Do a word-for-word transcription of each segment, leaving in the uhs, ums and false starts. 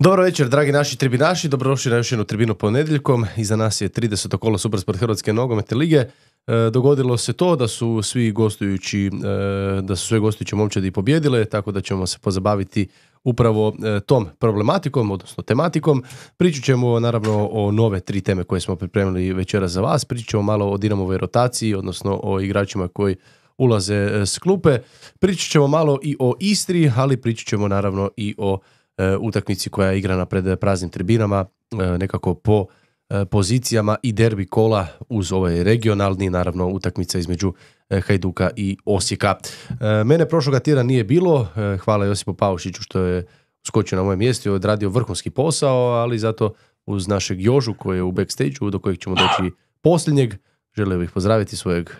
Dobro večer, dragi naši tribinaši, dobrodošli na još jednu tribinu ponedjeljkom. Iza nas je trideseto kolo Supersport Hrvatske nogometne lige. E, dogodilo se to da su svi gostujući, e, da su sve gostujuće momčadi pobjedile, tako da ćemo se pozabaviti upravo e, tom problematikom, odnosno tematikom. Pričat ćemo naravno o nove tri teme koje smo pripremili večera za vas. Pričat ćemo malo o Dinamovoj rotaciji, odnosno o igračima koji ulaze s klupe. Pričat ćemo malo i o Istri, ali pričat ćemo naravno i o e, utakmici koja je igrana pred praznim tribinama, e, nekako po e, pozicijama i derbi kola uz ovaj regionalni, naravno utakmica između e, Hajduka i Osijeka. E, mene prošloga tjedna nije bilo, e, hvala Josipu Paušiću što je skočio na moje mjesto i odradio vrhunski posao, ali zato uz našeg Jožu koji je u backstage-u, do kojeg ćemo doći posljednjeg, želio bih pozdraviti svojeg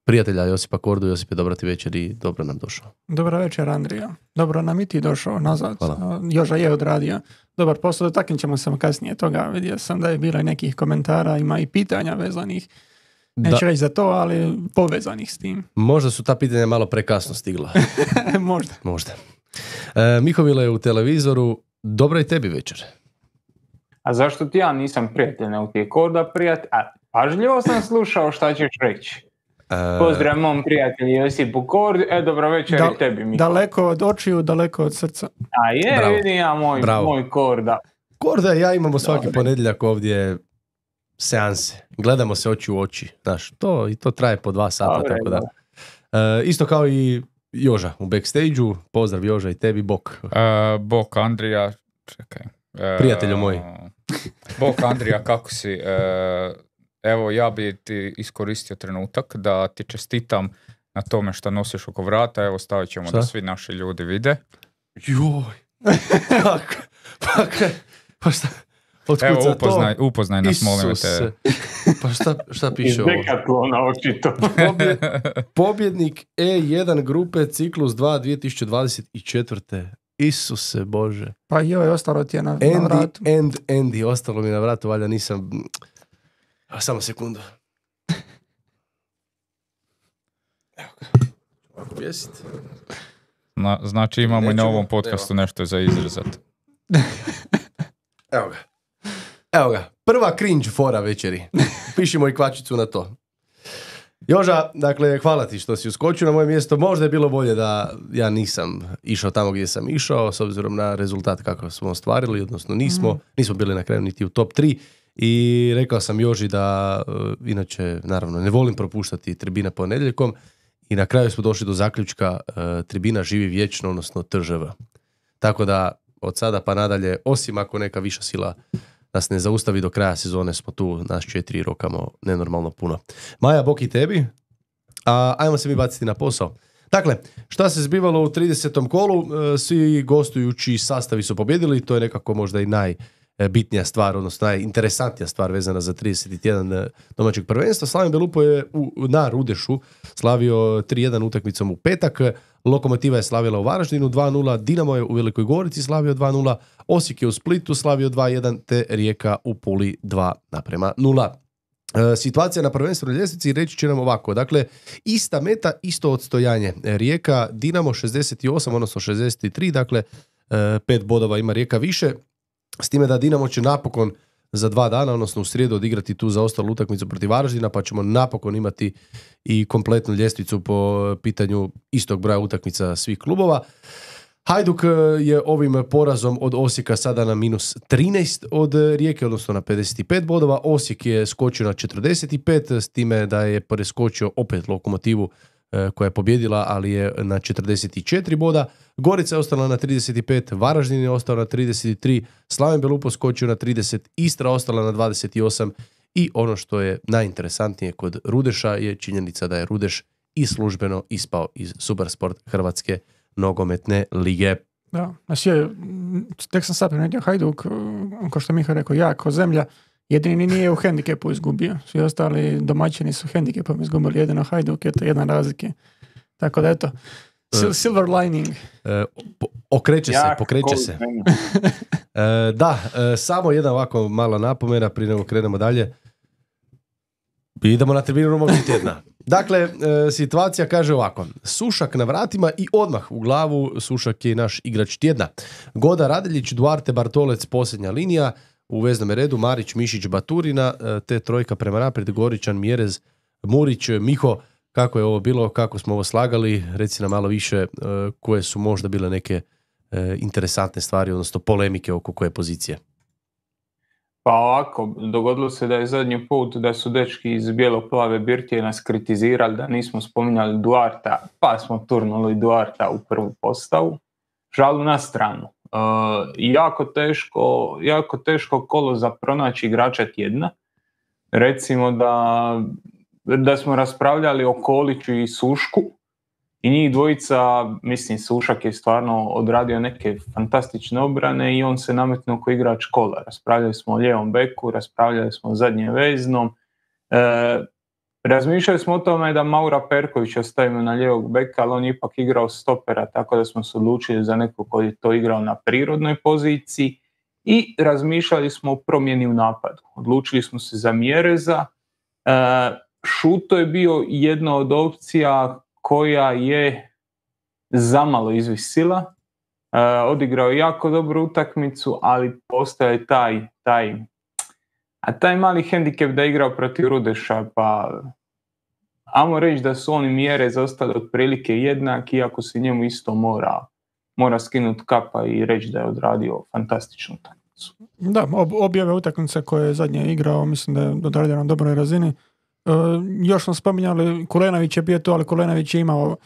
prijatelja Josipa Kordu. Josipe, dobra ti večer i dobro nam došao. Dobra večer, Andrija. Dobro nam i ti došao nazad. Hvala. Joža je odradio dobar posao, dotaknut ćemo se kasnije toga. Vidio sam da je bilo i nekih komentara, ima i pitanja vezanih, neću reći za to, ali povezanih s tim. Možda su ta pitanja malo prekasno stigla. Možda. Možda. E, Mihovile je u televizoru. Dobra i tebi večer. A zašto ti ja nisam prijatelj, nego ti je Korda prijatelj? A pažljivo sam slušao šta ćeš reći. Pozdrav mom prijatelju Josipu Kordu, e dobro večer da, i tebi. Mi. Daleko od očiju, daleko od srca. A je, bravo. Vidim ja moj, moj Korda. Korda i ja imamo svaki Dobre. ponedjeljak ovdje seanse. Gledamo se oči u oči. Znaš, to, i to traje po dva sata. Dobre, tako da. E, isto kao i Joža u backstage-u. Pozdrav Joža i tebi, Bok. Uh, Bok Andrija, čekaj. Uh, Prijatelju moj. Bok Andrija, kako si? Uh, Evo, ja bi ti iskoristio trenutak da ti čestitam na tome što nosiš oko vrata. Evo, stavit ćemo šta? Da svi naši ljudi vide. Joj! Pa, pa, pa šta? Evo, upoznaj, upoznaj nas, molim te. Pa šta, šta piše ovo? Iz Dekatlona očito. Pobjed, pobjednik E jedan grupe ciklus dva dvije tisuće dvadeset četvrte. Isuse Bože. Pa joj, ostalo ti je na, Andy, na vratu. End, Andy, ostalo mi na vratu, valjda nisam... A samo sekundu. Evo ga. Ovako vjesit. Na, znači imamo Nećemo. i na ovom podcastu Evo. nešto za izrazat. Evo ga. Evo ga. Prva cringe fora večeri. Pišimo i kvačicu na to. Joža, dakle, hvala ti što si uskočio na moje mjesto. Možda je bilo bolje da ja nisam išao tamo gdje sam išao, s obzirom na rezultat kako smo ostvarili, odnosno nismo. Mm. Nismo bili na kraju niti u top tri. I rekao sam Joži da, uh, inače, naravno, ne volim propuštati tribina ponedjeljkom i na kraju smo došli do zaključka uh, tribina živi vječno, odnosno T Ž V. Tako da, od sada pa nadalje, osim ako neka viša sila nas ne zaustavi do kraja sezone, smo tu, nas četiri rokamo nenormalno puno. Maja, bok i tebi, a ajmo se mi baciti na posao. Dakle, šta se zbivalo u tridesetom kolu, uh, svi gostujući sastavi su pobjedili, to je nekako možda i naj... bitnija stvar, odnosno najinteresantnija stvar vezana za trideset jedan domaćeg prvenstva. Slaven Belupo je u, na Rudešu slavio tri jedan utakmicom u petak, Lokomotiva je slavila u Varaždinu dva nula, Dinamo je u Velikoj Gorici slavio dva nula, Osijek je u Splitu slavio dva jedan, te Rijeka u Puli dva naprema nula. E, situacija na prvenstvenoj ljestvici reći će nam ovako, dakle, ista meta, isto odstojanje. Rijeka, Dinamo šezdeset osam, odnosno šezdeset tri, dakle, e, pet bodova ima Rijeka više. S time da Dinamo će napokon za dva dana, odnosno u srijedu, odigrati tu zaostalu utakmicu protiv Varaždina, pa ćemo napokon imati i kompletnu ljestvicu po pitanju istog broja utakmica svih klubova. Hajduk je ovim porazom od Osijeka sada na minus trinaest od Rijeke, odnosno na pedeset pet bodova. Osijek je skočio na četrdeset pet, s time da je preskočio opet Lokomotivu koja je pobjedila, ali je na četrdeset četiri boda. Gorica je ostala na trideset pet, Varaždin je ostao na trideset tri, Slaven Belupo skočio na trideset, Istra ostala na dvadeset osam i ono što je najinteresantnije kod Rudeša je činjenica da je Rudeš i službeno ispao iz Supersport Hrvatske nogometne lige. Da, znači, tek sam sad primetio Hajduk, kao što Miha rekao, ja kao zemlja, jedini nije u hendikepu izgubio. Svi ostali domaćini su hendikepom izgubili, jedino Hajduk je to jedna razlike. Tako da eto, sil- silver lining. E, po, okreće se, pokreće se. E, da, e, samo jedna ovako mala napomena prije nego krenemo dalje. Idemo na tribinu momci tjedna. Dakle, e, situacija kaže ovako. Sušak na vratima i odmah u glavu Sušak je naš igrač tjedna. Goda Radeljić, Duarte Bartolec, posljednja linija. U veznom redu Marić, Mišić, Baturina, e, te trojka prema naprijed, Goričan, Mjerez, Murić, Miho. Kako je ovo bilo, kako smo ovo slagali? Reci nam malo više e, koje su možda bile neke e, interesantne stvari, odnosno polemike oko koje pozicije. Pa ovako, dogodilo se da je zadnji put da su dečki iz bijelo-plave birtije nas kritizirali da nismo spominjali Duarta, pa smo turnuli Duarta u prvu postavu. Žalu na stranu. E, jako teško, jako teško kolo za pronaći igrača tjedna. Recimo da, da smo raspravljali o Koliću i Sušku i njih dvojica, mislim Sušak je stvarno odradio neke fantastične obrane i on se nametnuo kao igrač kola. Raspravljali smo o lijevom beku, raspravljali smo o zadnjem veznom. E, razmišljali smo o tome da Maura Perkovića stavimo na lijevog beka, ali on je ipak igrao stopera, tako da smo se odlučili za nekog koji je to igrao na prirodnoj poziciji i razmišljali smo o promjeni u napadu. Odlučili smo se za Mjereza. E, Šuto je bio jedna od opcija koja je zamalo izvisila. E, odigrao je jako dobru utakmicu, ali postoje taj, taj, a taj mali hendikep da je igrao protiv Rudeša, pa ajmo reći da su oni Mjere zostali otprilike jednaki, iako se njemu isto mora, mora skinuti kapa i reći da je odradio fantastičnu utakmicu. Da, ob, objave utakmice koje je zadnje igrao, mislim da je odradio na dobroj razini. Uh, još smo spominjali, Kulenović je bio tu, ali Kulenović je imao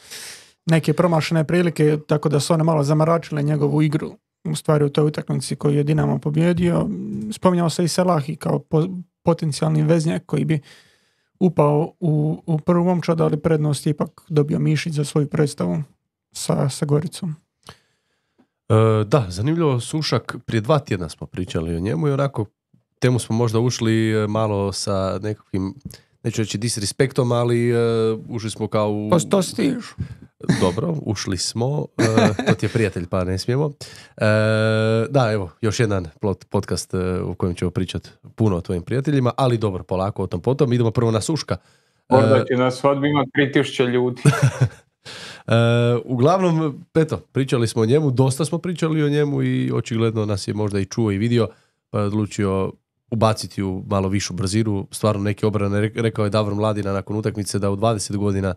neke promašene prilike, tako da su one malo zamaračile njegovu igru u stvari u toj utakmici koju je Dinamo pobjedio. Spominjao se i Selahi kao po, potencijalni veznjak koji bi upao u, u prvu momčad, ali prednost je ipak dobio Mišić za svoju predstavu sa, sa Goricom. E, da, zanimljivo, Sušak, prije dva tjedna smo pričali o njemu i onako temu smo možda ušli malo sa nekakvim, neću reći disrespektom, ali uh, ušli smo kao u... Pa to stiš. Dobro, ušli smo. Uh, to ti je prijatelj, pa ne smijemo. Uh, da, evo, još jedan podcast uh, u kojem ćemo pričati puno o tvojim prijateljima, ali dobro, polako o tom potom. Idemo prvo na Suška. Možda će na svadbi ima tri tisuće ljudi. Uh, uglavnom, eto, pričali smo o njemu, dosta smo pričali o njemu i očigledno nas je možda i čuo i vidio, pa je odlučio ubaciti u malo višu brzinu, stvarno neke obrane. Rekao je Davor Mladina nakon utakmice da u dvadeset godina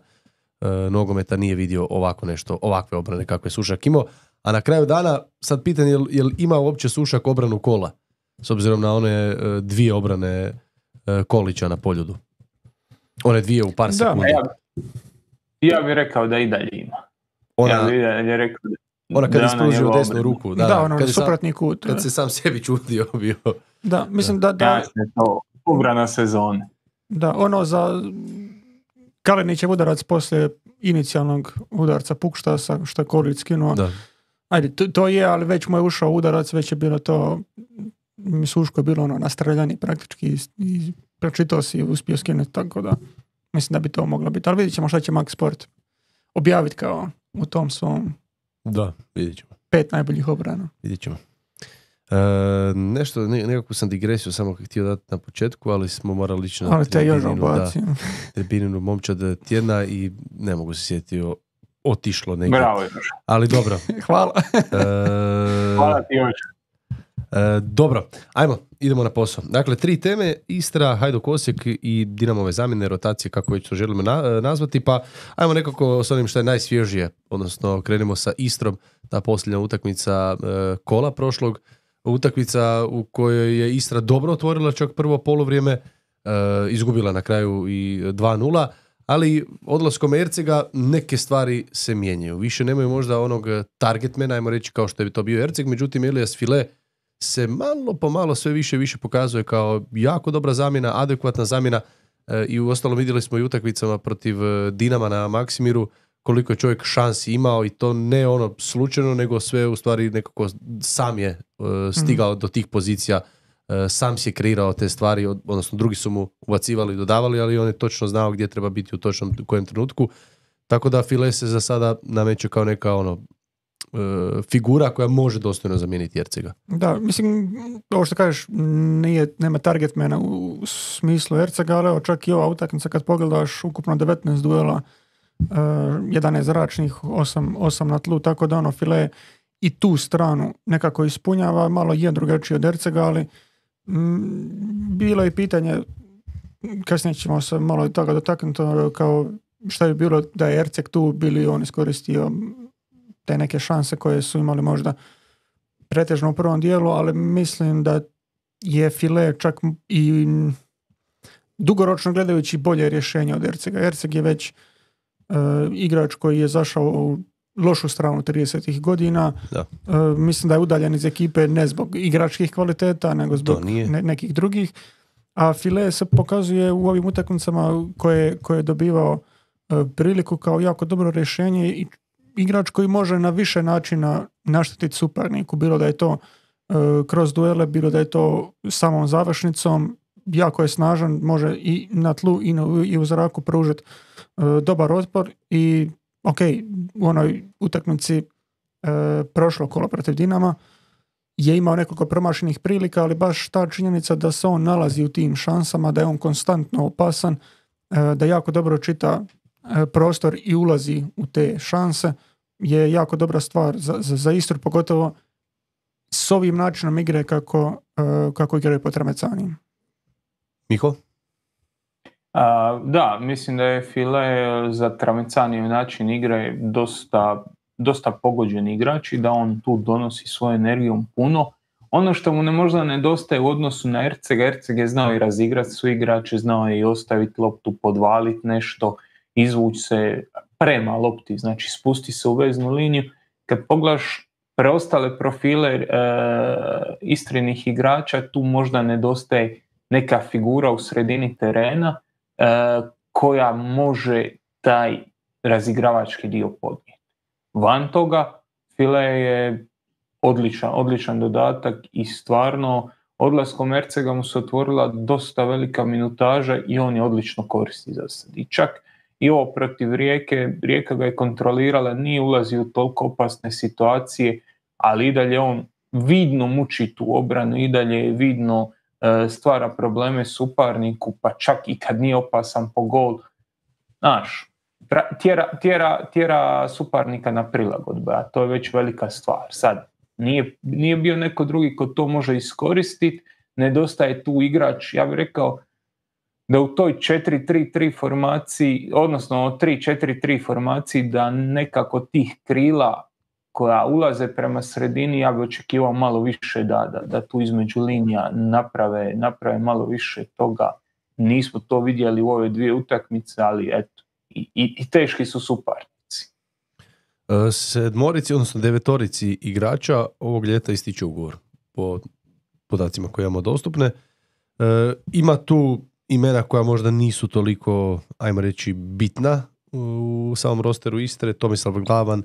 e, nogometa nije vidio ovako nešto, ovakve obrane kakve je Sušak imao. A na kraju dana, sad pitanje je li ima uopće Sušak obranu kola, s obzirom na one e, dvije obrane e, Kolića na Poljudu. One dvije u par sekundi. Ja, ja bih rekao da i dalje ima. Ona, ja bih dalje rekao da ona kad je spružio desnu ruku. Da, da ono, kad, suprotni kut. kad se sam sebi čudio bio. Da, mislim da... da Jasne, to obrana sezone. Da, ono za Kalinićev udarac poslije inicijalnog udarca Pukštasa, što je Kolić skinuo. Da. Ajde, to, to je, ali već mu je ušao udarac, već je bilo to, Suško je bilo ono nastreljani praktički i, i pročitao si i uspio skinuti, tako da mislim da bi to moglo biti. Ali vidjet ćemo šta će Max Sport objaviti kao u tom svom da, vidjet ćemo. Pet najboljih obrana. Vidjet ćemo. E, nešto, ne, nekako sam digresiju samo htio dati na početku, ali smo morali ići na tribininu momčad tjedna i ne mogu se sjetiti o, otišlo negdje. Bravo, Joža. Ali dobro. Hvala. E, Hvala ti, Joža. E, dobro, ajmo, idemo na posao. Dakle, tri teme, Istra, Hajduk Osijek i Dinamove zamjene, rotacije, kako već to želimo na, nazvati, pa ajmo nekako s onim što je najsvježije, odnosno krenimo sa Istrom, ta posljednja utakmica e, kola prošlog, utakmica u kojoj je Istra dobro otvorila čak prvo poluvrijeme, e, izgubila na kraju i dva nula, ali odlaskom Ercega neke stvari se mijenjaju. Više nemaju možda onog targetmana, ajmo reći kao što je to bio Erceg, međutim Elias File se malo po malo sve više i više pokazuje kao jako dobra zamjena, adekvatna zamjena e, i u ostalom vidjeli smo i utakmicama protiv Dinama na Maksimiru koliko je čovjek šansi imao i to ne ono slučajno, nego sve u stvari nekako sam je e, stigao mm. do tih pozicija, e, sam si je kreirao te stvari, odnosno drugi su mu ubacivali i dodavali, ali on je točno znao gdje treba biti u točnom u kojem trenutku, tako da File se za sada nameće kao neka ono figura koja može dostojno zamijeniti Ercega. Da, mislim, ovo što kažeš, nije, nema targetmana u smislu Ercega, ali evo, čak i ova utakmica kad pogledaš ukupno devetnaest duela, uh, jedanaest zračnih, osam na tlu, tako da ono File i tu stranu nekako ispunjava, malo je drugačiji od Ercega, ali m, bilo je pitanje, kasnije ćemo se malo i toga dotaknuti, kao šta bi bilo da je Erceg tu, bili on iskoristio te neke šanse koje su imali možda pretežno u prvom dijelu, ali mislim da je File čak i dugoročno gledajući bolje rješenje od Ercega. Erceg je već uh, igrač koji je zašao u lošu stranu tridesetih godina. Uh, mislim da je udaljen iz ekipe ne zbog igračkih kvaliteta, nego zbog ne, nekih drugih. A File se pokazuje u ovim utakmicama koje, koje je dobivao uh, priliku kao jako dobro rješenje i igrač koji može na više načina naštetiti suparniku, bilo da je to uh, kroz duele, bilo da je to samom završnicom, jako je snažan, može i na tlu i, na, i u zraku pružiti uh, dobar otpor i ok, u onoj utakmici uh, prošlo kolo protiv Dinama je imao nekoliko promašenih prilika, ali baš ta činjenica da se on nalazi u tim šansama, da je on konstantno opasan, uh, da jako dobro čita uh, prostor i ulazi u te šanse, je jako dobra stvar za, za, za Istru, pogotovo s ovim načinom igre kako, uh, kako igraju po Tramecaniji. Miho? A, da, mislim da je File za Tramecaniju način igre dosta, dosta pogođen igrač i da on tu donosi svoju energijom puno. Ono što mu ne možda nedostaje u odnosu na Ercega, Erceg je znao i razigrati su igrače, znao je i ostaviti loptu, podvaliti nešto, izvući se prema lopti, znači spusti se u veznu liniju. Kad pogledaš preostale profile e, Istrinih igrača, tu možda nedostaje neka figura u sredini terena e, koja može taj razigravački dio podnijeti. Van toga, File je odličan, odličan dodatak i stvarno odlaskom Ercega mu se otvorila dosta velika minutaža i on je odlično koristi za sad. I čak i ovo protiv Rijeke, Rijeka ga je kontrolirala, nije ulazio u toliko opasne situacije, ali i dalje on vidno muči tu obranu, i dalje je vidno e, stvara probleme suparniku, pa čak i kad nije opasan po gol, znaš, tjera, tjera, tjera suparnika na prilagodbe, a to je već velika stvar. Sad, nije, nije bio neko drugi ko to može iskoristiti, nedostaje tu igrač, ja bih rekao, da u toj četiri tri tri formaciji, odnosno tri četiri tri formaciji, da nekako tih krila koja ulaze prema sredini, ja bih očekivao malo više da, da, da tu između linija naprave, naprave malo više toga. Nismo to vidjeli u ove dvije utakmice, ali eto, i, i, i teški su suparnici. Sedmorici, odnosno devetorici igrača ovog ljeta ističe ugovor po podacima koje imamo dostupne. E, ima tu imena koja možda nisu toliko, ajmo reći, bitna u samom rosteru Istre: Tomislav Glavan,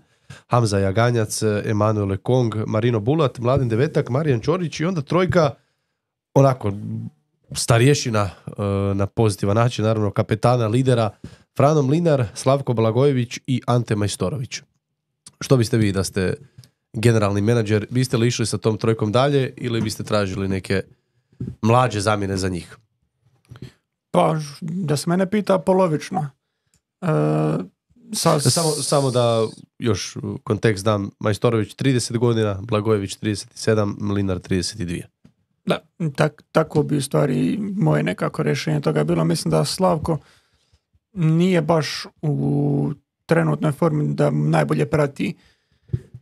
Hamza Jaganjac, Emanuel Ekong, Marino Bulat, Mladen Devetak, Marijan Ćorić i onda trojka onako starješina na pozitivan način, naravno kapetana, lidera, Frano Mlinar, Slavko Blagojević i Ante Majstorović. Što biste vi da ste generalni menadžer, biste li išli sa tom trojkom dalje ili biste tražili neke mlađe zamjene za njih? Pa, da se mene pita, polovično. E, sa... samo, samo da još kontekst dam, Majstorović trideset godina, Blagojević trideset sedam, Mlinar trideset dva. Da, tak, tako bi u stvari moje nekako rješenje toga bilo. Mislim da Slavko nije baš u trenutnoj formi da najbolje prati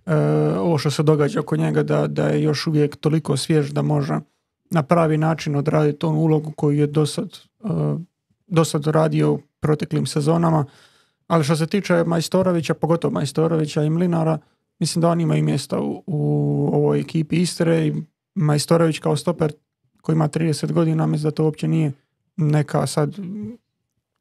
e, ovo što se događa oko njega, da, da je još uvijek toliko svjež da može na pravi način odraditi onu ulogu koju je dosad, uh, dosad radio u proteklim sezonama. Ali što se tiče Majstorovića, pogotovo Majstorovića i Mlinara, mislim da oni imaju mjesta u, u ovoj ekipi Istre i Majstorović kao stoper koji ima trideset godina, mislim da to uopće nije neka sad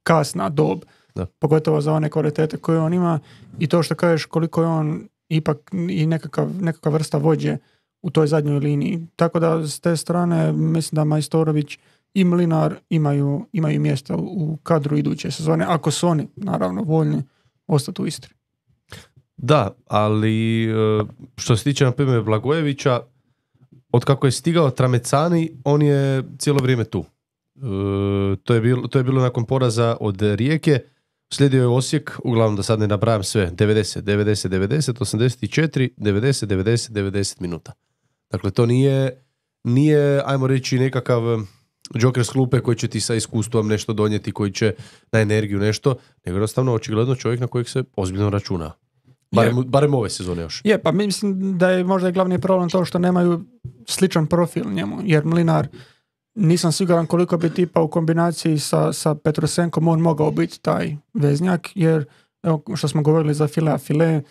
kasna dob. Da. Pogotovo za one kvalitete koje on ima i to što kažeš koliko je on ipak i nekakav, nekakav vrsta vođe u toj zadnjoj liniji. Tako da s te strane mislim da Majstorović i Mlinar imaju, imaju mjesta u kadru iduće sezone, ako su oni naravno voljni ostati u Istri. Da, ali što se tiče na primjer Blagojevića, od kako je stigao Tramecani, on je cijelo vrijeme tu. To je bilo, to je bilo nakon poraza od Rijeke, slijedio je Osijek, uglavnom da sad ne nabrajam sve, devedeset, devedeset, devedeset, osamdeset četiri, devedeset, devedeset, devedeset minuta. Dakle, to nije, nije ajmo reći, nekakav Joker s klupe koji će ti sa iskustvom nešto donijeti, koji će na energiju nešto, nego jednostavno očigledno čovjek na kojeg se ozbiljno računa. Barem, barem ove sezone još. Je, pa mislim da je možda glavni problem to što nemaju sličan profil njemu, jer Mlinar nisam siguran koliko bi tipa u kombinaciji sa, sa Petrusenkom on mogao biti taj veznjak, jer evo što smo govorili za Filea File,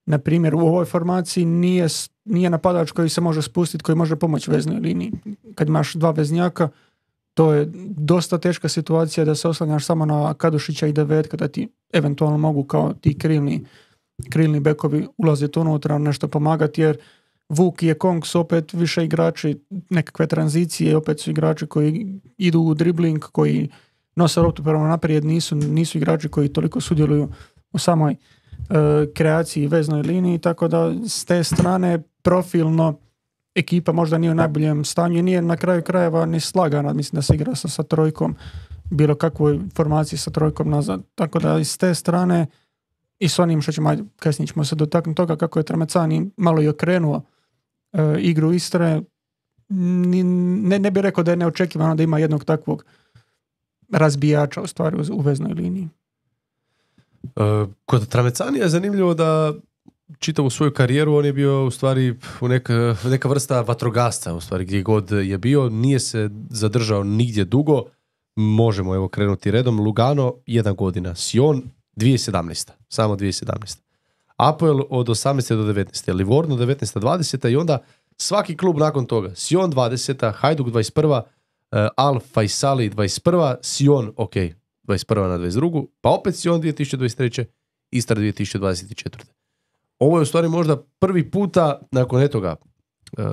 na primjer u ovoj formaciji nije, nije napadač koji se može spustiti, koji može pomoći veznoj liniji. Kad imaš dva veznjaka, to je dosta teška situacija da se oslanjaš samo na Kadušića i Devetka, da ti eventualno mogu kao ti krilni krilni bekovi ulaziti unutra, nešto pomagati, jer Vuk i Ekong su opet više igrači, nekakve tranzicije, opet su igrači koji idu u dribling, koji nose loptu prema naprijed, nisu, nisu igrači koji toliko sudjeluju u samoj uh, kreaciji i veznoj liniji, tako da s te strane profilno ekipa možda nije u najboljem stanju i nije na kraju krajeva ni slagana, mislim da se igra sa, sa trojkom, bilo kakvoj formaciji sa trojkom nazad, tako da iz te strane i s onim što ćemo, kasnije ćemo se dotaknuti toga kako je Tramecani malo i okrenuo e, igru Istre. Ni, ne, ne bih rekao da je neočekivano da ima jednog takvog razbijača u stvari u, u veznoj liniji. E, kod Tramecani je zanimljivo da čitavu svoju karijeru on je bio u stvari u neka, neka vrsta vatrogasca, u stvari gdje god je bio, nije se zadržao nigdje dugo. Možemo evo krenuti redom. Lugano jedna godina, Sion dvije tisuće sedamnaeste. Samo dvije tisuće sedamnaeste. Apoel od osamnaeste do devetnaeste. Livorno devetnaeste dvadesete i onda svaki klub nakon toga. Sion dvadeseta, Hajduk dvadeset prva, uh, Al Faisali dvadeset prva, Sion, ok, dvadeset prva na dvadeset drugu, pa opet Sion dvije tisuće dvadeset treće, Istra dvije tisuće dvadeset četvrte. Ovo je u stvari možda prvi puta nakon etoga uh,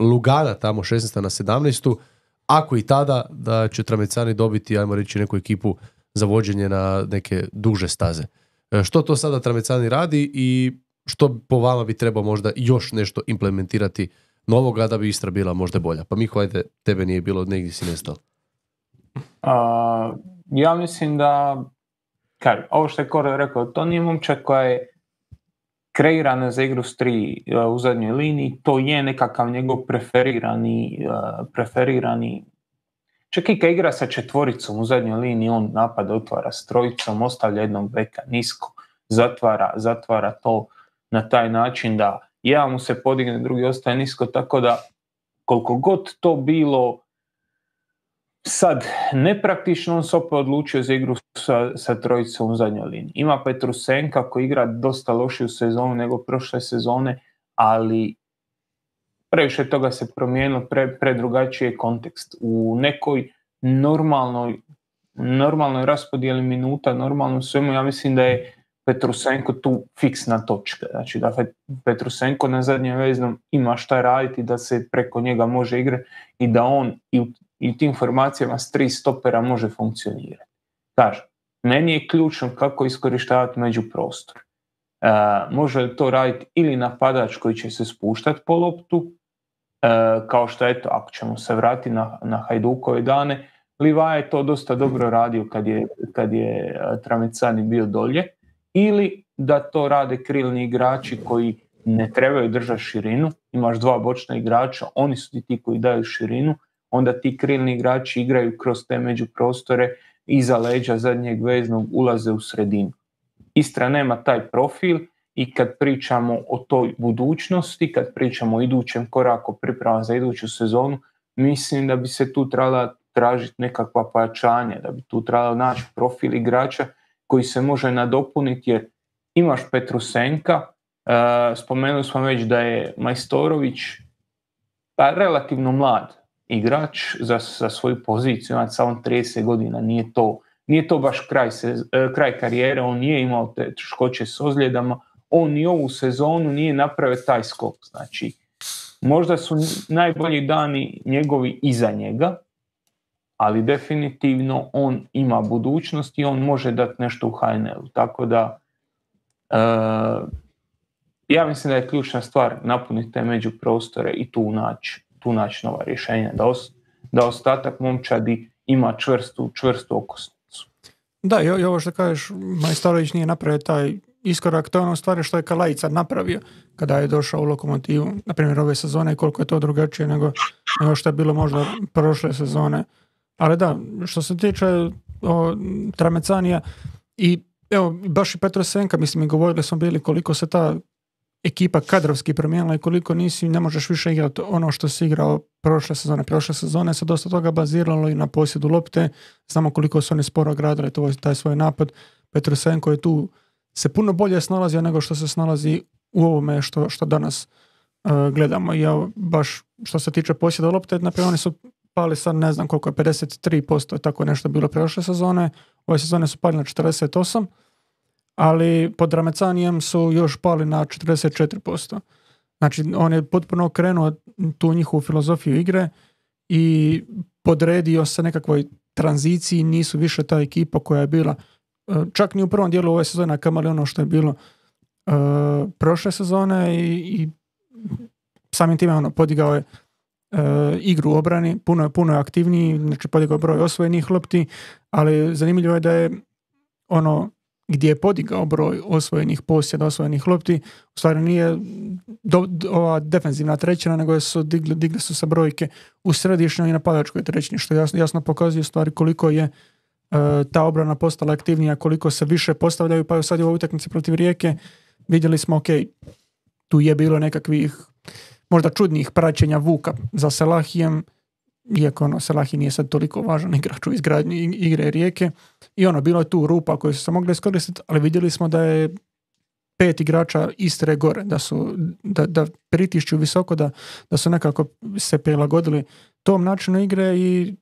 Lugana tamo šesnaeste na sedamnaestu, ako i tada da će Tramecani dobiti, ajmo reći, neku ekipu za vođenje na neke duže staze. Što to sada Tramecani radi i što po vama bi trebao možda još nešto implementirati novoga da bi Istra bila možda bolja? Pa Miho, ajde, tebe nije bilo, negdje si nestao. Uh, ja mislim da, kaj, ovo što je Koro rekao, to nije momčak koja je kreirana za igru s tri uh, u zadnjoj liniji, to je nekakav njegov preferirani, uh, preferirani čak i kad igra sa četvoricom u zadnjoj liniji, on napada, otvara s trojicom, ostavlja jednog beka nisko, zatvara, zatvara to na taj način da jedan mu se podigne, drugi ostaje nisko, tako da koliko god to bilo sad nepraktično, on se opet odlučio za igru sa, sa trojicom u zadnjoj liniji. Ima Petrusenka koji igra dosta lošiju sezonu nego prošle sezone, ali previše toga se promijenilo, pre, predrugačiji je kontekst. U nekoj normalnoj, normalnoj raspodijeli minuta, normalnom svemu, ja mislim da je Petrusenko tu fiksna točka. Znači da Petrusenko na zadnjem veznom ima šta raditi, da se preko njega može igrati i da on i u, i u tim formacijama s tri stopera može funkcionirati. Kažem, meni je ključno kako iskorištavati međuprostor. E, može li to raditi ili napadač koji će se spuštati po loptu, e, kao što eto, ako ćemo se vratiti na, na Hajdukove dane, Livaja je to dosta dobro radio kad je, kad je Tramecani bio dolje, ili da to rade krilni igrači koji ne trebaju držati širinu, imaš dva bočna igrača, oni su ti koji daju širinu, onda ti krilni igrači igraju kroz te međuprostore, iza leđa zadnjeg veznog ulaze u sredinu. Istra nema taj profil i kad pričamo o toj budućnosti, kad pričamo o idućem koraku priprema za iduću sezonu, mislim da bi se tu trebala tražiti nekakva pojačanja, da bi tu trebalo naći profil igrača koji se može nadopuniti, jer imaš Petrusenka, uh, spomenuli smo već da je Majstorović pa relativno mlad igrač za, za svoju poziciju, ima samo trideset godina, nije to, nije to baš kraj, se, uh, kraj karijere, on nije imao te teškoće s ozljedama, on ni ovu sezonu nije napravio taj skok, znači možda su najbolji dani njegovi iza njega, ali definitivno on ima budućnost i on može dati nešto u H N L-u. Tako da, e, ja mislim da je ključna stvar napuniti te međuprostore i tu naći tu naći nova rješenja, da, os, da ostatak momčadi ima čvrstu, čvrstu okosnicu. Da, i, i ovo što kažeš, Majstorović nije napravio taj iskorak, to je ono stvari što je Kalajica napravio kada je došao u Lokomotivu, na primjer ove sezone, koliko je to drugačije nego, nego što je bilo možda prošle sezone. Ali da, što se tiče o, Tramecanija i evo, baš i Petrosenka, mislim, i govorili smo bili koliko se ta ekipa kadrovski promijenila i koliko nisi, ne možeš više igrati ono što si igrao prošle sezone. Prošle sezone se dosta toga baziralo i na posjedu lopte, znamo koliko su oni sporo gradili to, taj svoj napad. Petrosenko je tu se puno bolje snalazio nego što se snalazi u ovome što, što danas uh, gledamo. I ja baš što se tiče posjeda lopte, naprijed oni su pali sad ne znam koliko je, pedeset tri posto, tako nešto bilo prošle sezone, ove sezone su pali na četrdeset osam, ali pod Ramecanijem su još pali na četrdeset četiri posto. Znači on je potpuno okrenuo tu njihovu filozofiju igre i podredio se nekakvoj tranziciji, nisu više ta ekipa koja je bila čak ni u prvom dijelu ove sezone, kamali ono što je bilo uh, prošle sezone i, i samim time ono, podigao je uh, igru u obrani, puno je, puno je aktivniji, znači podigao broj osvojenih lopti, ali zanimljivo je da je ono gdje je podigao broj osvojenih posjeda, osvojenih lopti, u stvari nije do, do, ova defenzivna trećina, nego su digli, digli su se brojke u središnjoj i napadačkoj trećini, što jasno, jasno pokazuje u stvari koliko je uh, ta obrana postala aktivnija, koliko se više postavljaju, pa sad je u ovoj utakmici protiv Rijeke vidjeli smo, ok, tu je bilo nekakvih možda čudnih praćenja Vuka za Selahijem, iako ono, Selahi nije sad toliko važan igrač u izgradnji igre Rijeke i ono, bilo je tu rupa koje su se mogle iskoristiti, ali vidjeli smo da je pet igrača Istre gore, da su da, da pritišću visoko, da, da su nekako se prilagodili tom načinu igre i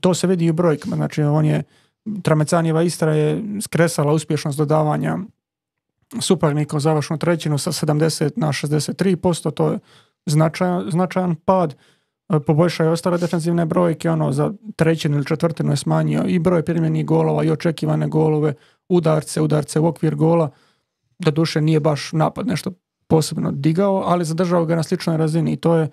to se vidi i u brojkama. Znači on je, Tramecanijeva Istra je skresala uspješnost dodavanja suparnika u završnu trećinu sa sedamdeset na šezdeset tri posto, to je značajan, značajan pad. Poboljšao je ostale defensivne brojke, ono za trećinu ili četvrtinu je smanjio i broj primljenih golova i očekivane golove, udarce, udarce u okvir gola. Doduše nije baš napad nešto posebno digao, ali zadržao ga na sličnoj razini i to je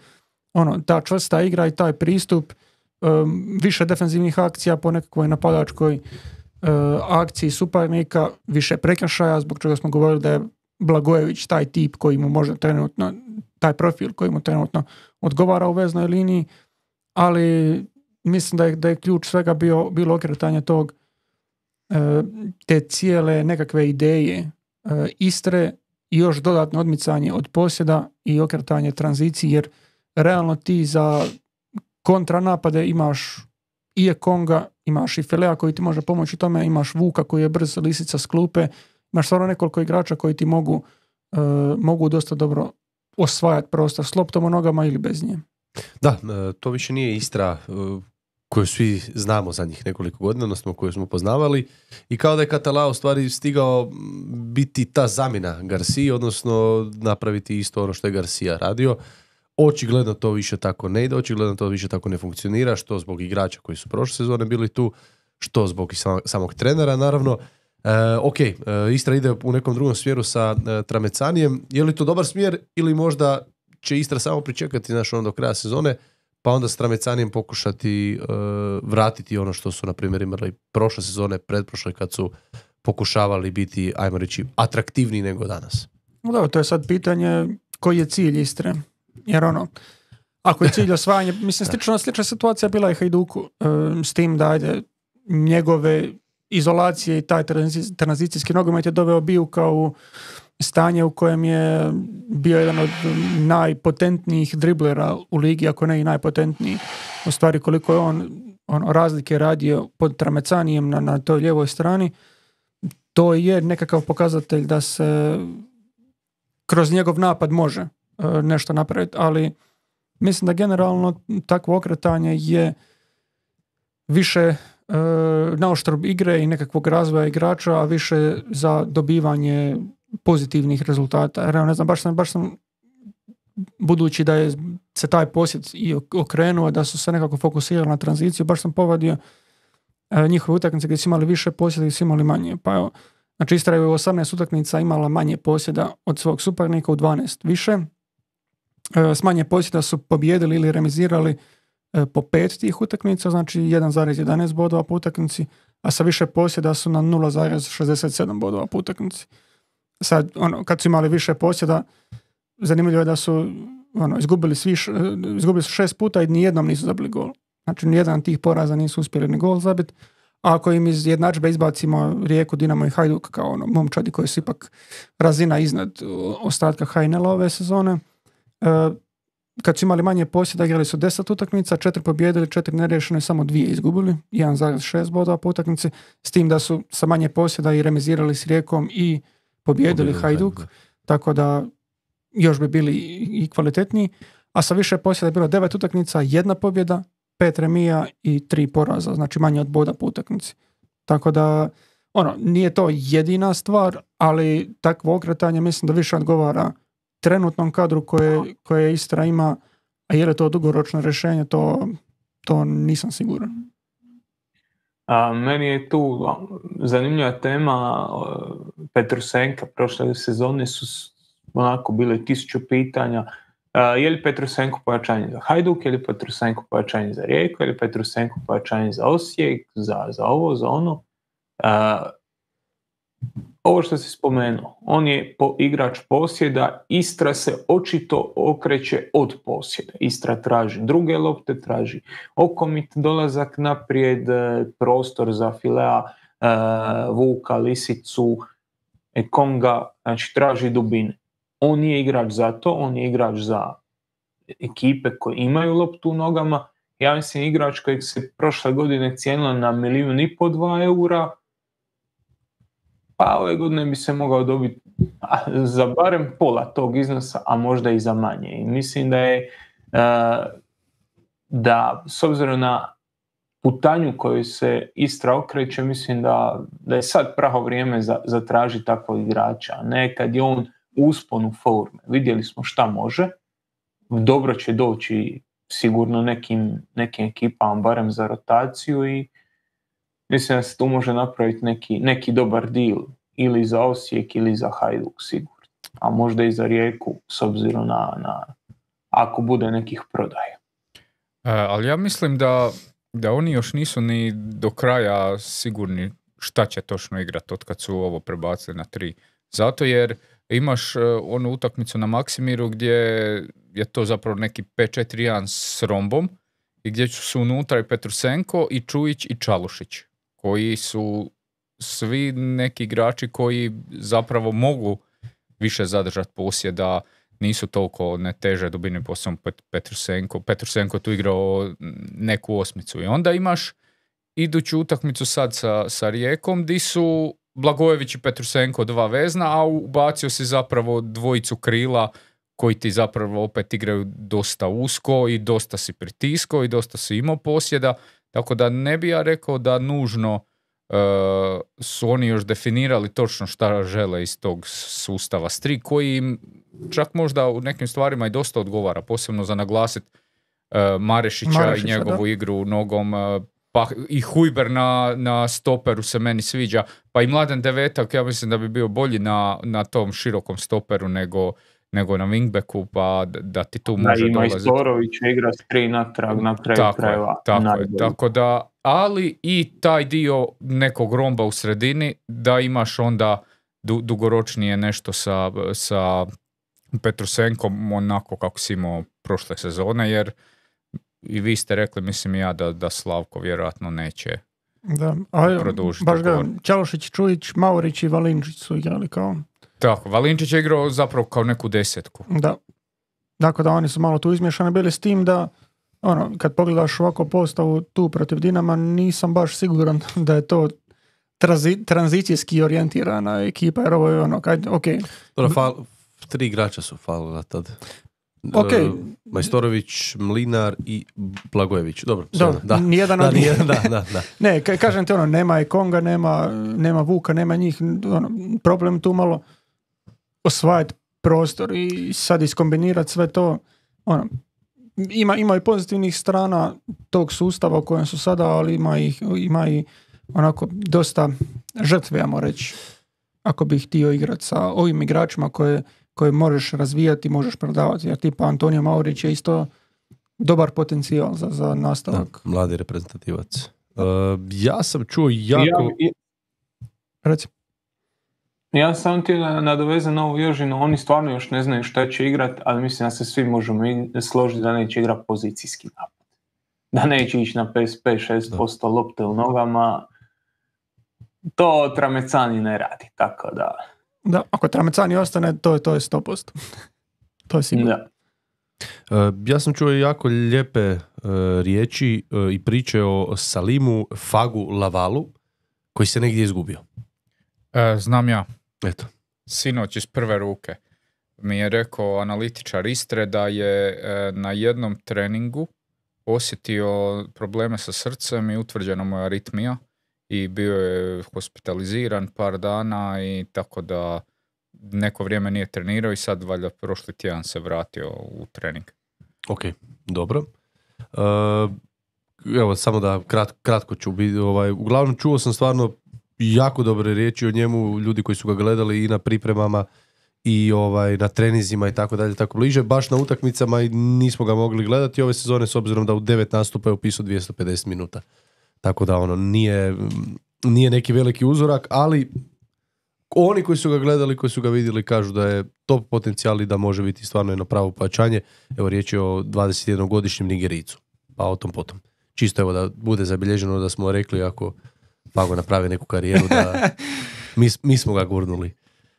ono, ta čvrsta igra i taj pristup, um, više defensivnih akcija po nekakvoj napadačkoj uh, akciji suparnika, više prekršaja, zbog čega smo govorili da je Blagojević taj tip koji mu možda trenutno, taj profil koji mu trenutno odgovara u veznoj liniji, ali mislim da je, da je ključ svega bio, bilo okretanje tog te cijele nekakve ideje Istre i još dodatno odmicanje od posjeda i okretanje tranziciji, jer realno ti za kontranapade imaš i Ekonga, imaš i Filea koji ti može pomoći u tome, imaš Vuka koji je brz, lisica s klupe, imaš stvarno nekoliko igrača koji ti mogu, uh, mogu dosta dobro osvajati prostor s loptom u nogama ili bez nje. Da, to više nije Istra koju svi znamo zadnjih nekoliko godina, odnosno koju smo poznavali, i kao da je Catalao u stvari stigao biti ta zamjena Garcia, odnosno napraviti isto ono što je Garcia radio. Očigledno to više tako ne ide, očigledno to više tako ne funkcionira, što zbog igrača koji su prošle sezone bili tu, što zbog i samog trenera, naravno. E, ok, e, Istra ide u nekom drugom smjeru sa e, Tramecanijem. Je li to dobar smjer ili možda će Istra samo pričekati naš ono do kraja sezone, pa onda s Tramecanijem pokušati e, vratiti ono što su na primjer imali prošle sezone, pretprošle, kad su pokušavali biti, ajmo reći, atraktivniji nego danas? No da, to je sad pitanje koji je cilj Istre. Jer ono, ako je cilj osvajanje, mislim, slična, slična situacija bila je Hajduku, e, s tim da ajde njegove izolacije i taj tranzicijski nogomet je doveo Bijuka u stanje u kojem je bio jedan od najpotentnijih driblera u ligi, ako ne i najpotentniji. U stvari koliko je on, on razlike radio pod Tramecanijem na, na toj lijevoj strani, to je nekakav pokazatelj da se kroz njegov napad može uh, nešto napraviti, ali mislim da generalno takvo okretanje je više uh, na oštrb igre i nekakvog razvoja igrača, a više za dobivanje pozitivnih rezultata. Jer ne znam, baš sam, baš sam budući da je se taj posjet i okrenuo, da su se nekako fokusirali na tranziciju, baš sam povadio uh, njihove utakmice gdje su imali više posjeda i su imali manje. Pa evo, Znači Istra je u osamnaest utakmica imala manje posjeda od svog suparnika, u dvanaest više. E, s manje posjeda su pobijedili ili remizirali e, po pet tih utakmica, znači jedan zarez jedanaest bodova po utakmici, a sa više posjeda su na nula zarez šezdeset sedam bodova po utakmici. Sad, ono, kad su imali više posjeda, zanimljivo je da su ono, izgubili, svi, izgubili su šest puta i nijednom nisu zabili gol. Znači, nijedan tih poraza nisu uspjeli ni gol zabiti. A ako im iz jednadžbe izbacimo Rijeku, Dinamo i Hajduk kao ono, momčadi koji su ipak razina iznad ostatka H N L ove sezone, e, kad su imali manje posjeda, igrali su deset utakmica, četiri pobjedili, četiri neriješene, samo dvije izgubili, jedan zarez šest bodova po utakmici, s tim da su sa manje posjeda i remizirali s Rijekom i pobjedili Hajduk, tako da još bi bili i kvalitetniji, a sa više posjeda je bilo devet utakmica, jedna pobjeda, pet remija i tri poraza, znači manje od boda po utakmici. Tako da, ono, nije to jedina stvar, ali takvo okretanje mislim da više odgovara trenutnom kadru koje, koje Istra ima, a je li to dugoročno rješenje, to, to nisam siguran. A, meni je tu zanimljiva tema Petrusenka. Prošle sezone su onako bile tisuću pitanja. A, je li Petrusenko pojačanje za Hajduk, je li Petrusenko pojačanje za Rijeku, je li Petrusenko pojačanje za Osijek, za, za ovo, za ono. A, ovo što si spomenuo, on je po, igrač posjeda, Istra se očito okreće od posjeda. Istra traži druge lopte, traži okomit dolazak naprijed, prostor za Filea, Vuka, Lisicu, Ekonga, znači traži dubine. On nije igrač za to, on je igrač za ekipe koje imaju loptu u nogama. Ja mislim igrač kojeg se prošle godine cijenilo na milijun i po dva eura, pa ove godine bi se mogao dobiti za barem pola tog iznosa, a možda i za manje. I mislim da je da s obzirom na putanju koju se Istra okreće, mislim da, da je sad pravo vrijeme za, za traži takvog igrača. Ne kad je on usponu forme. Vidjeli smo šta može. Dobro će doći sigurno nekim, nekim ekipama, barem za rotaciju, i mislim da se tu može napraviti neki, neki dobar deal ili za Osijek ili za Hajduk sigurno. A možda i za Rijeku s obzirom na, na ako bude nekih prodaja. E, ali ja mislim da, da oni još nisu ni do kraja sigurni šta će točno igrati od kad su ovo prebacili na tri. Zato jer imaš uh, onu utakmicu na Maksimiru gdje je to zapravo neki pet četiri jedan s rombom i gdje su unutra i Petrusenko i Čujić i Čalušić, koji su svi neki igrači koji zapravo mogu više zadržati posjeda, nisu toliko ne teže dubine, posebno Petrusenko. Petrusenko tu igrao neku osmicu i onda imaš iduću utakmicu sad sa, sa Rijekom di su Blagojević i Petrusenko dva vezna, a ubacio si zapravo dvojicu krila koji ti zapravo opet igraju dosta usko i dosta si pritiskao i dosta si imao posjeda, tako da ne bi ja rekao da nužno uh, su oni još definirali točno šta žele iz tog sustava s tri, koji im čak možda u nekim stvarima i dosta odgovara, posebno za naglasiti uh, Marešića, Marešića i njegovu da. igru nogom, uh, pa i Hujber na, na stoperu se meni sviđa, pa i Mladen Devetak, ja mislim da bi bio bolji na, na tom širokom stoperu nego, nego na wingbacku, pa da, da ti tu može da, ima dolaziti. I Storović igra s tri natrag na kraju tako krajeva. Je, tako je, tako da, ali i taj dio nekog romba u sredini, da imaš onda du, dugoročnije nešto sa, sa Petrusenkom, onako kako si imao prošle sezone, jer i vi ste rekli, mislim ja, da, da Slavko vjerojatno neće da, ali produžiti. Baš ga, Čalušić, Čujić, Maurić i Valinčić su igrali kao... Tako, Valinčić je igrao zapravo kao neku desetku. Da. Dakle, da oni su malo tu izmješani bili s tim da, ono, kad pogledaš ovako postavu tu protiv Dinama, nisam baš siguran da je to tranzi, tranzicijski orijentirana ekipa, jer ovo je ono, kaj, ok. Dobro, fal, tri igrača su falila tad. Okay. Uh, Majstorović, Mlinar i Blagojević. Dobro, Dobro da. Nijedan da, od njih. da, da, da. Ne, ka, kažem ti ono, nema i Konga, nema, nema Vuka, nema njih. Ono, problem tu malo osvajati prostor i sad iskombinirati sve to. Ono, ima, ima i pozitivnih strana tog sustava u kojem su sada, ali ima i, ima i onako dosta žrtve, ajmo reći. ako bi htio igrati sa ovim igračima koje, koje možeš razvijati, možeš prodavati. Jer tipa Antonio Maurić je isto dobar potencijal za, za nastavak. Da, mladi reprezentativac. Uh, ja sam čuo jako... Ja, ja, Reci. ja sam ti nadovezan na ovu Jožinu, oni stvarno još ne znaju šta će igrati, ali mislim da se svi možemo složiti da neće igrati pozicijski napad. Da neće ići na pedeset pet šest posto lopte u nogama. To Tramecani ne radi, tako da... Da, ako Tramecani ostane, to je, to je sto posto. To je sigurno. Da. Uh, ja sam čuo jako lijepe uh, riječi uh, i priče o Salimu Fagu Lavalu, koji se negdje izgubio. E, znam ja. Eto. Sinoć iz prve ruke mi je rekao analitičar Istre da je e, na jednom treningu osjetio probleme sa srcem i utvrđena mu je aritmija i bio je hospitaliziran par dana i tako da neko vrijeme nije trenirao i sad valjda prošli tjedan se vratio u trening. Ok, dobro. Uh, evo, samo da krat, kratko ću biti, ovaj, uglavnom čuo sam stvarno jako dobre riječi o njemu, ljudi koji su ga gledali i na pripremama i ovaj na trenizima i tako dalje, tako bliže, baš na utakmicama i nismo ga mogli gledati ove sezone s obzirom da u devet nastupa je upisao dvjesto pedeset minuta. Tako da ono, nije, nije neki veliki uzorak, ali oni koji su ga gledali, koji su ga vidjeli, kažu da je top potencijal i da može biti stvarno jedno pravo pojačanje. Evo, riječ je o dvadesetjednogodišnjem Nigericu, pa o tom potom. Čisto evo da bude zabilježeno da smo rekli ako Fago napravi neku karijeru da mi, mi smo ga gurnuli.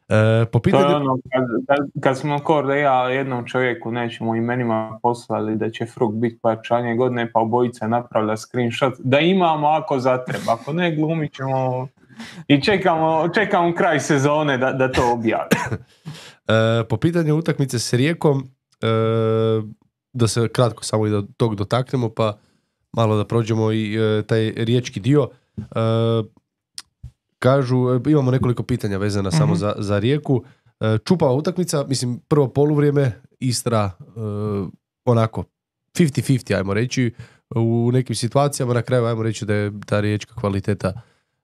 E, po pitanju... To je ono, kad, kad, kad smo kor da ja jednom čovjeku nećemo imenima poslali da će Fruk biti pojačanje godine, pa obojica napravlja screenshot, da imamo ako zatreba, ako ne glumit ćemo i čekamo, čekamo kraj sezone da, da to objavi. E, po pitanju utakmice s Rijekom, e, da se kratko samo i do tog dotaknemo, pa malo da prođemo i e, taj riječki dio. E, kažu, imamo nekoliko pitanja vezana mm-hmm. samo za, za Rijeku. E, čupava utakmica, mislim prvo poluvrijeme, Istra e, onako pedeset pedeset ajmo reći, u nekim situacijama, na kraju ajmo reći da je ta riječka kvaliteta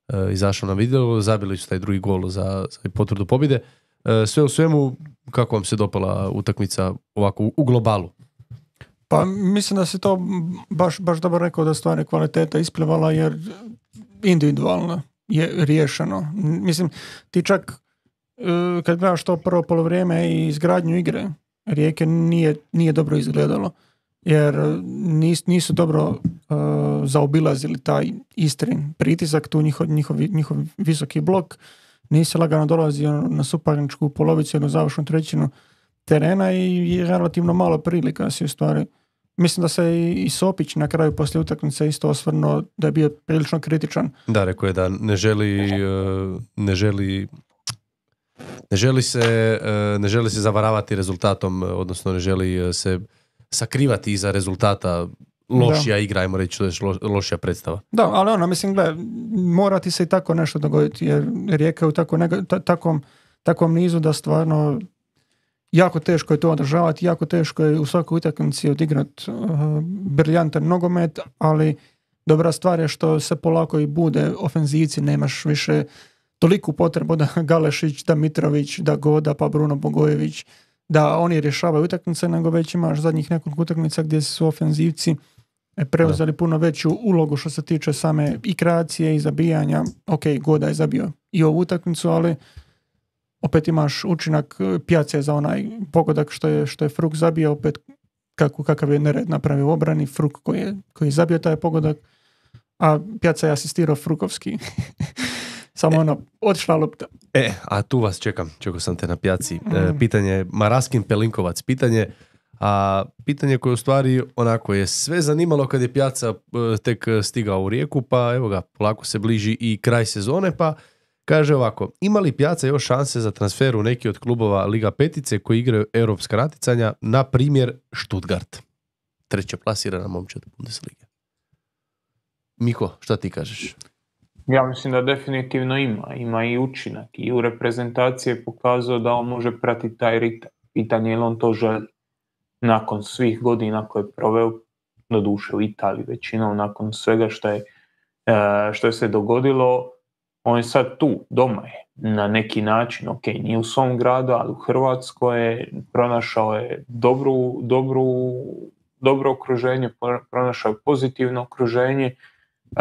e, izašla na vidjelo, zabili su taj drugi gol za, za potvrdu pobjede. E, sve u svemu, kako vam se dopala utakmica ovako u, u globalu? Pa mislim da se to baš, baš dobro rekao da stvari kvaliteta isplivala jer individualno je riješeno. Mislim, ti čak kad gledaš to prvo polovrijeme i izgradnju igre, Rijeke nije, nije dobro izgledalo. Jer nis, nisu dobro uh, zaobilazili taj Istrin pritisak, tu njihov, njihov, njihov visoki blok, nisi lagano dolazio na suparničku polovicu, jednu završnu trećinu terena i relativno malo prilika si u stvari. Mislim da se i, i Sopić na kraju poslije utakmice isto osvrnuo da je bio prilično kritičan. Da, rekao je da ne želi uh, ne želi ne želi se uh, ne želi se zavaravati rezultatom, odnosno ne želi se sakrivati iza rezultata. Lošija da. Igra, ajmo reći, to je lo, lošija predstava. Da, ali ono, mislim, gle, mora ti se i tako nešto dogoditi, jer Rijeka je u tako nega, ta, takom, takom nizu da stvarno jako teško je to održavati, jako teško je u svakoj utakmici odigrati uh, briljantan nogomet, ali dobra stvar je što se polako i bude ofenzivci, nemaš više toliku potrebu da Galešić, da Mitrović, da Goda, pa Bruno Bogojević, da oni rješavaju utakmice, nego već imaš zadnjih nekoliko utakmica gdje su ofenzivci preuzeli puno veću ulogu što se tiče same i kreacije i zabijanja. Ok, Goda je zabio i ovu utakmicu, ali opet imaš učinak Pjace za onaj pogodak što je, što je Fruk zabio, opet kako, kakav je nered napravio u obrani, Fruk koji je, koji je zabio taj pogodak, a Pjaca je asistirao Frukovski. Samo ono, otišla lopta. E, a tu vas čekam, čekao sam te na Pjaci. Mm. E, pitanje, Maraskin Pelinkovac, pitanje, a pitanje koje u stvari onako je sve zanimalo kad je Pjaca e, tek stigao u Rijeku, pa evo ga, polako se bliži i kraj sezone, pa kaže ovako, ima li Pjaca još šanse za transfer u neki od klubova Liga petice koji igraju europska natjecanja, na primjer Stuttgart, treće plasirana momčad Bundeslige? Miko, šta ti kažeš? Ja mislim da definitivno ima. Ima i učinak. I u reprezentaciji je pokazao da on može pratiti taj ritam. Pitanje je li on to želi. Nakon svih godina koje je proveo, do duše u Italiji većinom, nakon svega što je, što je se dogodilo, On je sad tu, doma je, na neki način, ok, nije u svom gradu, ali u Hrvatskoj je, pronašao je dobru, dobru, dobro okruženje, pronašao je pozitivno okruženje. Uh,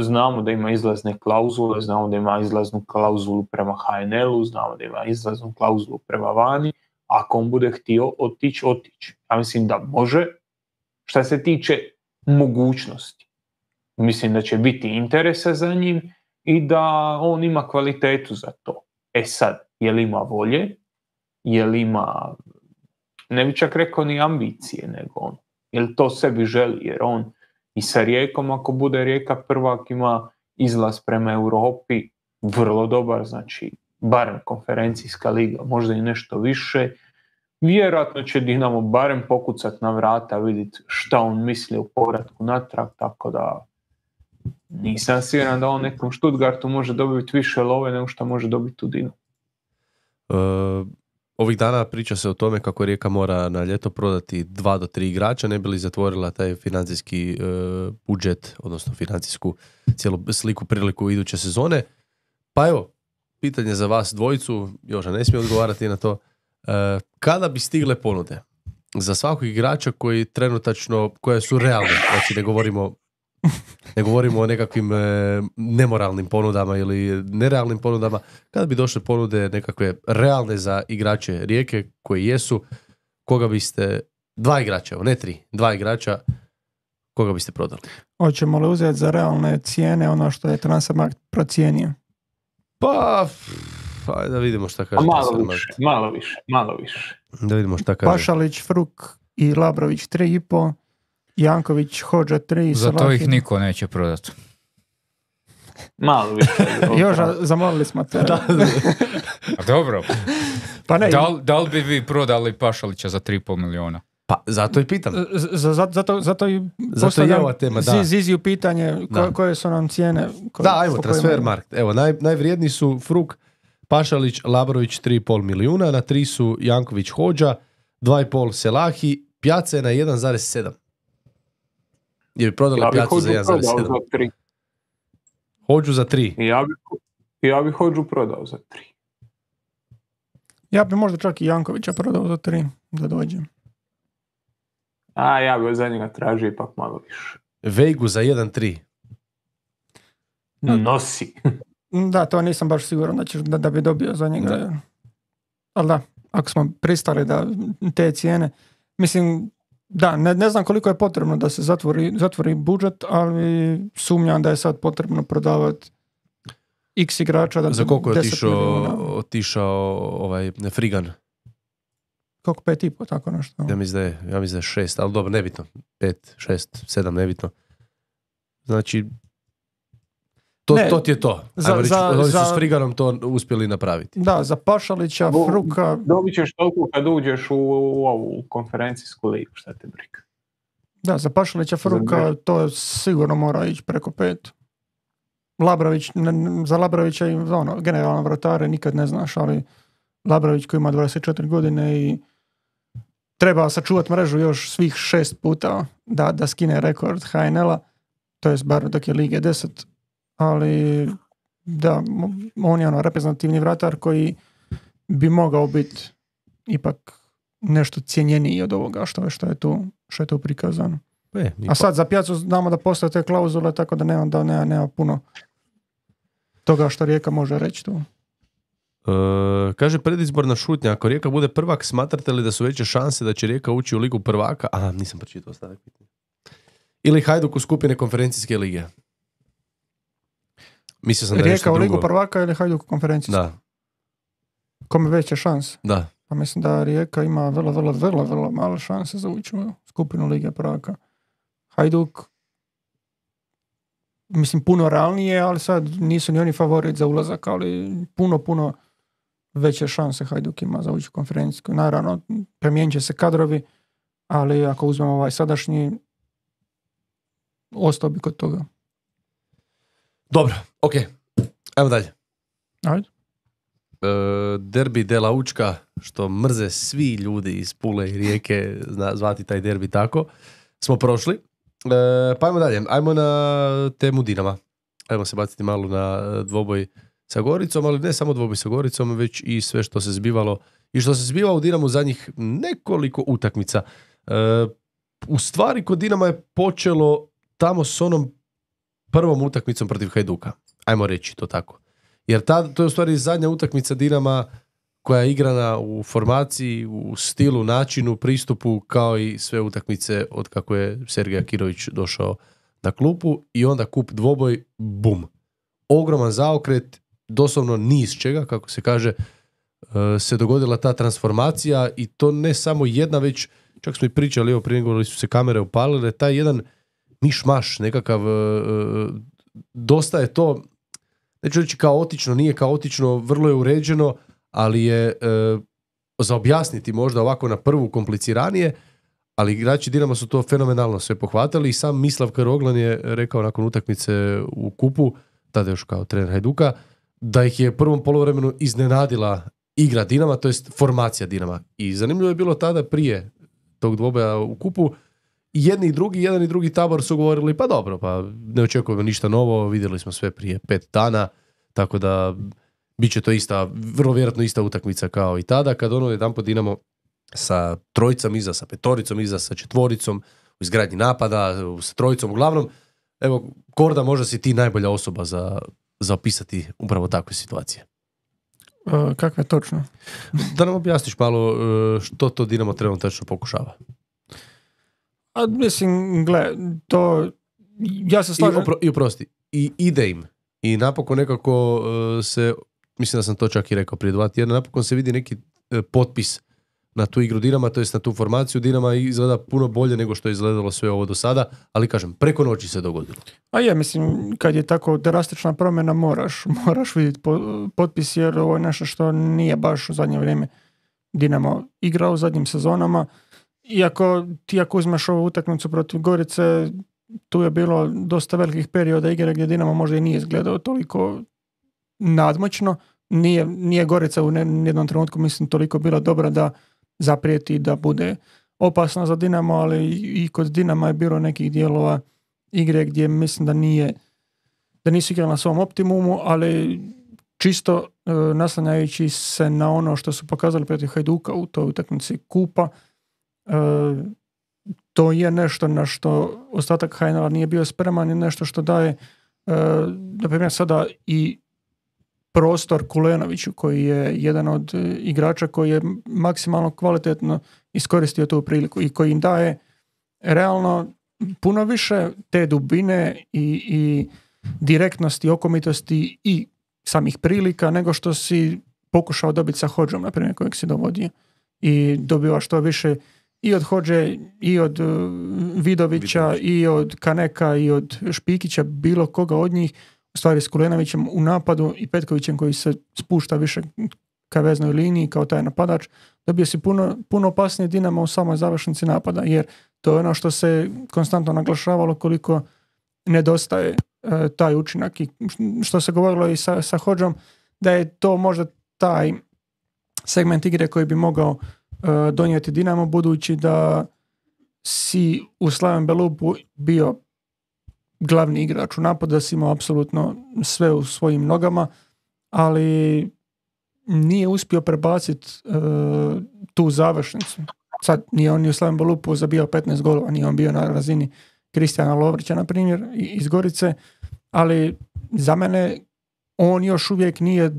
znamo da ima izlazne klauzule, znamo da ima izlaznu klauzulu prema H N L-u, znamo da ima izlaznu klauzulu prema vani. Ako on bude htio otići, otići. Ja mislim da može. Šta se tiče mogućnosti, mislim da će biti interesa za njim i da on ima kvalitetu za to. E sad, je li ima volje, je li ima, ne bi čak rekao ni ambicije, nego on, je li to sebi želi, jer on i sa Rijekom, ako bude Rijeka prvak, ima izlaz prema Europi vrlo dobar, znači barem konferencijska liga, možda i nešto više. Vjerojatno će Dinamo barem pokucat na vrata, vidjeti šta on misli o povratku natrag, tako da nisam siguran da on nekom Stuttgartu može dobiti više love nego što može dobiti u Dinamu. Uh, ovih dana priča se o tome kako Rijeka mora na ljeto prodati dva do tri igrača, ne bi li zatvorila taj financijski uh, budžet, odnosno financijsku cijelu sliku, priliku iduće sezone. Pa evo, pitanje za vas dvojicu, Joža ne smije odgovarati na to. Uh, kada bi stigle ponude za svakog igrača koji trenutačno, koje su realne, znači ne govorimo ne govorimo o nekakvim e, nemoralnim ponudama ili nerealnim ponudama, kada bi došle ponude nekakve realne za igrače Rijeke koji jesu, koga biste, dva igrača, ne tri, dva igrača, koga biste prodali? Hoćemo li uzeti za realne cijene ono što je Transfermarkt procijenio? Pa, pa da vidimo šta kaže. Malo više, malo više, malo više. Da vidimo šta kaže. Pašalić, Fruk i Labrović tri i po, Janković, Hodža tri, za to ih niko neće prodati. Malo više. Joža, zamolili smo te. Da. A dobro. Pa ne. Da, da li bi vi prodali Pašalića za tri i pol milijuna? Pa zato i pitam. Z- zato, zato i zato je ova tema, da. Ziziju pitanje ko, koje su nam cijene. Ko, da, ajmo, Transfermarkt. Evo, naj, najvrijedniji su Fruk, Pašalić, Labrović tri i pol milijuna, na tri su Janković, Hodža, dva i pol Selahi, Pjaca je na jedan zarez sedam. Je bi prodali ja Pjacu za jedan zarez sedam. Hodžu za tri. Ja bi, ja bi Hodžu prodao za tri. Ja bi možda čak i Jankovića prodao za tri, da dođem. A ja bi za njega tražio ipak malo više. Vejgu za jedan tri. Nosi. Da, to nisam baš siguran da, ćeš, da, da bi dobio za njega. Da. Ali da, ako smo pristali da te cijene, mislim, da, ne, ne znam koliko je potrebno da se zatvori, zatvori budžet, ali sumnjam da je sad potrebno prodavati x igrača. Da za koliko je otišao, otišao ovaj Frigan? Koliko, pet i po, tako nešto. Ja mislim da je, ja mislim da je šest, ali dobro, nebitno. Pet, šest, sedam, nebitno. Znači, to, ne, to ti je to. Za, reći, za, oni su za, s Friganom to uspjeli napraviti. Da, za Pašalića, Fruka... Dobit ćeš toliko kad uđeš u, u ovu konferencijsku ligu, šta te briga. Da, za Pašalića, Fruka to sigurno mora ići preko pet. Labrović, ne, za Labrovića i ono, generalno vratare nikad ne znaš, ali Labrović koji ima dvadeset četiri godine i treba sačuvati mrežu još svih šest puta da, da skine rekord H N L-a, to je bar dok je Lige deset, ali da, on je ono reprezentativni vratar koji bi mogao biti ipak nešto cijenjeniji od ovoga što je, što je tu, što je tu prikazano. E, a sad za Pjacu znamo da postoje te klauzule, tako da nema, da nema, nema puno toga što Rijeka može reći tu. Uh, kaže predizborna šutnja, ako Rijeka bude prvak, smatrate li da su veće šanse da će Rijeka ući u ligu prvaka? Aha, nisam pročitao stavak. Ili Hajduk u skupine konferencijske lige? Mislio sam da je Rijeka u ligu drugo. prvaka ili Hajduk u konferencijske? Da. Kome veće šanse? Da. Pa mislim da Rijeka ima vrlo, vrlo, vrlo, vrlo male šanse za ući u skupinu lige prvaka. Hajduk mislim puno realnije, ali sad nisu ni oni favorit za ulazak, ali puno, puno veće šanse Hajduk ima za ući u konferencijsku. Naravno, promijenit će se kadrovi, ali ako uzmemo ovaj sadašnji, ostao bi kod toga. Dobro, ok. Ajmo dalje. Ajde. E, derbi Dela Učka, što mrze svi ljudi iz Pule i Rijeke, zna, zvati taj derbi tako, smo prošli. E, pa ajmo dalje. Ajmo na temu Dinama. ajmo se baciti malo na dvoboj sa Goricom, ali ne samo dvoboj sa Goricom, već i sve što se zbivalo i što se zbivalo u Dinamu zadnjih nekoliko utakmica. E, u stvari kod Dinama je počelo tamo s onom prvom utakmicom protiv Hajduka. Ajmo reći to tako. Jer tad, to je u stvari zadnja utakmica Dinama koja je igrana u formaciji, u stilu, načinu, pristupu, kao i sve utakmice od kako je Sergej Akirović došao na klupu i onda kup dvoboj, bum. Ogroman zaokret, doslovno ni iz čega, kako se kaže, se dogodila ta transformacija i to ne samo jedna, već čak smo i pričali, evo prije nego su se kamere upalile, taj jedan mišmaš, nekakav, dosta je to, neću reći kaotično, nije kaotično, vrlo je uređeno, ali je e, za objasniti možda ovako na prvu kompliciranije, ali igrači Dinama su to fenomenalno sve pohvatali i sam Mislav Karoglan je rekao nakon utakmice u kupu, tada još kao trener Hajduka, da ih je u prvom poluvremenu iznenadila igra Dinama, to jest formacija Dinama. I zanimljivo je bilo tada prije tog dvoboja u kupu, jedni i drugi, jedan i drugi tabor su govorili pa dobro, pa ne očekujemo ništa novo, vidjeli smo sve prije pet dana, tako da bit će to ista, vrlo vjerojatno ista utakmica kao i tada, kad ono jedanput Dinamo sa trojicom iza, sa petoricom iza, sa četvoricom, u izgradnji napada, sa trojicom, uglavnom, evo, Korda, možda si ti najbolja osoba za, za opisati upravo takve situacije. Uh, kakve točno? Da nam objasniš malo uh, što to Dinamo trenutačno pokušava. A mislim, gle, to, ja se slažem. I, opro, i oprosti, i ide im. I napokon nekako uh, se, mislim da sam to čak i rekao prije dva tjedna, napokon se vidi neki uh, potpis na tu igru Dinama, to jest na tu formaciju Dinama izgleda puno bolje nego što je izgledalo sve ovo do sada, ali kažem, preko noći se dogodilo. A je, mislim, kad je tako drastična promjena, moraš, moraš vidjeti po, potpis, jer ovo je nešto što nije baš u zadnje vrijeme Dinamo igrao u zadnjim sezonama. Iako ti ako uzmeš ovu utakmicu protiv Gorice, tu je bilo dosta velikih perioda igre gdje Dinamo možda i nije izgledao toliko nadmoćno. Nije, nije Gorica u jednom trenutku, mislim, toliko bila dobra da zaprijeti da bude opasna za Dinamo, ali i kod Dinama je bilo nekih dijelova igre gdje mislim da nije da nisu igrali na svom optimumu, ali čisto e, naslanjajući se na ono što su pokazali protiv Hajduka u toj utakmici kupa, e, to je nešto na što ostatak H N L-a nije bio spreman i nešto što daje e, na primjer sada i prostor Kulenoviću, koji je jedan od igrača koji je maksimalno kvalitetno iskoristio tu priliku i koji im daje realno puno više te dubine i, i direktnosti, okomitosti i samih prilika nego što si pokušao dobiti sa Hodžom, na primjer, kojeg si dovodio. I dobiva što više i od Hodže, i od uh, Vidovića, Vidović. I od Kaneka, i od Špikića, bilo koga od njih, u stvari s Kulenovićem u napadu i Petkovićem koji se spušta više ka veznoj liniji kao taj napadač, dobio si puno, puno opasnije Dinamo u samoj završnici napada, jer to je ono što se konstantno naglašavalo koliko nedostaje e, taj učinak i što se govorilo i sa, sa Hodžom, da je to možda taj segment igre koji bi mogao e, donijeti Dinamo, budući da si u Slaven Belupu bio glavni igrač u napadu, da si imao apsolutno sve u svojim nogama, ali nije uspio prebaciti uh, tu završnicu. Sad nije on ni u Slaven Belupu zabijao petnaest golova, nije on bio na razini Kristijana Lovrića, na primjer, iz Gorice, ali za mene on još uvijek nije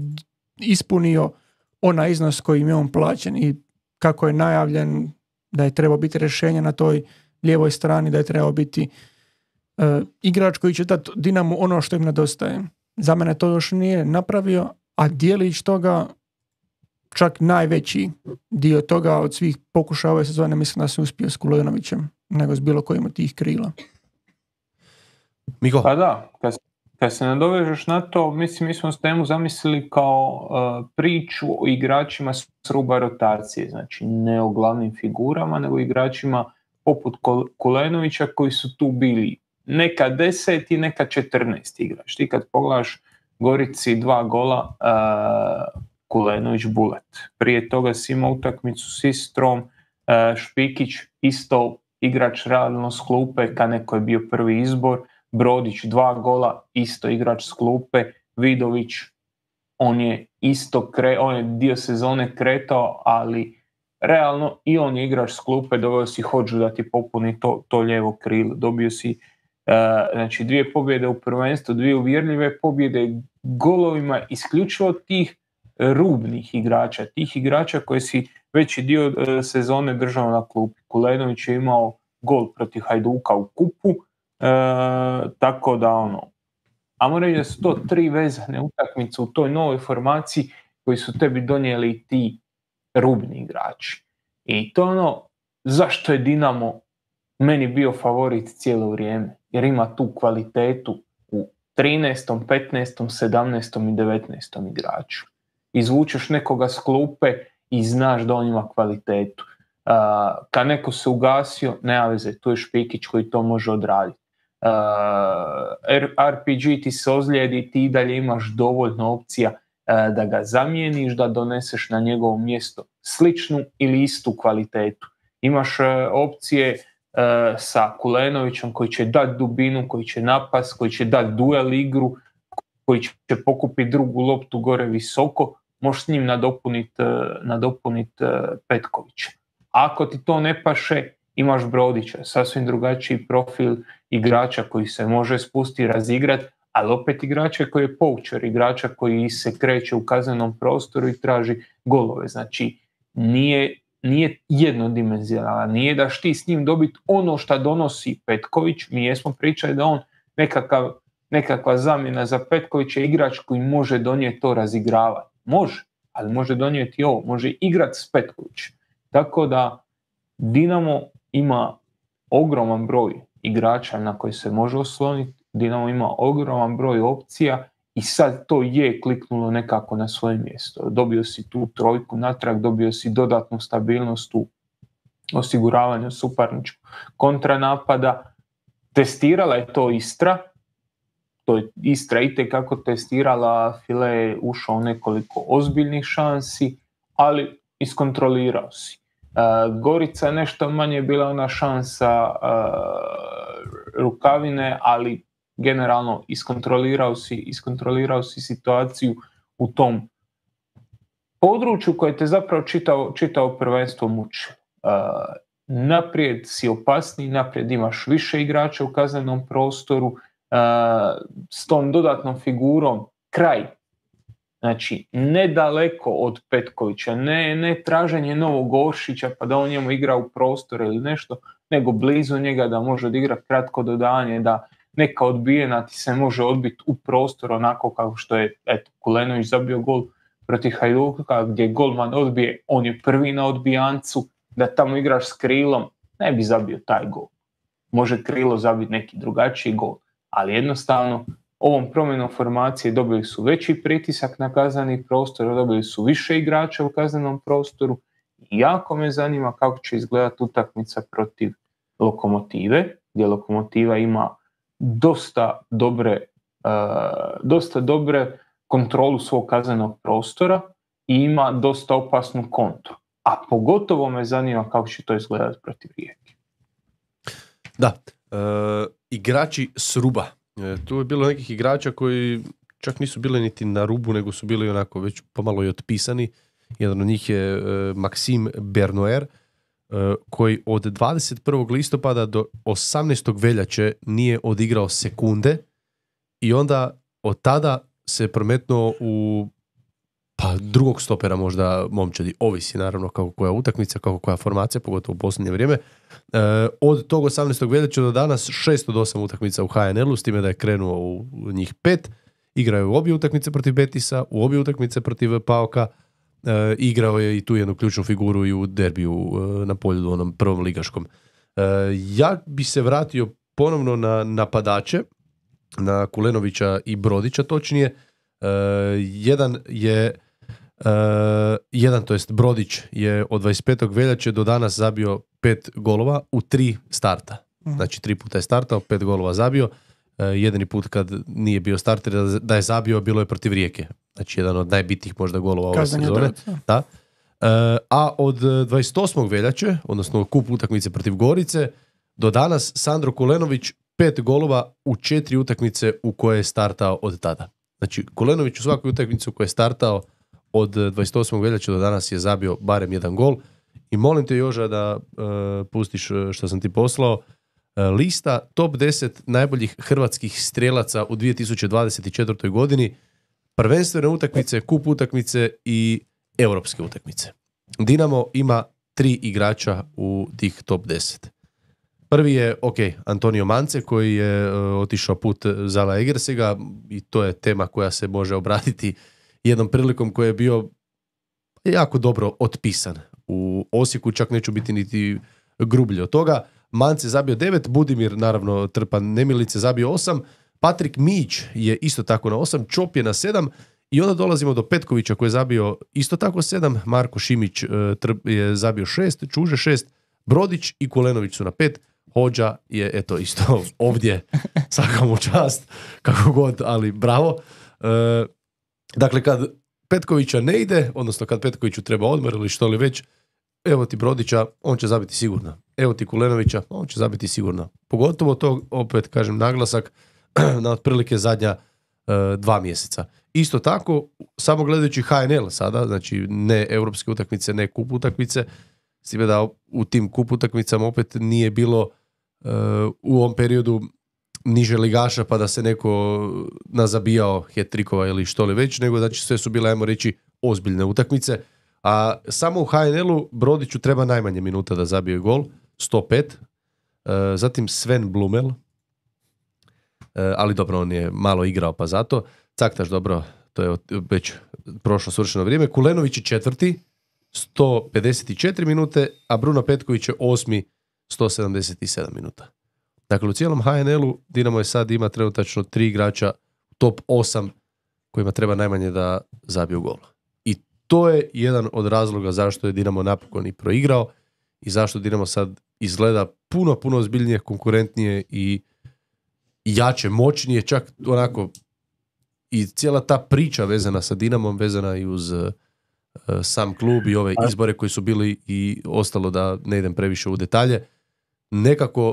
ispunio onaj iznos kojim je on plaćen i kako je najavljen da je trebao biti rješenje na toj lijevoj strani, da je trebao biti Uh, igrač koji će dati Dinamo ono što im nedostaje. Za mene to još nije napravio, a dijelić toga, čak najveći dio toga od svih pokušaja ove sezone, mislim da se uspio s Kulenovićem nego s bilo kojim od tih krila. Miko? Pa da, kad, kad se nadovežeš na to, mislim, mi smo s temu zamislili kao uh, priču o igračima s ruba rotacije, znači ne o glavnim figurama, nego igračima poput Kulenovića koji su tu bili neka deset i neka četrnaest igrač. Ti kad pogledaš Gorici dva gola, uh, Kulenović Bulet. Prije toga si imao utakmicu s Istrom, uh, Špikić isto igrač realno s klupe, kad neko je bio prvi izbor. Brodić dva gola, isto igrač s klupe, Vidović, on je isto kre, on je dio sezone kretao, ali realno i on je igrač s klupe, doveo si Hodžu da ti popuni to, to lijevo krilo, dobio si uh, znači dvije pobjede u prvenstvu, dvije uvjerljive pobjede golovima isključivo tih rubnih igrača, tih igrača koji si veći dio uh, sezone držao na klupi. Kulenović je imao gol protiv Hajduka u kupu, uh, tako da ono, a mora reći da su to tri vezane utakmice u toj novoj formaciji koji su tebi donijeli ti rubni igrači. I to ono, zašto je Dinamo meni bio favorit cijelo vrijeme? Jer ima tu kvalitetu u trinaestom, petnaestom, sedamnaestom i devetnaestom igraču. Izvučeš nekoga s klupe i znaš da on ima kvalitetu. Uh, kad neko se ugasio, nema veze, tu je Špikić koji to može odraditi. Uh, R P G ti se ozlijedi, ti dalje imaš dovoljno opcija uh, da ga zamijeniš, da doneseš na njegovo mjesto sličnu ili istu kvalitetu. Imaš uh, opcije uh, sa Kulenovićem koji će dati dubinu, koji će napast, koji će dati duel igru, koji će pokupiti drugu loptu gore visoko, možeš s njim nadopuniti uh, nadopunit, uh, Petkovića. Ako ti to ne paše, imaš Brodića, sasvim drugačiji profil igrača koji se može spustiti, razigrati, ali opet igrača koji je poučer, igrača koji se kreće u kaznenom prostoru i traži golove. Znači, nije, nije jednodimenzionalan, nije daš ti s njim dobiti ono što donosi Petković. Mi jesmo pričali da on nekakav, nekakva zamjena za Petkovića je igrač koji može donijeti to razigravanje. Može, ali može donijeti ovo, može igrati s Petkovićem. Tako da Dinamo ima ogroman broj igrača na koji se može osloniti, Dinamo ima ogroman broj opcija i sad to je kliknulo nekako na svoje mjesto. Dobio si tu trojku natrag, dobio si dodatnu stabilnost u osiguravanju suparničkog kontranapada. Testirala je to Istra, to je Istra itekako testirala, File je ušao nekoliko ozbiljnih šansi, ali iskontrolirao si. Uh, Gorica je nešto manje bila ona šansa uh, Rukavine, ali generalno iskontrolirao si, iskontrolirao si situaciju u tom području koje te zapravo čitao, čitao prvenstvo muči. Uh, naprijed si opasniji, naprijed imaš više igrača u kaznenom prostoru, uh, s tom dodatnom figurom kraj. Znači, nedaleko od Petkovića, ne, ne traženje novog Oršića pa da on njemu igra u prostor ili nešto, nego blizu njega da može odigrati kratko dodanje, da neka odbijena ti se može odbiti u prostor onako kao što je eto, Kulenović zabio gol protiv Hajduka gdje golman odbije, on je prvi na odbijancu, da tamo igraš s krilom, ne bi zabio taj gol. Može krilo zabiti neki drugačiji gol, ali jednostavno ovom promjenom formacije dobili su veći pritisak na kazneni prostor, dobili su više igrača u kaznenom prostoru i jako me zanima kako će izgledati utakmica protiv Lokomotive, gdje Lokomotiva ima dosta dobre, uh, dosta dobre kontrolu svog kaznenog prostora i ima dosta opasnu kontru. A pogotovo me zanima kako će to izgledati protiv Rijeke. Da, e, igrači s ruba. E, tu je bilo nekih igrača koji čak nisu bili niti na rubu, nego su bili onako već pomalo i otpisani. Jedan od njih je e, Maxime Bernoer, e, koji od dvadeset prvog listopada do osamnaestog veljače nije odigrao sekunde i onda od tada se prometnuo u pa drugog stopera možda momčadi, ovisi naravno kako koja utakmica, kako koja formacija, pogotovo u posljednje vrijeme. E, od tog osamnaestog veljače do danas šest od osam utakmica u H N L-u, s time da je krenuo u njih pet. Igrao je u obje utakmice protiv Betisa, u obje utakmice protiv Paoka, e, igrao je i tu jednu ključnu figuru i u derbiju e, na polju u onom prvom ligaškom. E, ja bi se vratio ponovno na napadače, na Kulenovića i Brodića točnije. Uh, jedan je uh, jedan, to jest Brodić je od dvadeset petog veljače do danas zabio pet golova u tri starta. Mm. Znači tri puta je startao, pet golova zabio. Uh, jedini put kad nije bio starter da je zabio bilo je protiv Rijeke. Znači jedan od najbitnijih možda golova ove sezone. Da. Uh, a od dvadeset osmog veljače, odnosno kup utakmice protiv Gorice, do danas Sandro Kulenović pet golova u četiri utakmice u koje je startao od tada. Znači, Kulenović u svakoj utakmici u kojoj je startao od dvadeset osmog veljače do danas je zabio barem jedan gol. I molim te, Joža, da uh, pustiš što sam ti poslao. Uh, lista top deset najboljih hrvatskih strelaca u dvije tisuće dvadeset četvrtoj godini. Prvenstvene utakmice, kup utakmice i europske utakmice. Dinamo ima tri igrača u tih top deset. Prvi je, ok, Antonio Mance, koji je uh, otišao put Zala Egersega i to je tema koja se može obratiti jednom prilikom koji je bio jako dobro otpisan. U Osijeku čak neću biti niti grublji od toga. Mance zabio devet, Budimir, naravno, trpa nemilice, zabio osam, Patrik Mić je isto tako na osam, Čop je na sedam i onda dolazimo do Petkovića koji je zabio isto tako sedam, Marko Šimić uh, trp, je zabio šest, Čuže šest, Brodić i Kulenović su na pet, Hođa je, eto, isto ovdje, svaka mu čast, kako god, ali bravo. E, dakle, kad Petkovića ne ide, odnosno kad Petkoviću treba odmor ili što li već, evo ti Brodića, on će zabiti sigurno. Evo ti Kulenovića, on će zabiti sigurno. Pogotovo to, opet kažem, naglasak na otprilike zadnja e, dva mjeseca. Isto tako, samo gledajući H N L sada, znači ne europske utakmice, ne kup utakmice, s time da u tim kup utakmicama opet nije bilo uh, u ovom periodu niže ligaša pa da se neko nazabijao hat-trikova ili što li već, nego znači sve su bile, ajmo reći, ozbiljne utakmice. A samo u H N L-u Brodiću treba najmanje minuta da zabije gol, sto pet. Uh, zatim Sven Blumel, uh, ali dobro, on je malo igrao pa zato. Caktaš, dobro, to je već prošlo svršeno vrijeme. Kulenović je četvrti, sto pedeset četiri minute, a Bruno Petković je osmi, sto sedamdeset sedam minuta. Dakle, u cijelom H N L-u Dinamo je sad ima trenutačno tri igrača top osam kojima treba najmanje da zabiju gol. I to je jedan od razloga zašto je Dinamo napokon i proigrao i zašto Dinamo sad izgleda puno, puno ozbiljnije, konkurentnije i jače, moćnije, čak onako i cijela ta priča vezana sa Dinamom, vezana i uz sam klub i ove izbore koji su bili i ostalo, da ne idem previše u detalje, nekako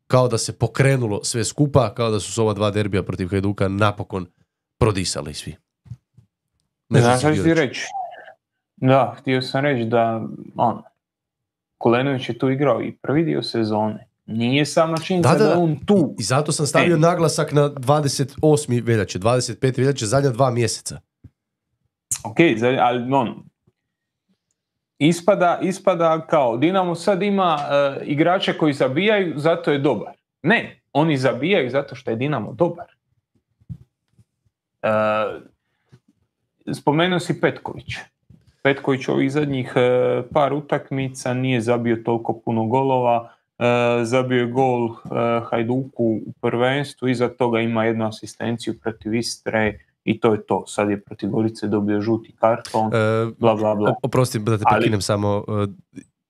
kao da se pokrenulo sve skupa, kao da su s ova dva derbija protiv Hajduka napokon prodisali svi. Ne znam što ti reći. Da, htio sam reći da on, Kulenović je tu igrao i prvi dio sezone. Nije sama činjenica da, da, da on tu. I zato sam stavio e. naglasak na dvadeset osmi veljače, dvadeset peti veljače, zadnja dva mjeseca. Ok, ali on, ispada, ispada kao Dinamo sad ima uh, igrače koji zabijaju, zato je dobar. Ne, oni zabijaju zato što je Dinamo dobar. Uh, spomenuo si Petković. Petković ovih zadnjih uh, par utakmica nije zabio toliko puno golova. Uh, zabio je gol uh, Hajduku u prvenstvu, iza toga ima jednu asistenciju protiv Istre i to je to. Sad je protiv Gorice dobio žuti karton, e, bla bla bla. Oprosti da te prekinem Ali... samo.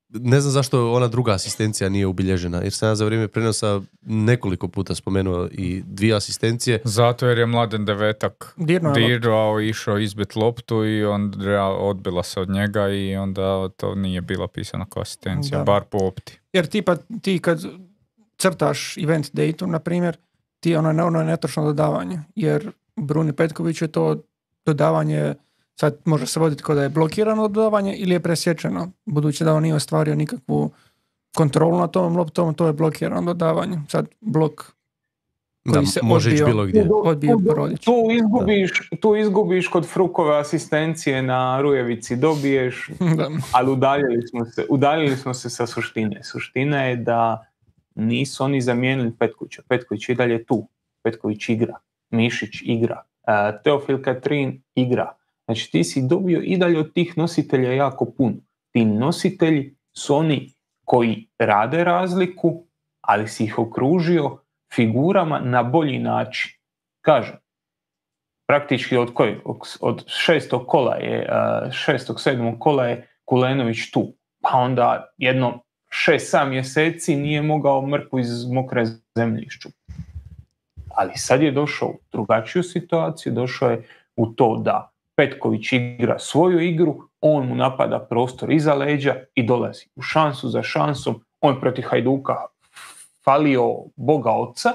Ne znam zašto ona druga asistencija nije ubilježena, jer sam ja za vrijeme prenosa nekoliko puta spomenuo i dvije asistencije. Zato jer je Mladen Devetak dirao, išao izbit loptu i onda odbila se od njega i onda to nije bila pisana kao asistencija, da. Bar po opti. Jer tipa ti kad crtaš event date, na primjer, ti ono, ono je netočno dodavanje, jer Bruni Petković je to dodavanje, sad može se voditi kao da je blokirano dodavanje ili je presječeno, budući da on nije ostvario nikakvu kontrolu na tom loptom, to je blokirano dodavanje. Sad blok koji da, se može odbio, bilo gdje. odbio Brodić. Tu izgubiš, tu izgubiš kod Frukove asistencije na Rujevici, dobiješ, da. Ali udaljili smo se, udaljili smo se sa suštine. Suština je da nisu oni zamijenili Petkovića. Petković i dalje tu. Petković igra. Mišić igra, uh, Teofil Katrin igra. Znači ti si dobio i dalje od tih nositelja jako puno. Ti nositelji su oni koji rade razliku, ali si ih okružio figurama na bolji način. Kažem, praktički od, koji, od šestog kola je, uh, šestog, sedmog kola je Kulenović tu. Pa onda jedno šest, sedam mjeseci nije mogao mrkvu iz mokre zemlje iščupati. Ali sad je došao u drugačiju situaciju, došao je u to da Petković igra svoju igru, on mu napada prostor iza leđa i dolazi u šansu za šansom. On protiv Hajduka falio Boga oca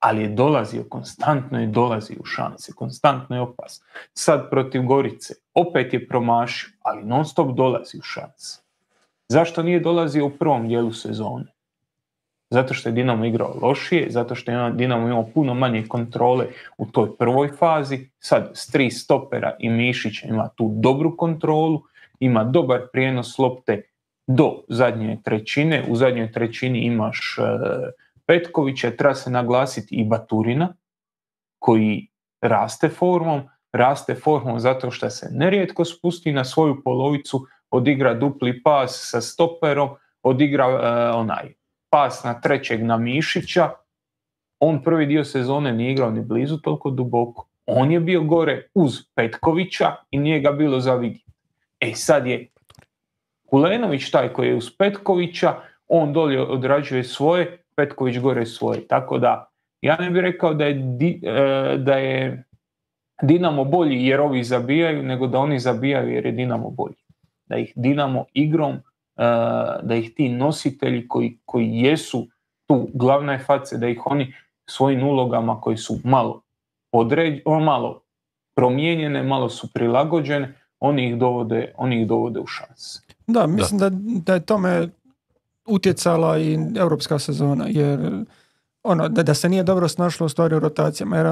ali je dolazio, konstantno je dolazio u šanse, konstantno je opasno. Sad protiv Gorice, opet je promašio, ali non stop dolazi u šanse. Zašto nije dolazio u prvom dijelu sezone? Zato što je Dinamo igrao lošije, zato što je Dinamo imao puno manje kontrole u toj prvoj fazi. Sad s tri stopera i Mišića ima tu dobru kontrolu, ima dobar prijenos lopte do zadnje trećine. U zadnjoj trećini imaš e, Petkovića, treba se naglasiti i Baturina, koji raste formom, raste formom zato što se nerijetko spusti na svoju polovicu, odigra dupli pas sa stoperom, odigra e, onaj pas na trećeg na Mišića. On prvi dio sezone nije igrao ni blizu toliko duboko. On je bio gore uz Petkovića i nije ga bilo za vidjeti. E sad je Kulenović taj koji je uz Petkovića, on dolje odrađuje svoje, Petković gore svoje. Tako da ja ne bih rekao da je, di, da je Dinamo bolji jer ovi zabijaju, nego da oni zabijaju jer je Dinamo bolji. Da ih Dinamo igrom, da ih ti nositelji koji, koji jesu tu glavne face, da ih oni svojim ulogama koji su malo, određ, malo promijenjene, malo su prilagođene, oni ih dovode, oni ih dovode u šanse. Da, mislim da, da je tome utjecala i europska sezona, jer ono, da, da se nije dobro snašlo u stvari u rotacijama, jer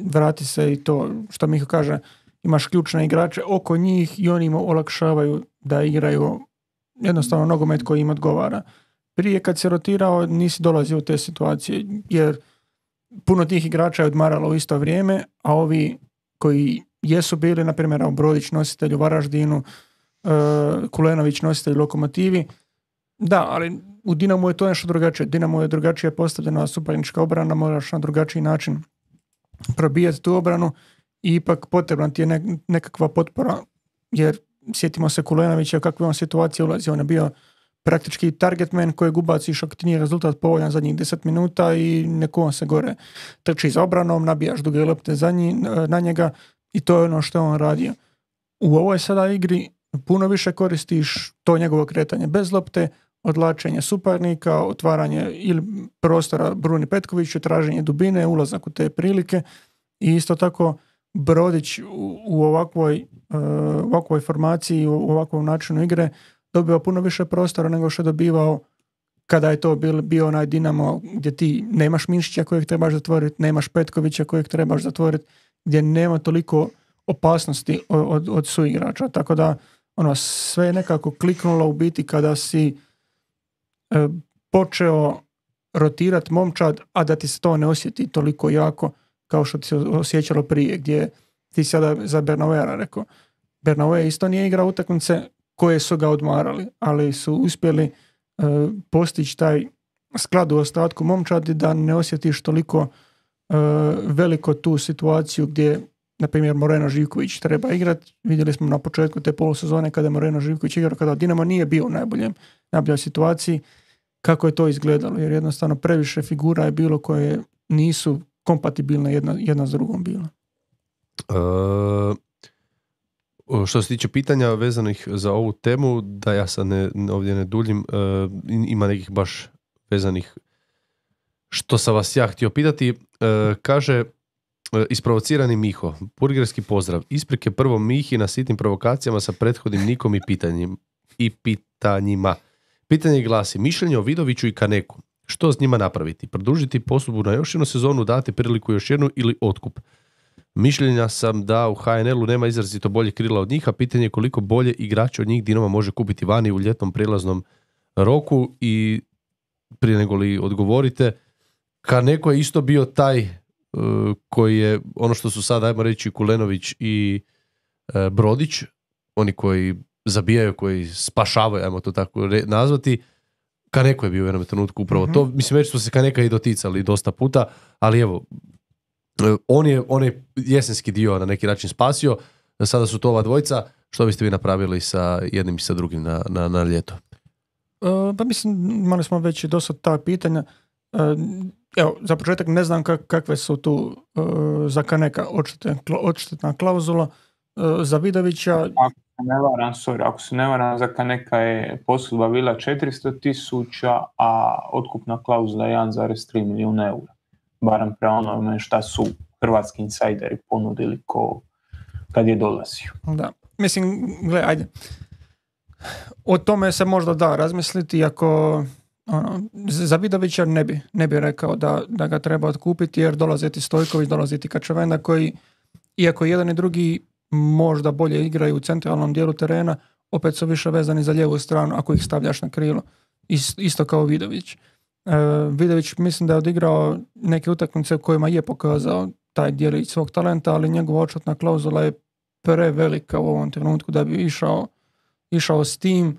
vrati se i to što Miho kaže, imaš ključne igrače oko njih i oni im olakšavaju da igraju jednostavno nogomet koji im odgovara. Prije kad se rotirao nisi dolazio u te situacije, jer puno tih igrača je odmaralo u isto vrijeme, a ovi koji jesu bili, na primjer Brodić nositelj u Varaždinu, uh, Kulenović nositelj u Lokomotivi, da, ali u Dinamu je to nešto drugačije. Dinamo je drugačije postavljena suparnička obrana, moraš na drugačiji način probijati tu obranu i ipak potrebna ti je ne, nekakva potpora, jer sjetimo se Kulenovića kakve on situacije ulazi. On je bio praktički target man kojeg ubaciš ako ti nije rezultat povoljan zadnjih deset minuta i neko on se gore trči za obranom, nabijaš duge lopte za njih, na njega i to je ono što on radio. U ovoj sada igri puno više koristiš to njegovo kretanje bez lopte, odlačenje suparnika, otvaranje ili prostora Bruni Petkoviću, traženje dubine, ulazak u te prilike i isto tako Brodić u, u ovakvoj, uh, ovakvoj formaciji, u ovakvom načinu igre dobio puno više prostora nego što je dobivao kada je to bil, bio onaj Dinamo gdje ti nemaš Mišića kojeg trebaš zatvoriti, nemaš Petkovića kojeg trebaš zatvoriti, gdje nema toliko opasnosti od, od, od suigrača. Tako da ono, sve je nekako kliknulo u biti kada si e, počeo rotirati momčad, a da ti se to ne osjeti toliko jako kao što ti se osjećalo prije, gdje ti sada za Bernauera rekao. Bernauer isto nije igrao utakmice koje su ga odmarali, ali su uspjeli e, postići taj sklad u ostatku momčadi da ne osjetiš toliko e, veliko tu situaciju gdje, na primjer, Moreno Živković treba igrati. Vidjeli smo na početku te polusezone kada je Moreno Živković igrao, kada Dinamo nije bio u najboljem, najboljoj situaciji, kako je to izgledalo, jer jednostavno previše figura je bilo koje nisu kompatibilne jedna, jedna s drugom bilo. Uh... Što se tiče pitanja vezanih za ovu temu, da ja sad ne, ovdje ne duljim, uh, ima nekih baš vezanih što sam vas ja htio pitati. Uh, kaže, uh, isprovocirani Miho, burgerski pozdrav, isprike prvo Mihi na sitnim provokacijama sa prethodnim nikom i pitanjim, i pitanjima. Pitanje glasi, mišljenje o Vidoviću i Kaneku. Što s njima napraviti? Produžiti posudbu na još jednu sezonu, dati priliku još jednu ili otkup? Mišljenja sam da u H N L-u nema izrazito bolje krila od njih, a pitanje je koliko bolje igrače od njih Dinamo može kupiti vani u ljetnom prijelaznom roku. I prije nego li odgovorite, Kaneko je isto bio taj uh, koji je, ono što su sad, ajmo reći, Kulenović i uh, Brodić, oni koji zabijaju, koji spašavaju, ajmo to tako re- nazvati. Kaneko je bio u jednom trenutku upravo mm-hmm. to. Mislim, već su se Kaneka i doticali dosta puta, ali evo, On je, on je jesenski dio na neki način spasio, sada su to ova dvojica. Što biste vi napravili sa jednim i sa drugim na, na, na ljeto? Uh, pa mislim, imali smo već dosta ta pitanja. Uh, evo, za početak ne znam kak, kakve su tu uh, za Kaneka odštetna klauzula. Uh, za Vidovića... Ako se ne varam, sorry, ako se ne varam, za Kaneka je posudba bila četiristo tisuća, a otkupna klauzula je jedan zarez tri milijuna eura. barem prema onome šta su hrvatski insajderi ponudili ko kad je dolazio. Da, mislim, gle, ajde. O tome se možda da razmisliti, ako ono, za Vidovića ne bi, ne bi rekao da, da ga treba otkupiti, jer dolazi ti Stojković, dolazi ti Kačavenda koji, iako jedan i drugi možda bolje igraju u centralnom dijelu terena, opet su više vezani za lijevu stranu ako ih stavljaš na krilo. Isto kao Vidović. E, Vidović mislim da je odigrao neke utakmice u kojima je pokazao taj dijelić svog talenta, ali njegova odšutna klauzula je prevelika u ovom trenutku da bi išao, išao s tim,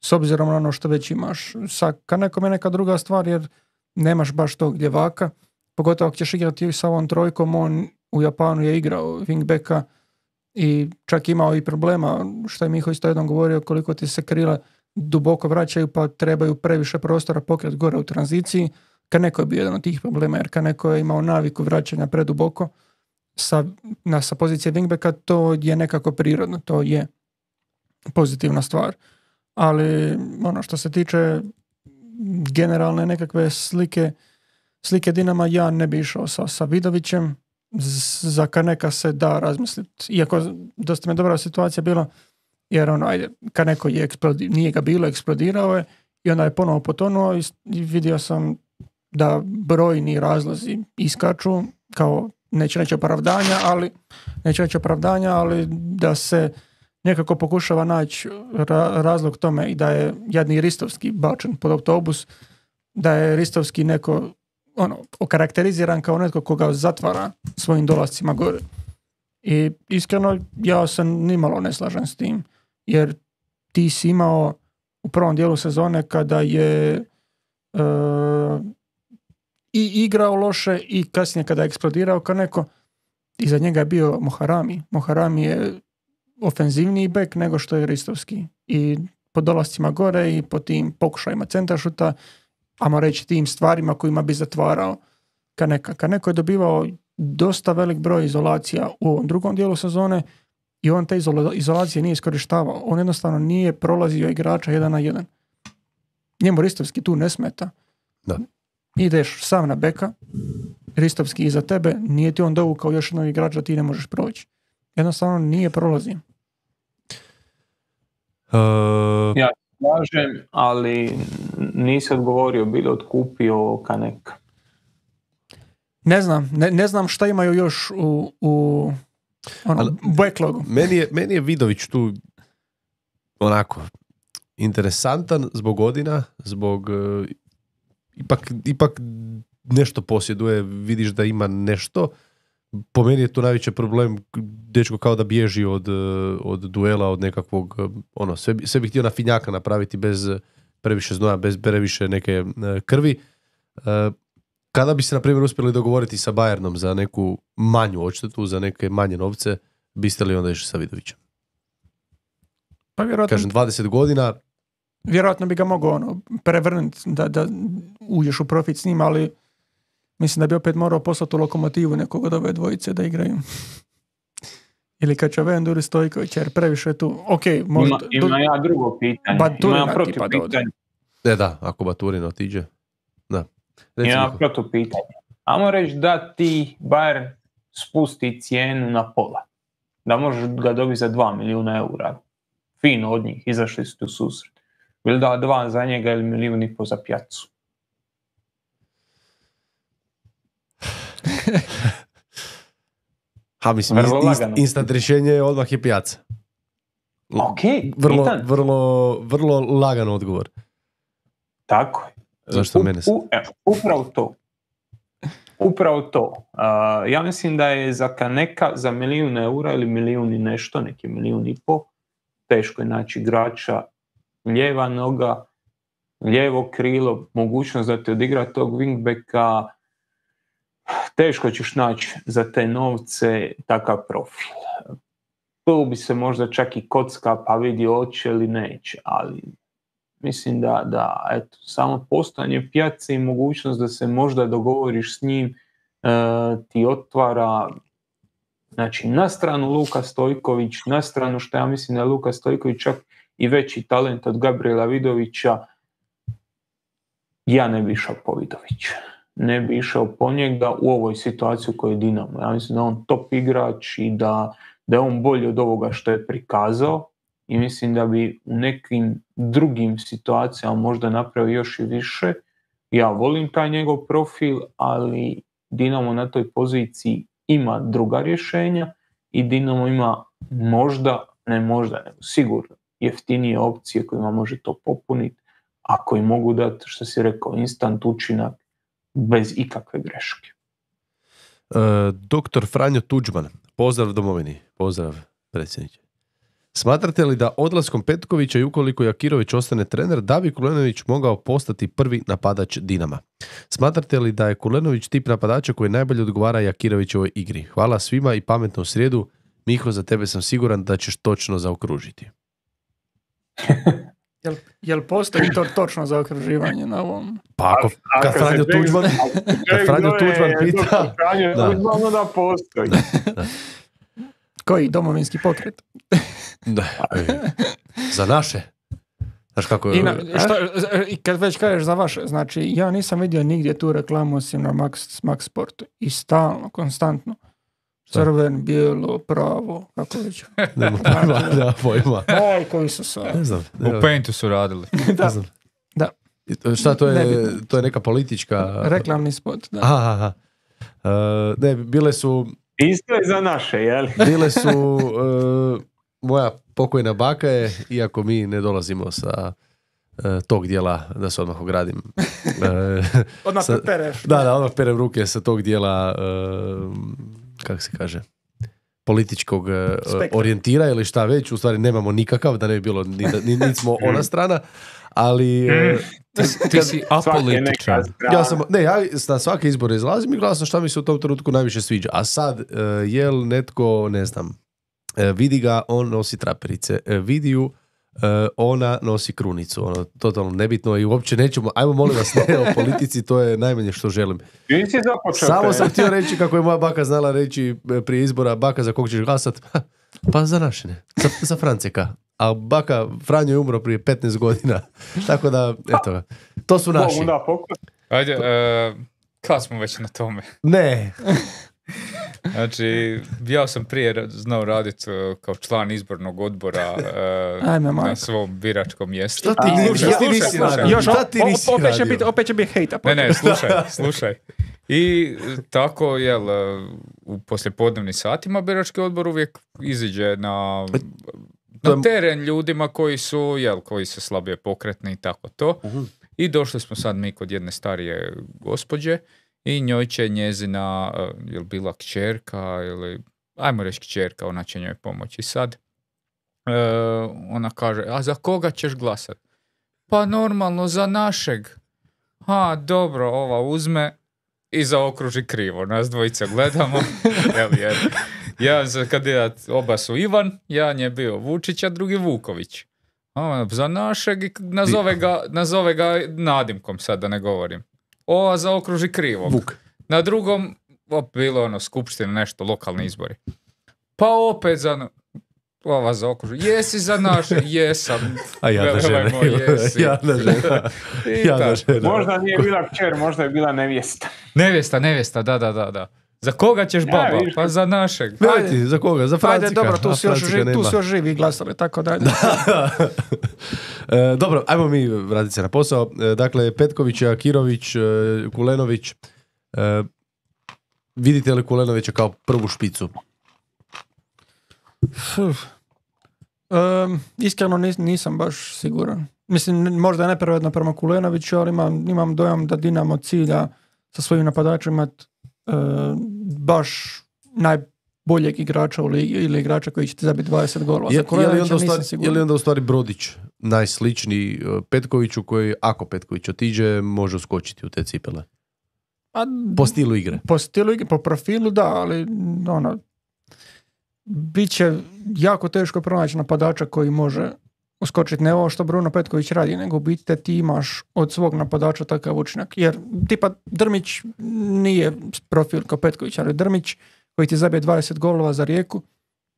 s obzirom na ono što već imaš. Sa Kanekom je neka druga stvar, jer nemaš baš tog ljevaka, pogotovo ako ćeš igrati sa ovom trojkom. On u Japanu je igrao wingbacka i čak imao i problema, što je Miho isto jednom govorio, koliko ti se krila duboko vraćaju pa trebaju previše prostora pokret gore u tranziciji. Kaneko je bio jedan od tih problema, jer Kaneko je imao naviku vraćanja preduboko sa, na, sa pozicije wingbacka. To je nekako prirodno, to je pozitivna stvar. Ali ono što se tiče generalne nekakve slike slike Dinama, ja ne bi išao sa, sa Vidovićem. Za Kaneka se da razmisliti. Iako dosta mi je dobra situacija bila, jer ono, ajde, Kaneko je eksplodi, nije ga bilo, eksplodirao je i onda je ponovo potonuo i, i vidio sam da brojni razlozi iskaču, kao neće reći opravdanja, ali neće reći opravdanja, ali da se nekako pokušava naći ra- razlog tome i da je jadni Ristovski bačen pod autobus, da je Ristovski neko ono, okarakteriziran kao netko koga zatvara svojim dolascima gore. I iskreno, ja se nimalo ne slažem s tim, jer ti si imao u prvom dijelu sezone kada je uh, i igrao loše i kasnije kada je eksplodirao Kaneko, iza njega je bio Moharami. Moharami je ofenzivniji bek nego što je Ristovski. I po dolascima gore i po tim pokušajima centaršuta, ajmo reći tim stvarima kojima bi zatvarao Kaneka. Kaneko je dobivao dosta velik broj izolacija u ovom drugom dijelu sezone i on te izola- izolacije nije iskorištavao. On jednostavno nije prolazio igrača jedan na jedan. Njemu Ristovski tu ne smeta. Da. Ideš sam na beka, Ristovski iza tebe, nije ti on dovukao još jednog igrača, ti ne možeš proći. Jednostavno nije prolazio. Uh, Ja slažem, ali nisi odgovorio, bi li otkupio Kaneka? Ne znam, ne, ne znam šta imaju još u, u ono, Ali- backlogu. meni, je, meni je Vidović tu onako interesantan zbog godina, zbog uh, ipak, ipak nešto posjeduje, vidiš da ima nešto. Po meni je tu najveći problem, dečko kao da bježi od, od duela, od nekakvog, ono, sve, bi- sve bi htio na finjaka napraviti bez previše znoja, bez previše neke e, krvi. E, kada bi se, na primjer, uspjeli dogovoriti sa Bayernom za neku manju odštetu, za neke manje novce, biste li onda išli sa Vidovićem? Pa vjerojatno, Kažem, dvadeset godina, vjerojatno bi ga mogao ono, prevrnuti da, da uđeš u profit s njim, ali mislim da bi opet morao poslati u Lokomotivu nekog od ove dvojice da igraju. Ili Kačavendu ili Stojković, jer previše je tu. Ok, možda... Ima, ima ja drugo pitanje. Baturina Ima ja protiv tipa da ode. pitanje. e da, ako Baturin otiđe. Da. Reci, Ima Niko. protiv pitanje. Ajmo reći da ti Bayern spusti cijenu na pola. Da možeš ga dobiti za dva milijuna eura. Fino od njih, izašli su tu susret. Ili da dva za njega ili milijun i po za pjacu. Ha, mislim, Vrlo inst- lagano. instant rješenje je odmah je pijaca. Ok, Vrlo, pitan. vrlo, vrlo lagan odgovor. Tako je. Zašto U- mene se- u- evo, upravo to. Upravo to. Uh, ja mislim da je za Kaneka za milijun eura ili milijun i nešto, neki milijun i po, teško je naći igrača, lijeva noga, lijevo krilo, mogućnost da ti odigra tog wingbacka, teško ćeš naći za te novce takav profil. Tu bi se možda čak i kocka pa vidi hoće ili neće, ali mislim da, da eto, samo postojanje pijace i mogućnost da se možda dogovoriš s njim e, ti otvara, znači, na stranu Luka Stojković, na stranu što ja mislim da je Luka Stojković čak i veći talent od Gabriela Vidovića, ja ne bi išao po Vidovića. ne bi išao po njega u ovoj situaciji u kojoj je Dinamo. Ja mislim da on top igrač i da, da je on bolji od ovoga što je prikazao i mislim da bi u nekim drugim situacijama možda napravio još i više. Ja volim taj njegov profil, ali Dinamo na toj poziciji ima druga rješenja i Dinamo ima možda, ne možda, nego sigurno jeftinije opcije kojima može to popuniti, a koji mogu dati, što si rekao, instant učinak bez ikakve greške. E, doktor Franjo Tuđman, pozdrav domovini, pozdrav predsjedniče. Smatrate li da odlaskom Petkovića i ukoliko Jakirović ostane trener, da bi Kulenović mogao postati prvi napadač Dinama? Smatrate li da je Kulenović tip napadača koji najbolje odgovara Jakirovićevoj igri? Hvala svima i pametno u srijedu. Miho, za tebe sam siguran da ćeš točno zaokružiti. Jel, jel postoji to točno zaokruživanje na ovom? Pa ako, kad Franjo Tuđman, kad Franjo Tuđman pita... Da. Da postoji. Da, da. Koji domovinski pokret? Da. Za naše. Znaš kako je... I na, što, i kad već kažeš za vaše, znači ja nisam vidio nigdje tu reklamu osim na Max, Max Sportu. I stalno, konstantno. Crven, bijelo, pravo, kako već. Nema pojma, nema pojma. Aj, koji su sve. Ne znam. U Paintu su radili. Da. Ne znam. Da. Šta, to je, Nebitno. to je neka politička... Reklamni spot, da. Aha, aha. Uh, ne, bile su... Isto je za naše, jel? Bile su... Uh, moja pokojna baka je, iako mi ne dolazimo sa uh, tog dijela, da se odmah ogradim. Uh, Odmah sa, pereš. Da, da, odmah perem ruke sa tog dijela, uh, kako se kaže, političkog uh, orijentira ili šta već, u stvari nemamo nikakav, da ne bi bilo, ni, ni, ni smo ona strana, ali... Uh, ti, ti si apolitičan. Ja sam, ne, ja na svake izbore izlazim i glasam šta mi se u tom trenutku najviše sviđa. A sad, uh, jel netko, ne znam, uh, vidi ga, on nosi traperice, uh, vidi ju, uh, ona nosi krunicu. Ono, totalno nebitno i uopće nećemo, ajmo molim vas, ne o politici, to je najmanje što želim. Samo sam htio reći kako je moja baka znala reći prije izbora, baka za kog ćeš glasat? Pa za naše ne, za, za Franceka. A baka Franjo je umro prije petnaest godina. Tako da, eto ga. To su naši. Ajde, uh, kad smo već na tome? Ne. Znači, ja sam prije znao raditi uh, kao član izbornog odbora uh, Ajme, na svom biračkom mjestu. Što ti, A, slušaj, ja, slušaj, nisi slušaj. radio? Još, Šta ti nisi opet, će radio? biti, opet će biti hejta. Ne, ne, slušaj, slušaj. I tako, jel, u poslijepodnevnim satima birački odbor uvijek iziđe na... na teren ljudima koji su, jel, koji su slabije pokretni i tako to. Uh-huh. I došli smo sad mi kod jedne starije gospođe i njoj će njezina, uh, jel bila kćerka ili, ajmo reći kćerka, ona će njoj pomoći. Sad uh, ona kaže, a za koga ćeš glasat? Pa normalno, za našeg. Ha, dobro, ova uzme i zaokruži krivo. Nas dvojica gledamo. jel, jer jedan za kandidat, oba su Ivan, jedan je bio Vučić, a drugi Vuković. A, za našeg nazove ga, nazove ga nadimkom, sad da ne govorim. Ova zaokruži krivo. Vuk. Na drugom, op, bilo ono, skupština, nešto, lokalni izbori. Pa opet za... Ova zaokruži. Jesi za naše? Jesam. A ja da žene. Ja da žena. Ja da žena. Možda nije bila kćer, možda je bila nevjesta. Nevjesta, nevjesta, da, da, da, da. Za koga ćeš baba? Ja, pa za našeg. Ne ti, za koga? Za Francika. Ajde, dobro, tu su još, živ, tu su još živi glasali, tako da. e, dobro, ajmo mi vratiti se na posao. E, dakle, Petković, Akirović, e, Kulenović. E, vidite li Kulenovića kao prvu špicu? Um, iskreno nis, nisam baš siguran. Mislim, možda je nepravedno prema Kulenoviću, ali imam, imam dojam da Dinamo cilja sa svojim napadačima imati uh, baš najboljeg igrača u ligi ili igrača koji će ti zabiti dvadeset golova. Je, je, li onda stvari, je li onda u stvari Brodić najsličniji Petkoviću koji, ako Petković otiđe, može uskočiti u te cipele? A, po stilu igre? Po stilu igre, po profilu da, ali ono, bit će jako teško pronaći napadača koji može uskočiti. Ne ovo što Bruno Petković radi, nego biti te ti imaš od svog napadača takav učinak. Jer tipa Drmić nije profil kao Petković, ali Drmić koji ti zabije dvadeset golova za Rijeku,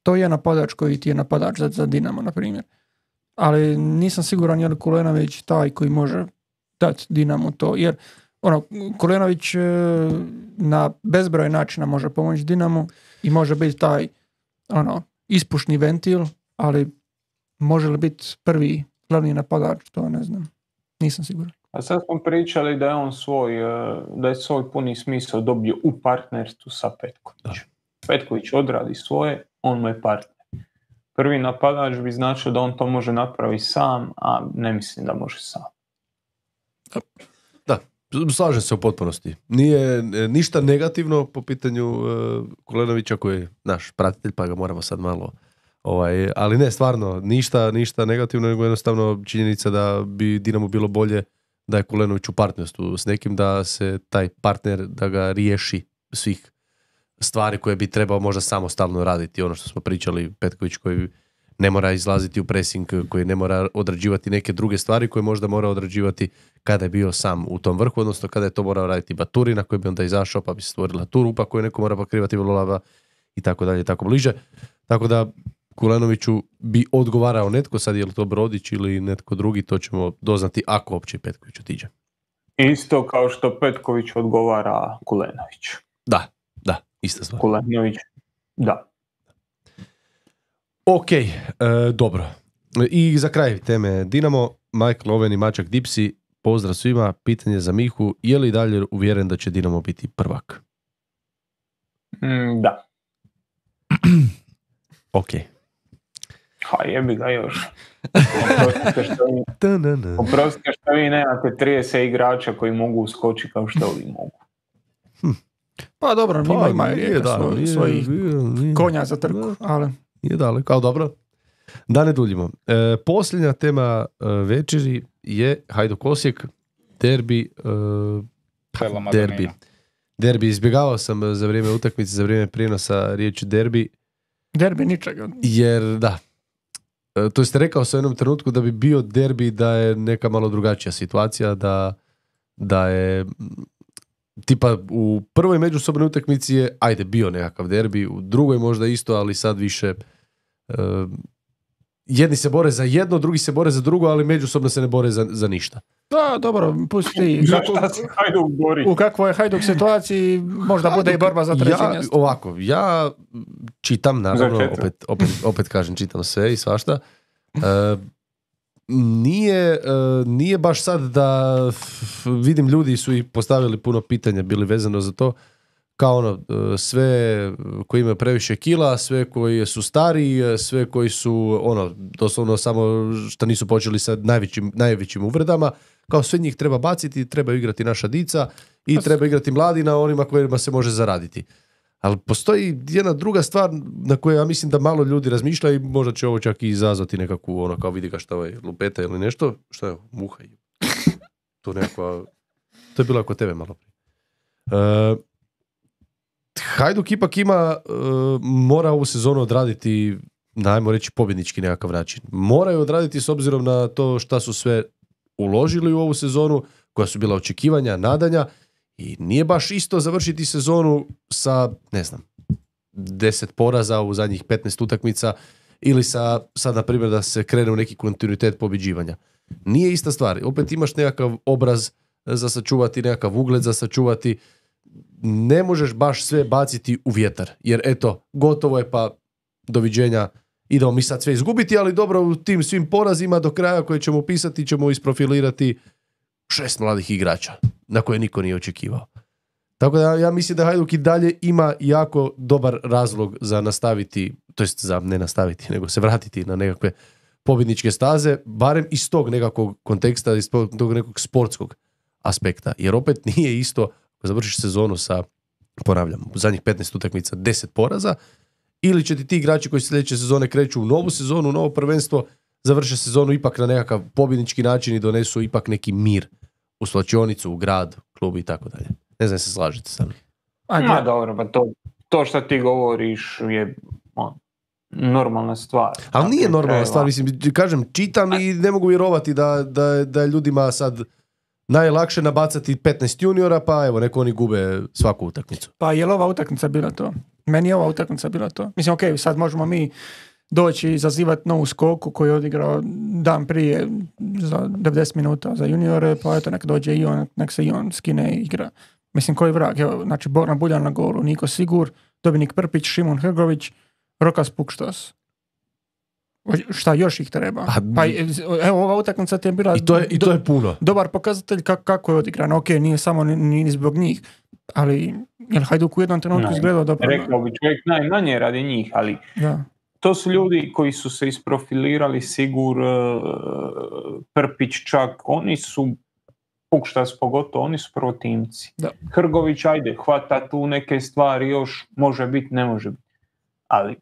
to je napadač koji ti je napadač za, za Dinamo, na primjer. Ali nisam siguran je li Kulenović taj koji može dati Dinamo to, jer ono, Kulenović e, na bezbroj načina može pomoći Dinamu i može biti taj ono, ispušni ventil, ali može li biti prvi glavni napadač, to ne znam. Nisam siguran. A sad smo pričali da je on svoj, da je svoj puni smisao dobio u partnerstvu sa Petkovićem. Petković odradi svoje, on mu je partner. Prvi napadač bi značio da on to može napraviti sam, a ne mislim da može sam. Da, slažem se u potpunosti. Nije ništa negativno po pitanju uh, Kulenovića koji je naš pratitelj, pa ga moramo sad malo... Ovaj, ali ne, stvarno, ništa, ništa negativno, nego jednostavno činjenica da bi Dinamo bilo bolje da je Kulenović u partnerstvu s nekim, da se taj partner, da ga riješi svih stvari koje bi trebao možda samostalno raditi. Ono što smo pričali, Petković koji ne mora izlaziti u pressing, koji ne mora odrađivati neke druge stvari koje možda mora odrađivati kada je bio sam u tom vrhu, odnosno kada je to morao raditi Baturina koji bi onda izašao pa bi se stvorila tu rupa koju neko mora pokrivati volava i tako dalje, tako bliže. Tako da Kulenoviću bi odgovarao netko, sad je li to Brodić ili netko drugi, to ćemo doznati ako uopće Petković otiđe. Isto kao što Petković odgovara Kulenović. Da, da, ista stvar. Kulenović, da. Ok, e, dobro. I za kraj teme Dinamo, Michael Owen i Mačak Dipsi, pozdrav svima, pitanje za Mihu, je li dalje uvjeren da će Dinamo biti prvak? Mm, da. Ok. Ha, jebi ga još. Oprostite što vi, oprostite što vi nemate trideset igrača koji mogu uskočiti kao što ovi mogu. Hm. Pa dobro, pa, ima, ima nije, Rijeka da, svoj, nije, svojih nije, nije, konja za trku, da, ali... Nije daleko, ali dobro. Da ne duljimo. E, posljednja tema e, večeri je Hajduk Osijek, derbi, e, derbi. Derbi, izbjegavao sam za vrijeme utakmice, za vrijeme prijenosa riječi derbi. Derbi ničega. Jer, da, e, to ste rekao sam u jednom trenutku da bi bio derbi da je neka malo drugačija situacija, da, da je tipa u prvoj međusobnoj utakmici je, ajde, bio nekakav derbi, u drugoj možda isto, ali sad više uh, jedni se bore za jedno, drugi se bore za drugo, ali međusobno se ne bore za, za ništa. Da, dobro, pusti. Kako, u kakvoj je Hajduk situaciji možda Hajduk, bude i borba za treće ja, mjesto. Ovako, ja čitam, naravno, opet, opet, opet kažem, čitam sve i svašta. Uh, Nije, uh, nije baš sad da f, vidim ljudi su i postavili puno pitanja bili vezano za to, kao ono, uh, sve koji imaju previše kila, sve koji su stari, sve koji su ono, doslovno samo što nisu počeli sa najvećim, najvećim uvredama, kao sve njih treba baciti, treba igrati naša dica i treba igrati mladi na onima kojima se može zaraditi. Ali postoji jedna druga stvar na koju ja mislim da malo ljudi razmišlja i možda će ovo čak i izazvati nekakvu, ono, kao vidi ga šta ovaj lupeta ili nešto. Šta je, muha? To nekakva... To je bilo kod tebe malo prije. Uh, Hajduk ipak ima, uh, mora ovu sezonu odraditi, najmo reći, pobjednički nekakav način. Moraju odraditi s obzirom na to šta su sve uložili u ovu sezonu, koja su bila očekivanja, nadanja. I nije baš isto završiti sezonu sa, ne znam, deset poraza u zadnjih petnaest utakmica ili sa, sad na primjer da se krene u neki kontinuitet pobjeđivanja. Nije ista stvar. Opet imaš nekakav obraz za sačuvati, nekakav ugled za sačuvati. Ne možeš baš sve baciti u vjetar. Jer eto, gotovo je pa doviđenja. Idemo mi sad sve izgubiti, ali dobro, u tim svim porazima do kraja koje ćemo upisati ćemo isprofilirati šest mladih igrača na koje niko nije očekivao. Tako da ja mislim da Hajduk i dalje ima jako dobar razlog za nastaviti, to jest za ne nastaviti, nego se vratiti na nekakve pobjedničke staze, barem iz tog nekakvog konteksta, iz tog nekog sportskog aspekta. Jer opet nije isto ako završiš sezonu sa, ponavljam, u zadnjih petnaest utakmica deset poraza, ili će ti ti igrači koji sljedeće sezone kreću u novu sezonu, u novo prvenstvo, završe sezonu ipak na nekakav pobjednički način i donesu ipak neki mir u slačionicu, u grad, klub i tako dalje. Ne znam se slažete sa mnom. Ma dobro, pa to, to što ti govoriš je on, normalna stvar. Ali nije normalna stvar, mislim, kažem, čitam i ne mogu vjerovati da, da, da je ljudima sad najlakše nabacati petnaest juniora, pa evo, neko oni gube svaku utakmicu. Pa je li ova utakmica bila to? Meni je ova utakmica bila to. Mislim, ok, sad možemo mi doći i zazivati novu skoku koju je odigrao dan prije za devedeset minuta za juniore, pa eto nek dođe i on, nek se i on skine i igra. Mislim, koji vrag, evo, znači Boran Buljan na golu, Niko Sigur, Dominik Prpić, Šimun Hrgović, Rokas Pukštos. Šta još ih treba? Pa, Pa evo, ova utakmica ti je bila I to je, i to je puno. dobar pokazatelj kako, kako je odigrano. Ok, nije samo ni, ni zbog njih, ali jel Hajduk u jednom trenutku Ne, izgledao dobro? Rekao bi čovjek najmanje radi njih, ali Da. to su ljudi koji su se isprofilirali, Sigur, Prpić čak, oni su, Pukštas pogotovo, oni su prvotimci. Da. Hrgović, ajde, hvata tu neke stvari još, može biti, ne može biti. Ali,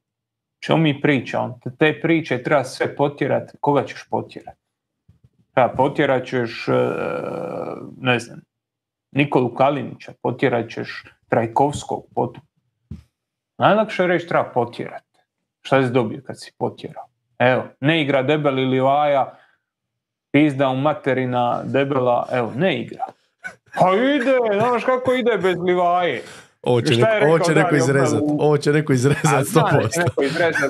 što mi pričamo? Te priče treba sve potjerati. Koga ćeš potjerati? Treba potjerat ćeš, ne znam, Nikolu Kalinića, potjerat ćeš Trajkovskog, potom. Najlakše reći treba potjerati. Šta si dobio kad si potjerao? Evo, ne igra Debeli Livaja, pizda u materina Debela, evo, ne igra. Pa ide, znaš kako ide bez Livaje. Ovo će, neko, ovo će neko izrezat. Ovo će neko izrezat sto posto. A, neko izrezat,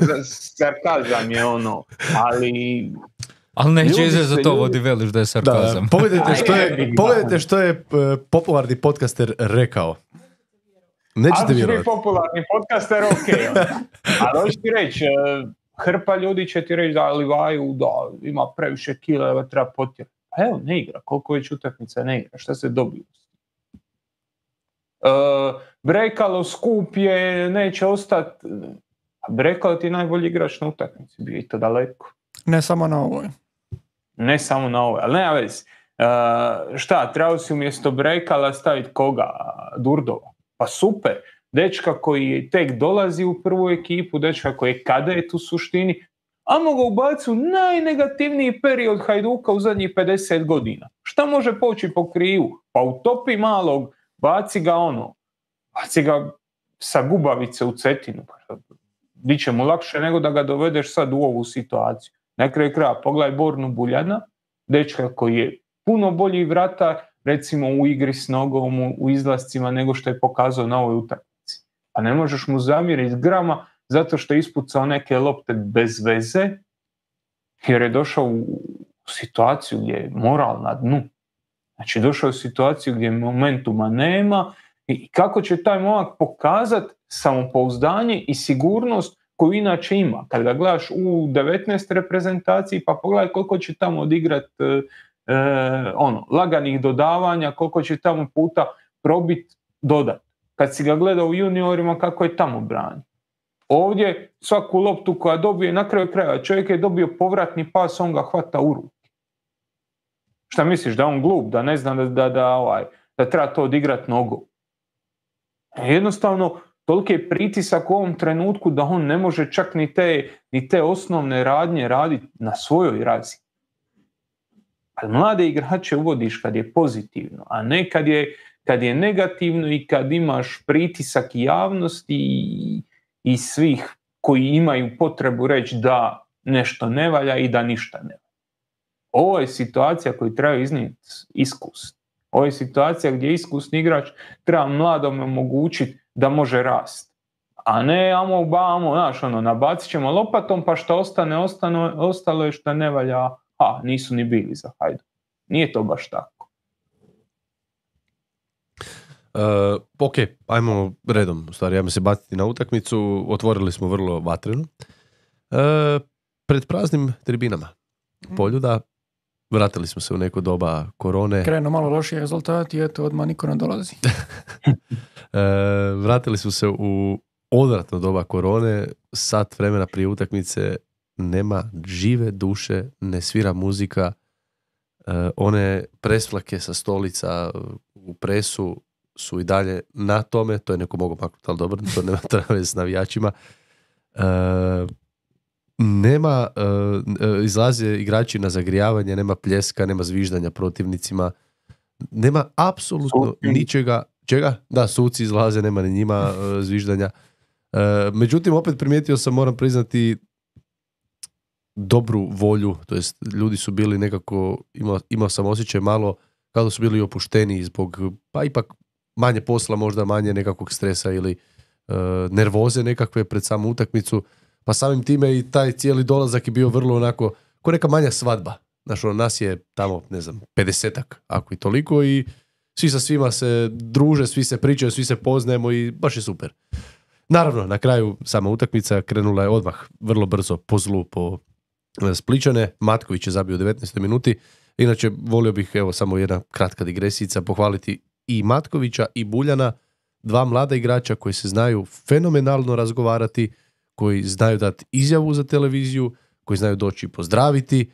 sarkazam je ono, ali... Ali neće Ljudi izrezat se to, ljudi- vodi veliš da je sarkazam. Da, pogledajte što je, Ajde, pogledajte što je uh, popularni podcaster rekao. Nećete Ako će biti vjerovati. popularni podcaster, ok. onda. Ali hoću ti reći, eh, hrpa ljudi će ti reći da Livaju, da ima previše kileva, treba potjerati. A evo, ne igra. Koliko već utakmica ne igra? Šta se dobio? Uh, Brekalo skup je, neće ostati. A Brekalo ti je najbolji igrač na utakmici. Bio i to daleko. Ne samo na ovoj. Ne samo na ovoj, ali nema veze. Uh, šta, trebao si umjesto Brekala staviti koga? Durdova. Pa super. Dečka koji tek dolazi u prvu ekipu, dečka koji je kadet u suštini, a mogu ubaciti u najnegativniji period Hajduka u zadnjih pedeset godina. Šta može poći po krivu? Pa utopi malog, baci ga ono, baci ga sa gubavice u Cetinu. Biće mu lakše nego da ga dovedeš sad u ovu situaciju. Na kraju kraja pogledaj Bornu Buljana, dečka koji je puno bolji vratar, recimo u igri s nogom, u, u izlascima nego što je pokazao na ovoj utakmici. Pa ne možeš mu zamjeriti grama zato što je ispucao neke lopte bez veze, jer je došao u situaciju gdje je moral na dnu. Znači došao u situaciju gdje momentuma nema i kako će taj momak pokazati samopouzdanje i sigurnost koju inače ima. Kad ga gledaš u devetnaest reprezentaciji, pa pogledaj koliko će tamo odigrati e, e, ono, laganih dodavanja, koliko će tamo puta probiti dodat. Kad si ga gledao u juniorima, kako je tamo brani. Ovdje svaku loptu koja dobije na kraju kraja, čovjek je dobio povratni pas, on ga hvata u ruku. Šta misliš, da je on glup, da ne zna da, da, da, ovaj, da treba to odigrati nogom? Jednostavno, toliki je pritisak u ovom trenutku da on ne može čak ni te, ni te osnovne radnje raditi na svojoj razini. Ali mlade igrače uvodiš kad je pozitivno, a ne kad je, kad je negativno i kad imaš pritisak javnosti i, i svih koji imaju potrebu reći da nešto ne valja i da ništa ne valja. Ovo je situacija koju treba iznijeti iskusni. Ovo je situacija gdje iskusni igrač treba mladome omogućiti da može rasti. A ne amo bamo, znaš, ono, nabacit ćemo lopatom pa što ostane, ostane, ostalo je što ne valja, a nisu ni bili za Hajduk. Nije to baš tako. Uh, ok, ajmo redom, u stvari, ajmo se baciti na utakmicu. Otvorili smo vrlo vatreno. Uh, pred praznim tribinama Poljuda vratili smo se u neko doba korone. Krenu malo lošiji rezultati i eto, odmah niko ne dolazi. uh, vratili smo se u odvratno doba korone. Sat vremena prije utakmice nema žive duše, ne svira muzika. Uh, one presvlake sa stolica u presu su i dalje na tome, to je neko mogo maknuti, ali dobro, to nema trave s navijačima. Uh, nema, uh, izlaze igrači na zagrijavanje, nema pljeska, nema zviždanja protivnicima, nema apsolutno Suci. ničega. Čega? Da, suci izlaze, nema ni njima uh, zviždanja. Uh, međutim, opet primijetio sam, moram priznati, dobru volju, to jest ljudi su bili nekako, imao, imao sam osjećaj malo kao da su bili opušteni zbog, pa ipak manje posla, možda manje nekakvog stresa ili uh, nervoze nekakve pred samu utakmicu. Pa samim time i taj cijeli dolazak je bio vrlo onako, ko neka manja svadba. Znaš, ono, nas je tamo, ne znam, pedesetak, ako i toliko, i svi sa svima se druže, svi se pričaju, svi se poznajemo i baš je super. Naravno, na kraju sama utakmica krenula je odmah vrlo brzo po zlu, po Splićane. Matković je zabio u devetnaestoj minuti. Inače, volio bih, evo, samo jedna kratka digresijica, pohvaliti i Matkovića i Buljana, dva mlada igrača koji se znaju fenomenalno razgovarati, koji znaju dati izjavu za televiziju, koji znaju doći pozdraviti.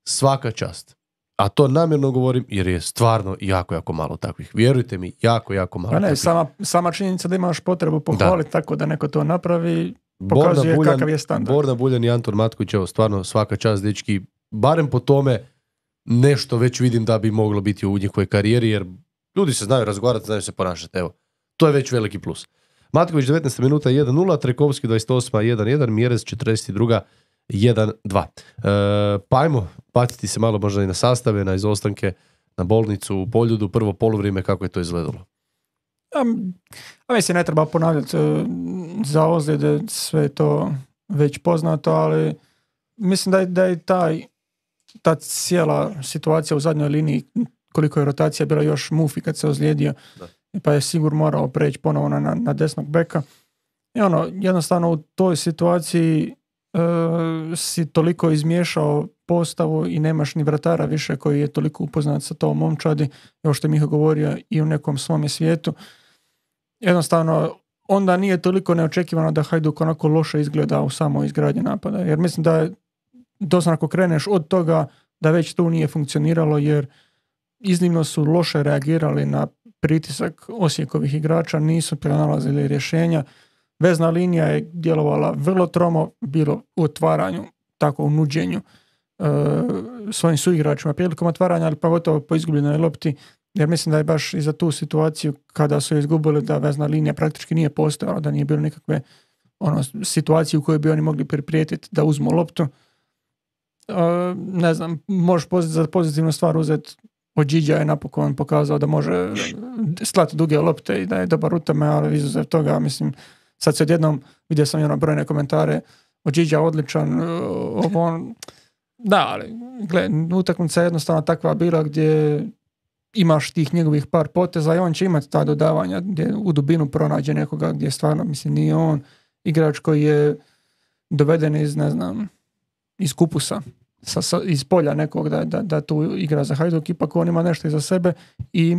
Svaka čast. A to namjerno govorim jer je stvarno jako, jako malo takvih. Vjerujte mi, jako, jako malo pa ne, takvih. sama, sama činjenica da imaš potrebu pohvaliti Da. tako da neko to napravi, pokazuje Borna kakav je standard. Borna Buljan i Anton Matković, evo, stvarno svaka čast, dečki. Barem po tome nešto već vidim da bi moglo biti u njihovoj karijeri, jer ljudi se znaju razgovarati, znaju se ponašati. Evo, to je već veliki plus. Matković devetnaesta minuta jedan nula, Trekovski dvadeset osma jedan jedan, Mjerez četrdeset druga jedan dva. E, pa ajmo baciti se malo možda i na sastave, na izostanke, na bolnicu u Poljudu, prvo poluvrijeme, kako je to izgledalo. A, a mislim, ne treba ponavljati e, za ozljede, sve je to već poznato, ali mislim da je, da je taj, ta cijela situacija u zadnjoj liniji, koliko je rotacija bila, još Mufi kad se ozlijedio, da. Pa je sigurno morao preći ponovo na, na desnog beka. I ono, jednostavno u toj situaciji e, si toliko izmiješao postavu i nemaš ni vratara više koji je toliko upoznat sa tom momčadi, kao što je Miho govorio, i u nekom svome svijetu. Jednostavno, onda nije toliko neočekivano da Hajduk onako loše izgleda u samoj izgradnji napada. Jer mislim da je doslovno ako kreneš od toga da već tu nije funkcioniralo, jer iznimno su loše reagirali na pritisak Osijekovih igrača, nisu pronalazili rješenja. Vezna linija je djelovala vrlo tromo, bilo u otvaranju, tako u nuđenju e, svojim suigračima prilikom otvaranja, ali pogotovo po izgubljenoj lopti, jer mislim da je baš i za tu situaciju kada su izgubili da vezna linija praktički nije postojala, da nije bilo nikakve ono, situacije u kojoj bi oni mogli priprijetiti da uzmu loptu. E, ne znam, možeš za pozitivnu stvar uzeti od Điđa je napokon pokazao da može slati duge lopte i da je dobar u tome, ali izuzev toga, mislim, sad se odjednom, vidio sam i ono brojne komentare, od Điđa odličan, ovo on, da, ali, gle, utakmica je jednostavno takva bila gdje imaš tih njegovih par poteza i on će imati ta dodavanja gdje u dubinu pronađe nekoga gdje stvarno, mislim, nije on igrač koji je doveden iz, ne znam, iz kupusa. Sa, sa, iz polja nekog da, da, da tu igra za Hajduk, ipak on ima nešto iza sebe i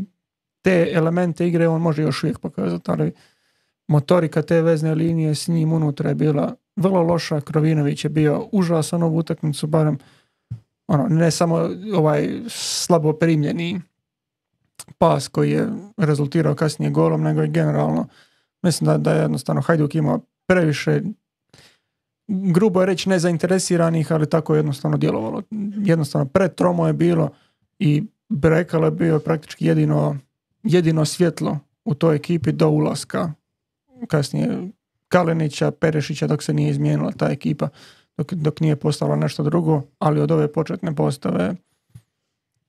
te elemente igre on može još uvijek pokazati, ali motorika te vezne linije s njim unutra je bila vrlo loša. Krovinović je bio užasan ovu utakmicu, barem ono, ne samo ovaj slabo primljeni pas koji je rezultirao kasnije golom, nego i generalno mislim da, da je jednostavno Hajduk imao previše, grubo je reći, nezainteresiranih, ali tako je jednostavno djelovalo. Jednostavno pretromo je bilo i Brekalo je bio praktički jedino, jedino svjetlo u toj ekipi do ulaska kasnije Kalinića, Perešića, dok se nije izmijenila ta ekipa, dok, dok nije postala nešto drugo, ali od ove početne postave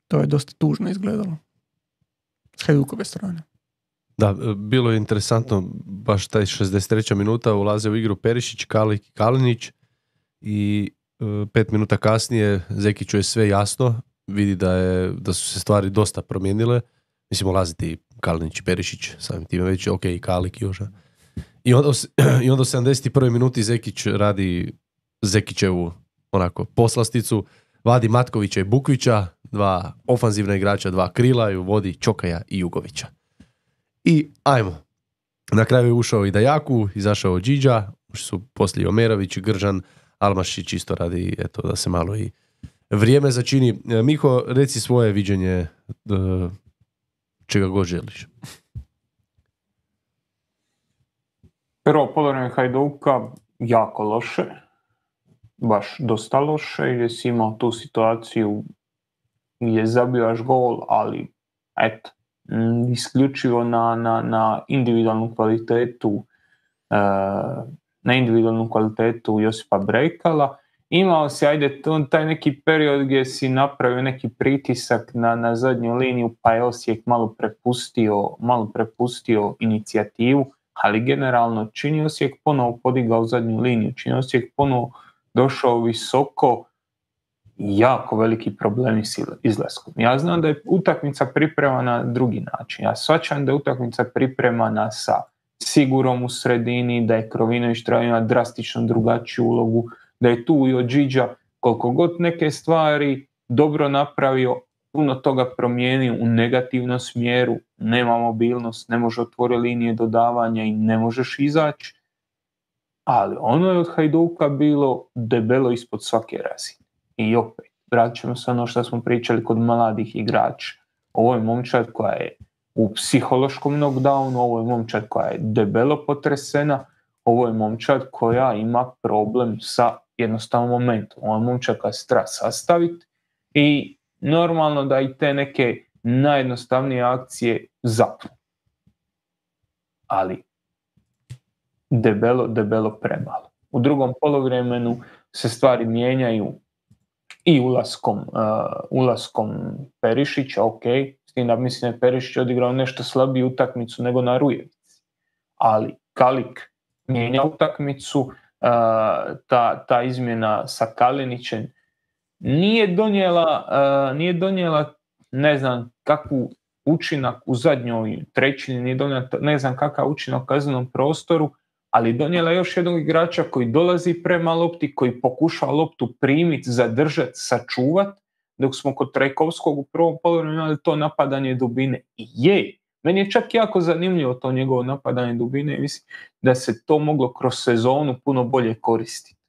to je dosta tužno izgledalo s Hajdukove strane. Da, bilo je interesantno, baš taj šezdeset treća minuta ulaze u igru Perišić, Kalik i Kalinić i uh, pet minuta kasnije Zekiću je sve jasno, vidi da, je, da su se stvari dosta promijenile. Mislim, ulaziti Kalinić i Perišić, samim time već, ok, i Kalik i Joža. I onda, i onda u sedamdeset prvoj minuti Zekić radi Zekićevu onako poslasticu, vadi Matkovića i Bukvića, dva ofanzivna igrača, dva krila, i vodi Čokaja i Jugovića. I ajmo. Na kraju je ušao i Dajaku, izašao Điđa, ušli su poslije Omerović, Gržan, Almašić isto radi, eto, da se malo i vrijeme začini. Miho, reci svoje viđenje uh, čega god želiš. Prvo polovreme Hajduka jako loše, baš dosta loše, jer si imao tu situaciju gdje zabivaš gol, ali eto, isključivo na, na, na individualnu kvalitetu na individualnu kvalitetu Josipa Brekala. Imao si, ajde, taj neki period gdje si napravio neki pritisak na, na zadnju liniju, pa je Osijek malo prepustio, malo prepustio inicijativu, ali generalno čini Osijek ponovo podigao zadnju liniju, čini Osijek ponovo došao visoko, jako veliki problemi s izlaskom. Ja znam da je utakmica pripremana na drugi način. Ja shvaćam da je utakmica pripremana sa Sigurom u sredini, da je Krovinović treba imati drastično drugačiju ulogu, da je tu i Odžiđa koliko god neke stvari dobro napravio, puno toga promijenio u negativnom smjeru, nema mobilnost, ne može otvoriti linije dodavanja i ne možeš izaći, ali ono je od Hajduka bilo debelo ispod svake razine. I opet, vratit ćemo se ono što smo pričali kod mladih igrača. Ovo je momčad koja je u psihološkom knockdownu, ovo je momčad koja je debelo potresena, ovo je momčad koja ima problem sa jednostavnom momentom. Ovo je momčad koja se treba sastaviti i normalno da i te neke najjednostavnije akcije zapnu. Ali debelo, debelo premalo. U drugom poluvremenu se stvari mijenjaju i ulaskom, uh, ulaskom Perišića, ok, s tim da mislim da je Perišić odigrao nešto slabiju utakmicu nego na Rujevici. Ali Kalik mijenja utakmicu, uh, ta, ta izmjena sa Kalinićem nije donijela, uh, nije donijela ne znam kakvu učinak u zadnjoj trećini, nije donijela ne znam kakav učinak u kaznenom prostoru, ali donijela još jednog igrača koji dolazi prema lopti, koji pokušava loptu primiti, zadržati, sačuvati, dok smo kod Trajkovskog u prvom poluvremenu imali to napadanje dubine. I je, meni je čak jako zanimljivo to njegovo napadanje dubine i mislim da se to moglo kroz sezonu puno bolje koristiti.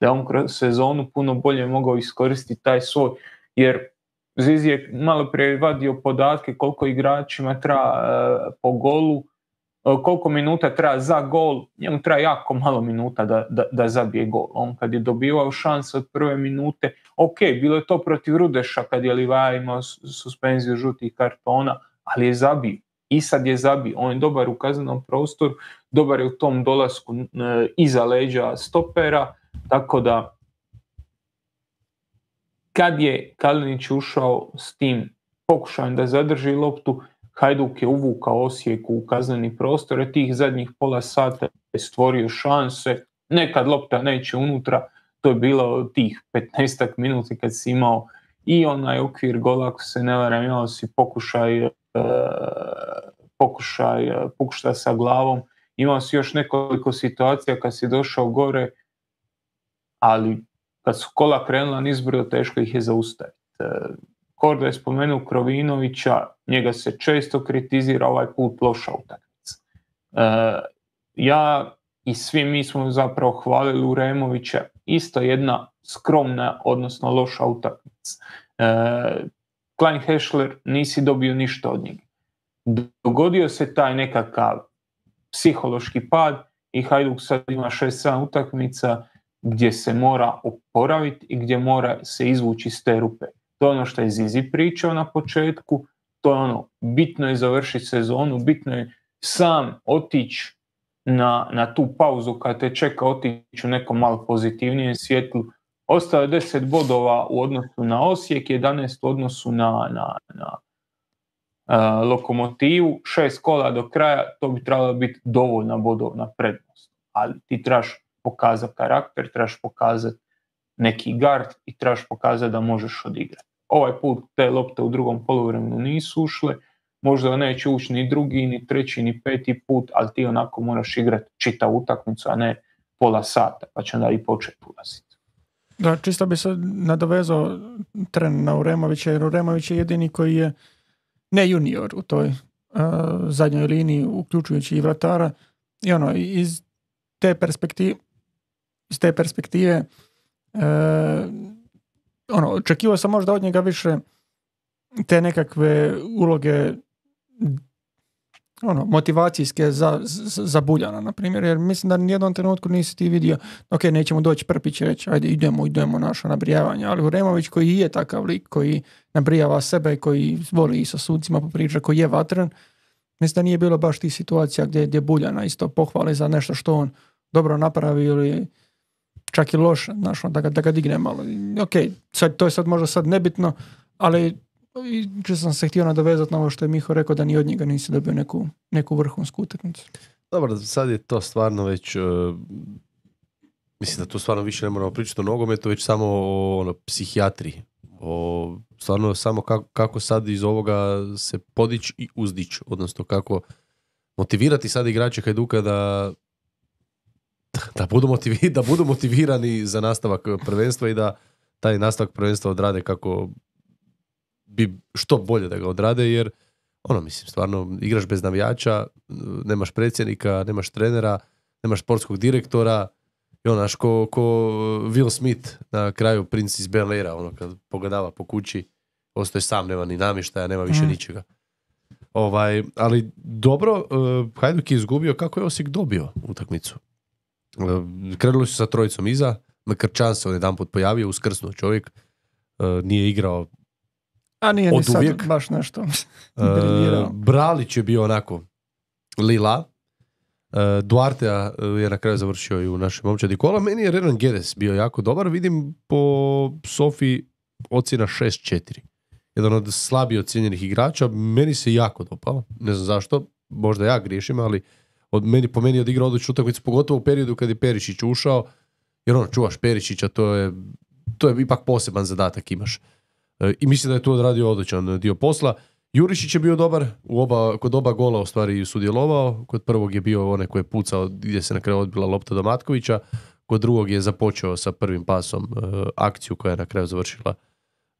Da on kroz sezonu puno bolje mogao iskoristiti taj svoj, jer Zizi je malo prije vadio podatke koliko igračima treba uh, po golu, koliko minuta treba za gol, njemu treba jako malo minuta da, da, da zabije gol. On kad je dobivao šanse od prve minute, ok, bilo je to protiv Rudeša kad je Livaja imao suspenziju žutih kartona, ali je zabio. I sad je zabio. On je dobar u kaznenom prostoru, dobar je u tom dolasku e, iza leđa stopera, tako da kad je Kalinić ušao s tim pokušajem da zadrži loptu, Hajduk je uvukao Osijeku u kazneni prostor, a tih zadnjih pola sata je stvorio šanse, nekad lopta neće unutra, to je bilo tih petnaestak minuta kad si imao i onaj okvir gola, ako se ne varam, imao si pokušaj, uh, pokušaj uh, pušta sa glavom, imao si još nekoliko situacija kad si došao gore, ali kad su kola krenula nizbrdo, teško ih je zaustaviti. Uh, Korda je spomenuo Krovinovića, njega se često kritizira, ovaj put loša utakmica. E, ja i svi mi smo zapravo hvalili Uremovića, isto jedna skromna, odnosno loša utakmica. E, Klein Hešler, nisi dobio ništa od njega. Dogodio se taj nekakav psihološki pad i Hajduk sad ima šest sedam utakmica gdje se mora oporaviti i gdje mora se izvući iz te rupe. To je ono što je Zizi pričao na početku, to je ono, bitno je završiti sezonu, bitno je sam otići na, na tu pauzu kad te čeka otići u nekom malo pozitivnijem svjetlu. Ostao je deset bodova u odnosu na Osijek, jedanaest u odnosu na, na, na uh, Lokomotivu, šest kola do kraja, to bi trebalo biti dovoljna bodovna prednost. Ali ti trebaš pokazati karakter, trebaš pokazati neki gard i trebaš pokazati da možeš odigrati. Ovaj put te lopte u drugom poluvremenu nisu ušle, možda neće ući ni drugi, ni treći, ni peti put, ali ti onako moraš igrati čitavu utakmicu, a ne pola sata, pa će onda i početi ulaziti. Da, čisto bi se nadovezao tren na Uremovića, jer Uremović je jedini koji je ne junior u toj uh, zadnjoj liniji, uključujući i vratara, i ono, iz te perspektive, iz te perspektive uh, ono, očekivao sam možda od njega više te nekakve uloge ono, motivacijske za, za, za Buljana, na primjer, jer mislim da nijednom trenutku nisi ti vidio, ok, nećemo doći Prpić i reći, ajde idemo, idemo naše nabrijavanje, ali Uremović koji je takav lik, koji nabrijava sebe, koji voli i sa sucima popriča, koji je vatren, mislim da nije bilo baš tih situacija gdje, gdje Buljana isto pohvali za nešto što on dobro napravi ili čak i loš, znaš, da ga, da ga digne malo. Ok, sad, to je sad možda sad nebitno, ali če sam se htio nadovezati na ovo što je Miho rekao, da ni od njega nisi dobio neku, neku vrhunsku utakmicu. Dobro, sad je to stvarno već... Uh, mislim da tu stvarno više ne moramo pričati o nogometu, već samo o ono, psihijatriji. O, stvarno samo kako, kako sad iz ovoga se podići i uzdići. Odnosno kako motivirati sad igrače Hajduka da, da, budu motivi, da budu motivirani za nastavak prvenstva i da taj nastavak prvenstva odrade kako bi što bolje da ga odrade, jer ono, mislim, stvarno igraš bez navijača, nemaš predsjednika, nemaš trenera, nemaš sportskog direktora i ono, znaš, ko, ko Will Smith na kraju Prince iz Bel Aira, ono, kad pogledava po kući, ostaje sam, nema ni namještaja, nema više mm. ničega. Ovaj, ali dobro, uh, Hajduk je izgubio, kako je Osijek dobio utakmicu. Uh, krenuli su sa trojicom iza, Mkrčan se on jedan put pojavio, uskrsnuo čovjek, uh, nije igrao a nije ni sad uvijek. Baš nešto. uh, Bralić je bio onako lila. Uh, Duarte je na kraju završio i u našem momčadi kola. Meni je Renan Guedes bio jako dobar. Vidim po Sofi ocjena šest četiri. Jedan od slabije ocijenjenih igrača. Meni se jako dopao. Ne znam zašto. Možda ja griješim, ali od meni, po meni je odigrao odličnu utakmicu, pogotovo u periodu kad je Perišić ušao. Jer ono, čuvaš Perišića, to je, to je ipak poseban zadatak imaš. Uh, I mislim da je tu odradio odličan dio posla. Jurišić je bio dobar, u oba, kod oba gola u stvari sudjelovao, kod prvog je bio onaj koji je pucao gdje se na kraju odbila lopta do Matkovića, kod drugog je započeo sa prvim pasom uh, akciju koja je na kraju završila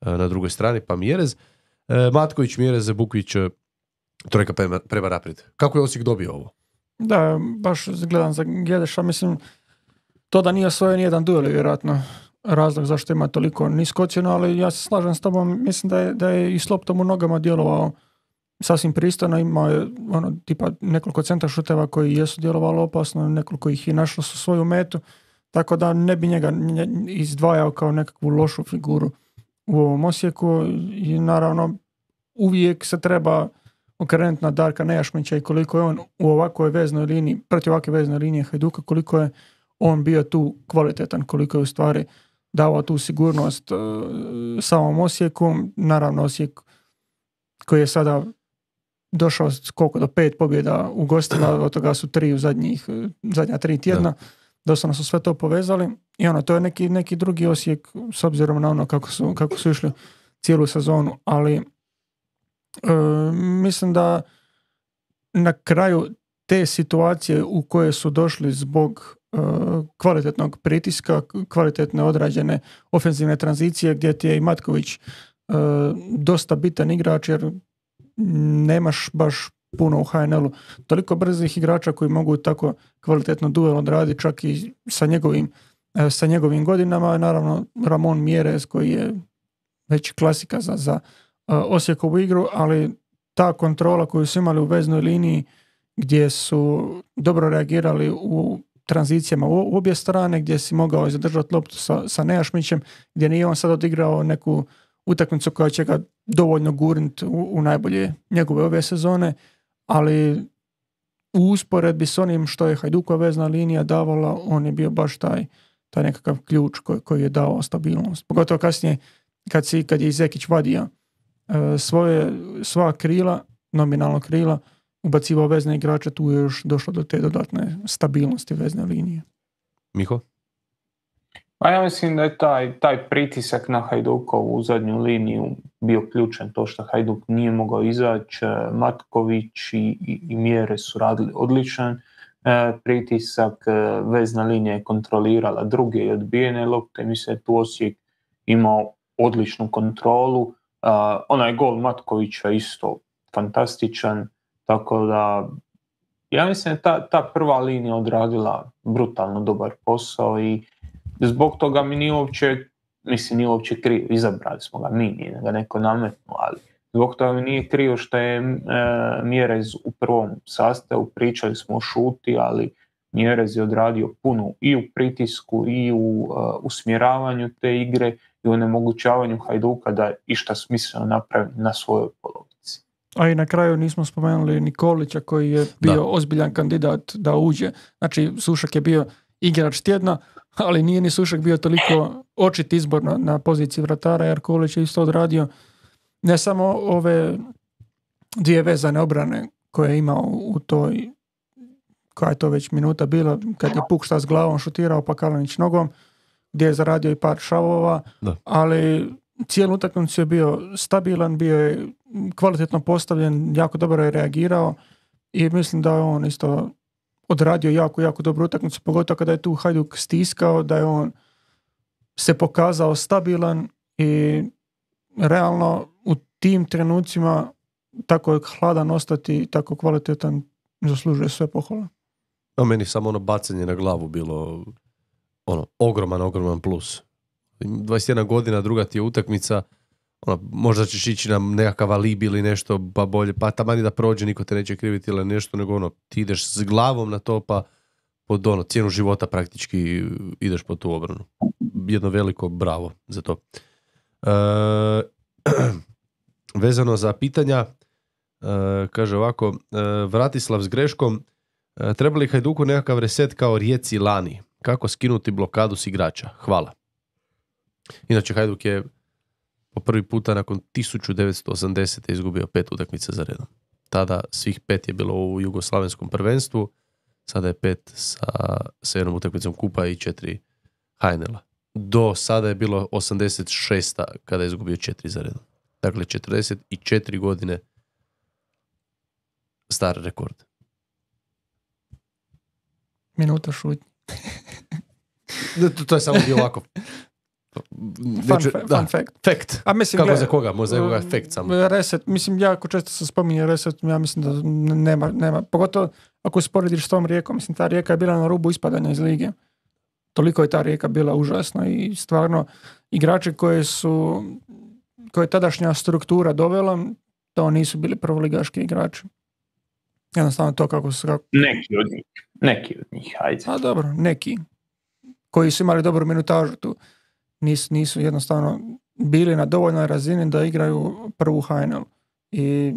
uh, na drugoj strani, pa Mjerez. Uh, Matković, Mjerez, Bukvić, uh, trojka prema, prema naprijed. Kako je Osijek dobio ovo? Da, baš gledam za Gedeša, mislim, to da nije osvojio nijedan duel, vjerojatno razlog zašto ima toliko nisko ocjenu, ali ja se slažem s tobom, mislim da je, da je i s loptom u nogama djelovao sasvim pristojno, imao je ono, tipa nekoliko centra šuteva koji jesu djelovali opasno, nekoliko ih i našlo su svoju metu, tako da ne bi njega izdvajao kao nekakvu lošu figuru u ovom Osijeku i naravno uvijek se treba okrenuti na Darka Nejašmića i koliko je on u ovakvoj veznoj liniji, protiv ovakve veznoj linije Hajduka, koliko je on bio tu kvalitetan, koliko je u stvari davao tu sigurnost uh, samom Osijeku. Naravno Osijek koji je sada došao koliko do pet pobjeda u gostima, od toga su tri u zadnjih, zadnja tri tjedna, da. Doslovno su sve to povezali i ono, to je neki, neki drugi Osijek s obzirom na ono kako su, kako su išli cijelu sezonu, ali uh, mislim da na kraju te situacije u koje su došli zbog kvalitetnog pritiska, kvalitetne odrađene ofenzivne tranzicije gdje ti je i Matković uh, dosta bitan igrač jer nemaš baš puno u H N L-u toliko brzih igrača koji mogu tako kvalitetno duel odraditi čak i sa njegovim, uh, sa njegovim godinama. Naravno Ramon Mjerez koji je već klasika za, za uh, Osijekovu igru, ali ta kontrola koju su imali u veznoj liniji gdje su dobro reagirali u tranzicijama u obje strane, gdje si mogao zadržati loptu sa, sa Nejašmićem, gdje nije on sad odigrao neku utakmicu koja će ga dovoljno gurniti u, u najbolje njegove ove sezone, ali u usporedbi s onim što je Hajdukova vezna linija davala, on je bio baš taj, taj nekakav ključ koji, koji je dao stabilnost. Pogotovo kasnije kad, si, kad je Izekić vadio uh, svoje, sva krila, nominalno krila, ubacivao vezne igrače, tu je još došlo do te dodatne stabilnosti vezne linije. Miho? Pa ja mislim da je taj, taj pritisak na Hajdukovu u zadnju liniju bio ključan, to što Hajduk nije mogao izaći, Matković i, i, i Mjere su radili odličan e, pritisak, e, vezna linija je kontrolirala druge i odbijene lopte, mislim da je tu Osijek imao odličnu kontrolu, e, onaj gol Matkovića isto fantastičan, tako da ja mislim da ta, ta prva linija odradila brutalno dobar posao i zbog toga mi nije uopće, mislim nije uopće krivo, izabrali smo ga mi, nije ga neko nametnuo, ali zbog toga mi nije krivo što je e, Mjerez u prvom sastavu, pričali smo o šuti, ali Mjerez je odradio puno i u pritisku i u uh, usmjeravanju te igre i u onemogućavanju Hajduka da išta smisleno napravi na svojoj polovici. A i na kraju nismo spomenuli Nikolića koji je bio da. ozbiljan kandidat da uđe. Znači Sušak je bio igrač tjedna, ali nije ni Sušak bio toliko očit izbor na, na poziciji vratara, jer Kolić je isto odradio ne samo ove dvije vezane obrane koje je imao u toj koja je to već minuta bila, kad je Pukšta s glavom šutirao pa Kalinić nogom, gdje je zaradio i par šavova, Da. ali cijelu utakmicu je bio stabilan, bio je kvalitetno postavljen, jako dobro je reagirao i mislim da je on isto odradio jako, jako dobru utakmicu, pogotovo kada je tu Hajduk stiskao, da je on se pokazao stabilan i realno u tim trenucima tako je hladan ostati, tako kvalitetan, zaslužuje sve pohvale. A meni samo ono bacanje na glavu bilo ono, ogroman, ogroman plus. dvadeset jedna godina, druga ti je utakmica, ono, možda ćeš ići na nekakav alibi ili nešto, pa bolje, pa tamani da prođe, niko te neće kriviti ili nešto, nego ono, ti ideš s glavom na to, pa pod ono, cijenu života praktički ideš po tu obranu. Jedno veliko bravo za to. E, vezano za pitanja, e, kaže ovako, e, Vratislav s greškom, e, treba li Hajduku nekakav reset kao Rijeci lani? Kako skinuti blokadu s igrača? Hvala. Inače, Hajduk je po prvi puta nakon tisuću devetsto osamdesete izgubio pet utakmica za redom. Tada svih pet je bilo u jugoslavenskom prvenstvu, sada je pet sa, sa jednom utakmicom kupa i četiri ha en el-a. Do sada je bilo osamdeset šesta kada je izgubio četiri za redom. Dakle, četrdeset četiri godine star rekord. Minuta šutnje. to, to je samo bio ovako. Fun, fa- da, fun fact. Fact. A mislim, Kako gle, za koga? Možda je koga fact samo. Reset, mislim, jako često se spominje reset, ja mislim da nema, nema. Pogotovo ako usporediš s tom Rijekom, mislim, ta Rijeka je bila na rubu ispadanja iz lige. Toliko je ta Rijeka bila užasna i stvarno igrači koje su, koje je tadašnja struktura dovela, to nisu bili prvoligaški igrači. Jednostavno to kako su... Kako... Neki od njih. Neki od njih, hajde. A dobro, neki. Koji su imali dobru minutažu tu. Nisu, nisu jednostavno bili na dovoljnoj razini da igraju prvu ha en el. I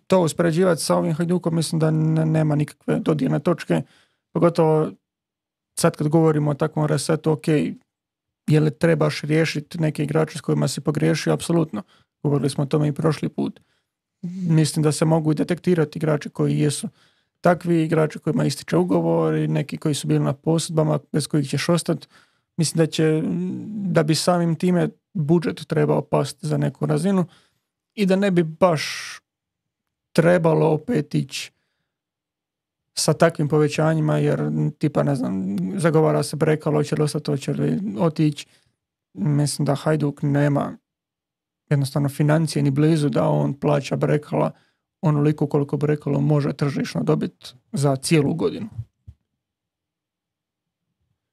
to uspoređivati sa ovim Hajdukom mislim da ne, nema nikakve dodirne točke. Pogotovo sad kad govorimo o takvom resetu, ok, je li trebaš riješiti neke igrače s kojima si pogriješio? Apsolutno. Govorili smo o tome i prošli put. Mislim da se mogu detektirati igrači koji jesu takvi, igrači kojima ističe ugovor i neki koji su bili na posudbama bez kojih ćeš ostati. Mislim da će, da bi samim time budžet trebao pasti za neku razinu i da ne bi baš trebalo opet ići sa takvim povećanjima, jer tipa, ne znam, zagovara se Brekalo, hoće li ostati, hoće li otići. Mislim da Hajduk nema jednostavno financije ni blizu da on plaća Brekala onoliko koliko Brekalo može tržišno dobiti za cijelu godinu.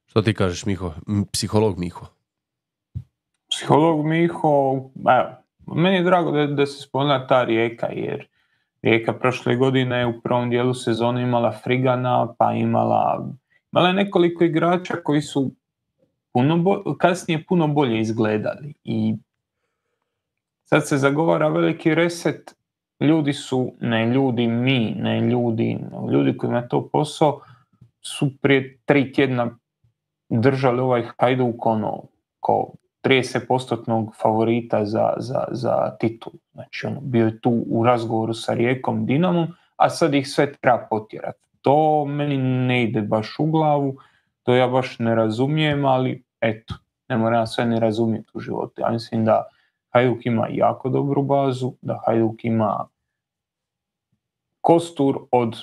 Što ti kažeš, Miho? Psiholog Miho. Psiholog Miho, evo, meni je drago da, da se spomena ta Rijeka, jer Rijeka prošle godine je u prvom dijelu sezone imala Frigana, pa imala, imala je nekoliko igrača koji su puno bo, kasnije puno bolje izgledali. I sad se zagovara veliki reset. Ljudi su, ne ljudi mi, ne ljudi, ljudi koji ima to posao, su prije tri tjedna držali ovaj Hajduk ono, ko trideset posto favorita za, za, za titul. Znači, ono, bio je tu u razgovoru sa Rijekom, Dinamom, a sad ih sve treba potjerati. To meni ne ide baš u glavu, to ja baš ne razumijem, ali eto, ne moram sve ne razumjeti u životu. Ja mislim da Hajduk ima jako dobru bazu, da Hajduk ima kostur od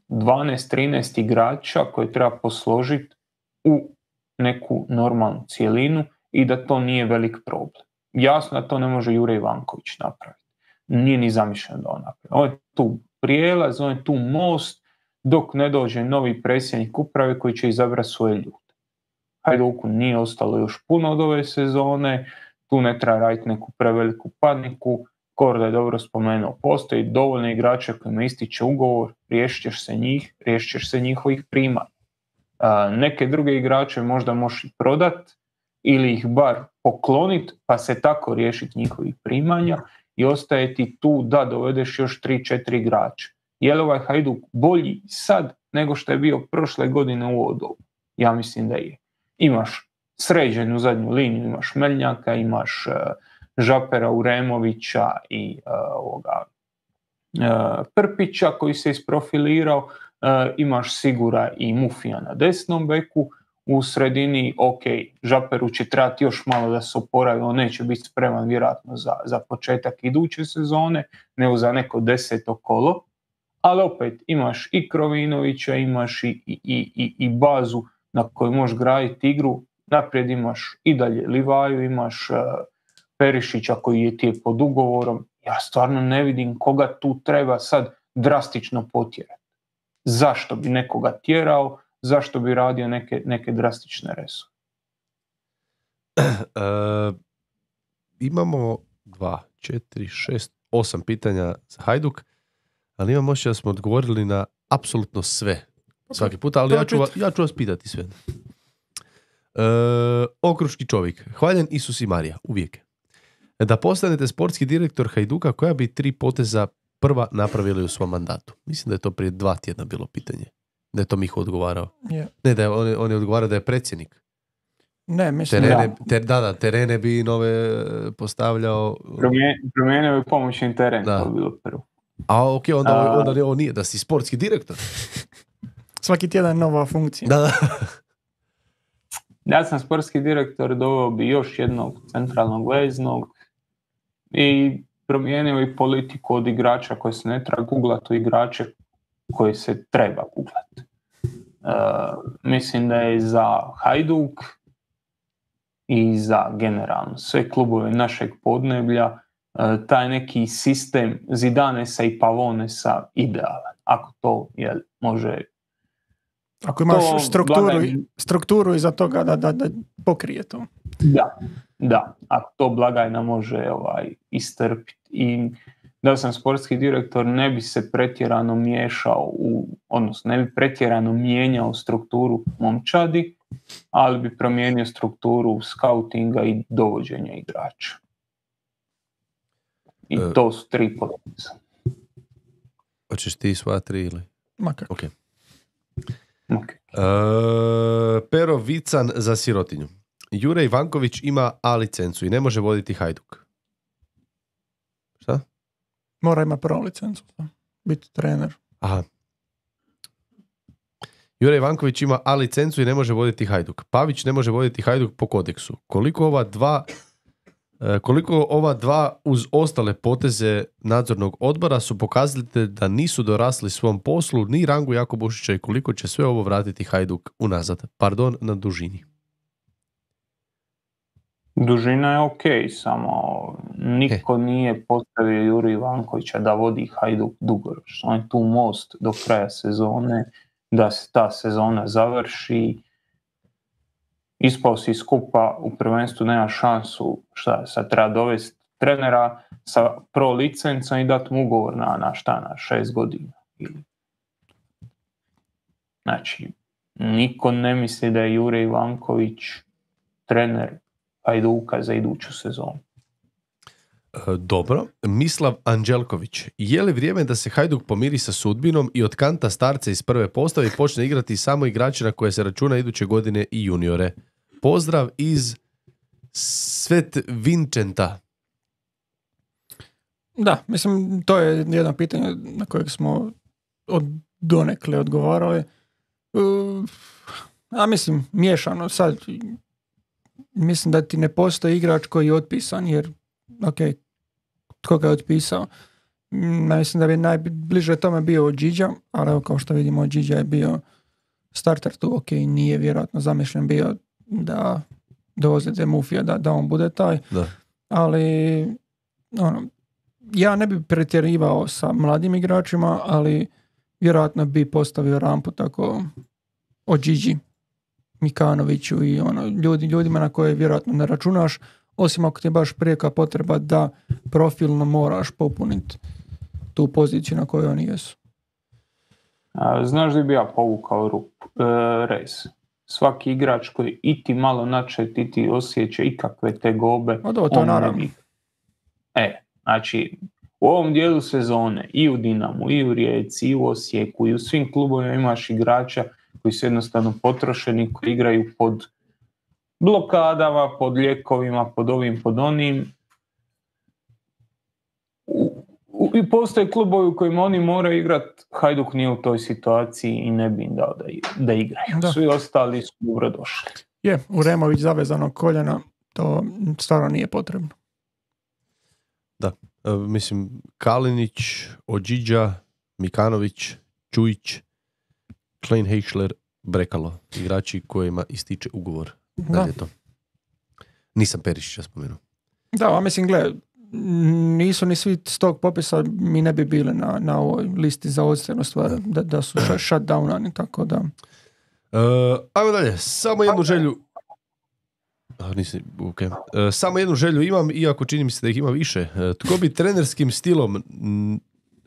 dvanaest trinaest igrača koje treba posložiti u neku normalnu cijelinu i da to nije velik problem. Jasno da to ne može Jure Ivanković napraviti. Nije ni zamišljeno da on napravi. On je tu prijelaz, on je tu most dok ne dođe novi predsjednik uprave koji će izabrati svoje ljude. Hajduku nije ostalo još puno od ove sezone, tu ne treba raditi neku preveliku paniku. Korda je dobro spomenuo, postoji dovoljno igrača kojima ističe ugovor, riješit ćeš se njih, riješit ćeš se njihovih primanja. Neke druge igrače možda možeš i prodat ili ih bar pokloniti pa se tako riješiti njihovih primanja i ostaje ti tu da dovedeš još tri četiri igrača. Je li ovaj Hajduk bolji sad nego što je bio prošle godine u ovo dobu? Ja mislim da je. Imaš sređenu zadnju liniju, imaš Meljnjaka, imaš uh, Žapera Uremovića i uh, ovoga, uh, Prpića koji se isprofilirao. Uh, imaš Sigura i Mufija na desnom beku, u sredini, ok, Žaperu će trebati još malo da se oporavi, on neće biti spreman vjerojatno za, za početak iduće sezone, nego za neko deseto kolo, ali opet imaš i Krovinovića, imaš i, i, i, i bazu na kojoj možeš graditi igru, naprijed imaš i dalje Livaju, imaš uh, Perišića koji je ti je pod ugovorom, ja stvarno ne vidim koga tu treba sad drastično potjerati. Zašto bi nekoga tjerao, zašto bi radio neke, neke drastične resove? Uh, imamo dva, četiri, šest, osam pitanja za Hajduk, ali imam osjećaj da smo odgovorili na apsolutno sve svaki puta, ali ja ću, ja ću vas pitati sve. Uh, okruški čovjek, hvaljen Isus i Marija, uvijek. Da postanete sportski direktor Hajduka, koja bi tri poteza prva napravili u svom mandatu? Mislim da je to prije dva tjedna bilo pitanje. Da je to Miho odgovarao. Yeah. Ne, da je, on, je, on je odgovarao da je predsjednik. Ne, mislim terene, da. Ter, da, da, terene bi nove postavljao. Promijenio bi pomoćni teren, da. to bi bilo prvo. A ok, onda, onda, onda on nije, da si sportski direktor. Svaki tjedan nova funkcija. Da, da. Ja sam sportski direktor, doveo bi još jednog centralnog veznog i promijenio i politiku od igrača koji se ne treba googlati u igrače koji se treba googlati. Uh, mislim da je za Hajduk i za generalno sve klubove našeg podneblja uh, taj neki sistem Zidanesa i Pavonesa idealan. Ako to jel, može... Ako imaš strukturu, blagaj... strukturu iza toga da, da, da pokrije to. Da, da. Ako to blagajna može ovaj, istrpiti. I da sam sportski direktor ne bi se pretjerano miješao, u, odnosno ne bi pretjerano mijenjao strukturu momčadi, ali bi promijenio strukturu skautinga i dovođenja igrača. I e, to su tri poteza. Hoćeš ti sva tri ili? Ma kako. Okay. Okay. Uh, Pero Vican za sirotinju. Jure Ivanković ima A licencu i ne može voditi Hajduk. Šta? Mora ima prvo licencu. Biti trener. Aha. Jure Ivanković ima A licencu i ne može voditi Hajduk. Pavić ne može voditi Hajduk po kodeksu. Koliko ova dva Koliko ova dva uz ostale poteze nadzornog odbora su pokazali da nisu dorasli svom poslu ni Rangu Jakobušića i koliko će sve ovo vratiti Hajduk unazad? Pardon na dužini. Dužina je ok, samo niko e. nije postavio Juru Ivankovića da vodi Hajduk dugoročno. On je tu most do kraja sezone, da se ta sezona završi. Ispao si skupa, u prvenstvu nema šansu, šta sad treba dovesti trenera sa pro licencom i dati mu ugovor na, na šta, na šest godina. Znači, niko ne misli da je Jure Ivanković trener Hajduka za iduću sezonu. Dobro, Mislav Anđelković. Je li vrijeme da se Hajduk pomiri sa sudbinom i od kanta starca iz prve postave i počne igrati samo igrači na koje se računa iduće godine i juniore? Pozdrav iz Svet Vincenta. Da, mislim, to je jedno pitanje na kojeg smo od donekle odgovarali. Uh, a mislim, miješano sad. Mislim da ti ne postoji igrač koji je otpisan, jer ok, tko ga je otpisao? Mislim da bi najbliže tome bio Điđa, ali evo kao što vidimo Điđa je bio starter tu, ok, nije vjerojatno zamišljen bio da dovozite Mufija da, da on bude taj, da. Ali ono, ja ne bi pretjerivao sa mladim igračima, ali vjerojatno bi postavio rampu tako o Điđi, Mikanoviću i ono, ljudi, ljudima na koje vjerojatno ne računaš, osim ako ti je baš prijeka potreba da profilno moraš popuniti tu poziciju na kojoj oni jesu. A, znaš da bi ja povukao rup, e, rez. Svaki igrač koji i ti malo načet, i ti osjeća ikakve tegobe. O do, to naravno. Bi... E, znači, u ovom dijelu sezone i u Dinamu, i u Rijeci, i u Osijeku, i u svim klubovima imaš igrača koji su jednostavno potrošeni, koji igraju pod blokadama, pod lijekovima, pod ovim, pod onim. U, u, i postoje klubovi u kojima oni moraju igrati, Hajduk nije u toj situaciji i ne bi im dao da, da igraju. Da. Svi ostali su dobro došli. Je, u Remović zavezanog koljena, to stvarno nije potrebno. Da, e, mislim, Kalinić, Ođiđa, Mikanović, Čujić, Klein Heichler, Brekalo, igrači kojima ističe ugovor. Da. Da. Je to. Nisam Perišića spomenuo. Da, a mislim, gle, nisu ni svi s tog popisa, mi ne bi bili na, na ovoj listi za odstrelnu stvar, da, da su shutdownani, tako da... Uh, ajmo dalje, samo jednu želju... A, nisi, okay. uh, samo jednu želju imam, iako čini mi se da ih ima više. Uh, tko bi trenerskim stilom, m,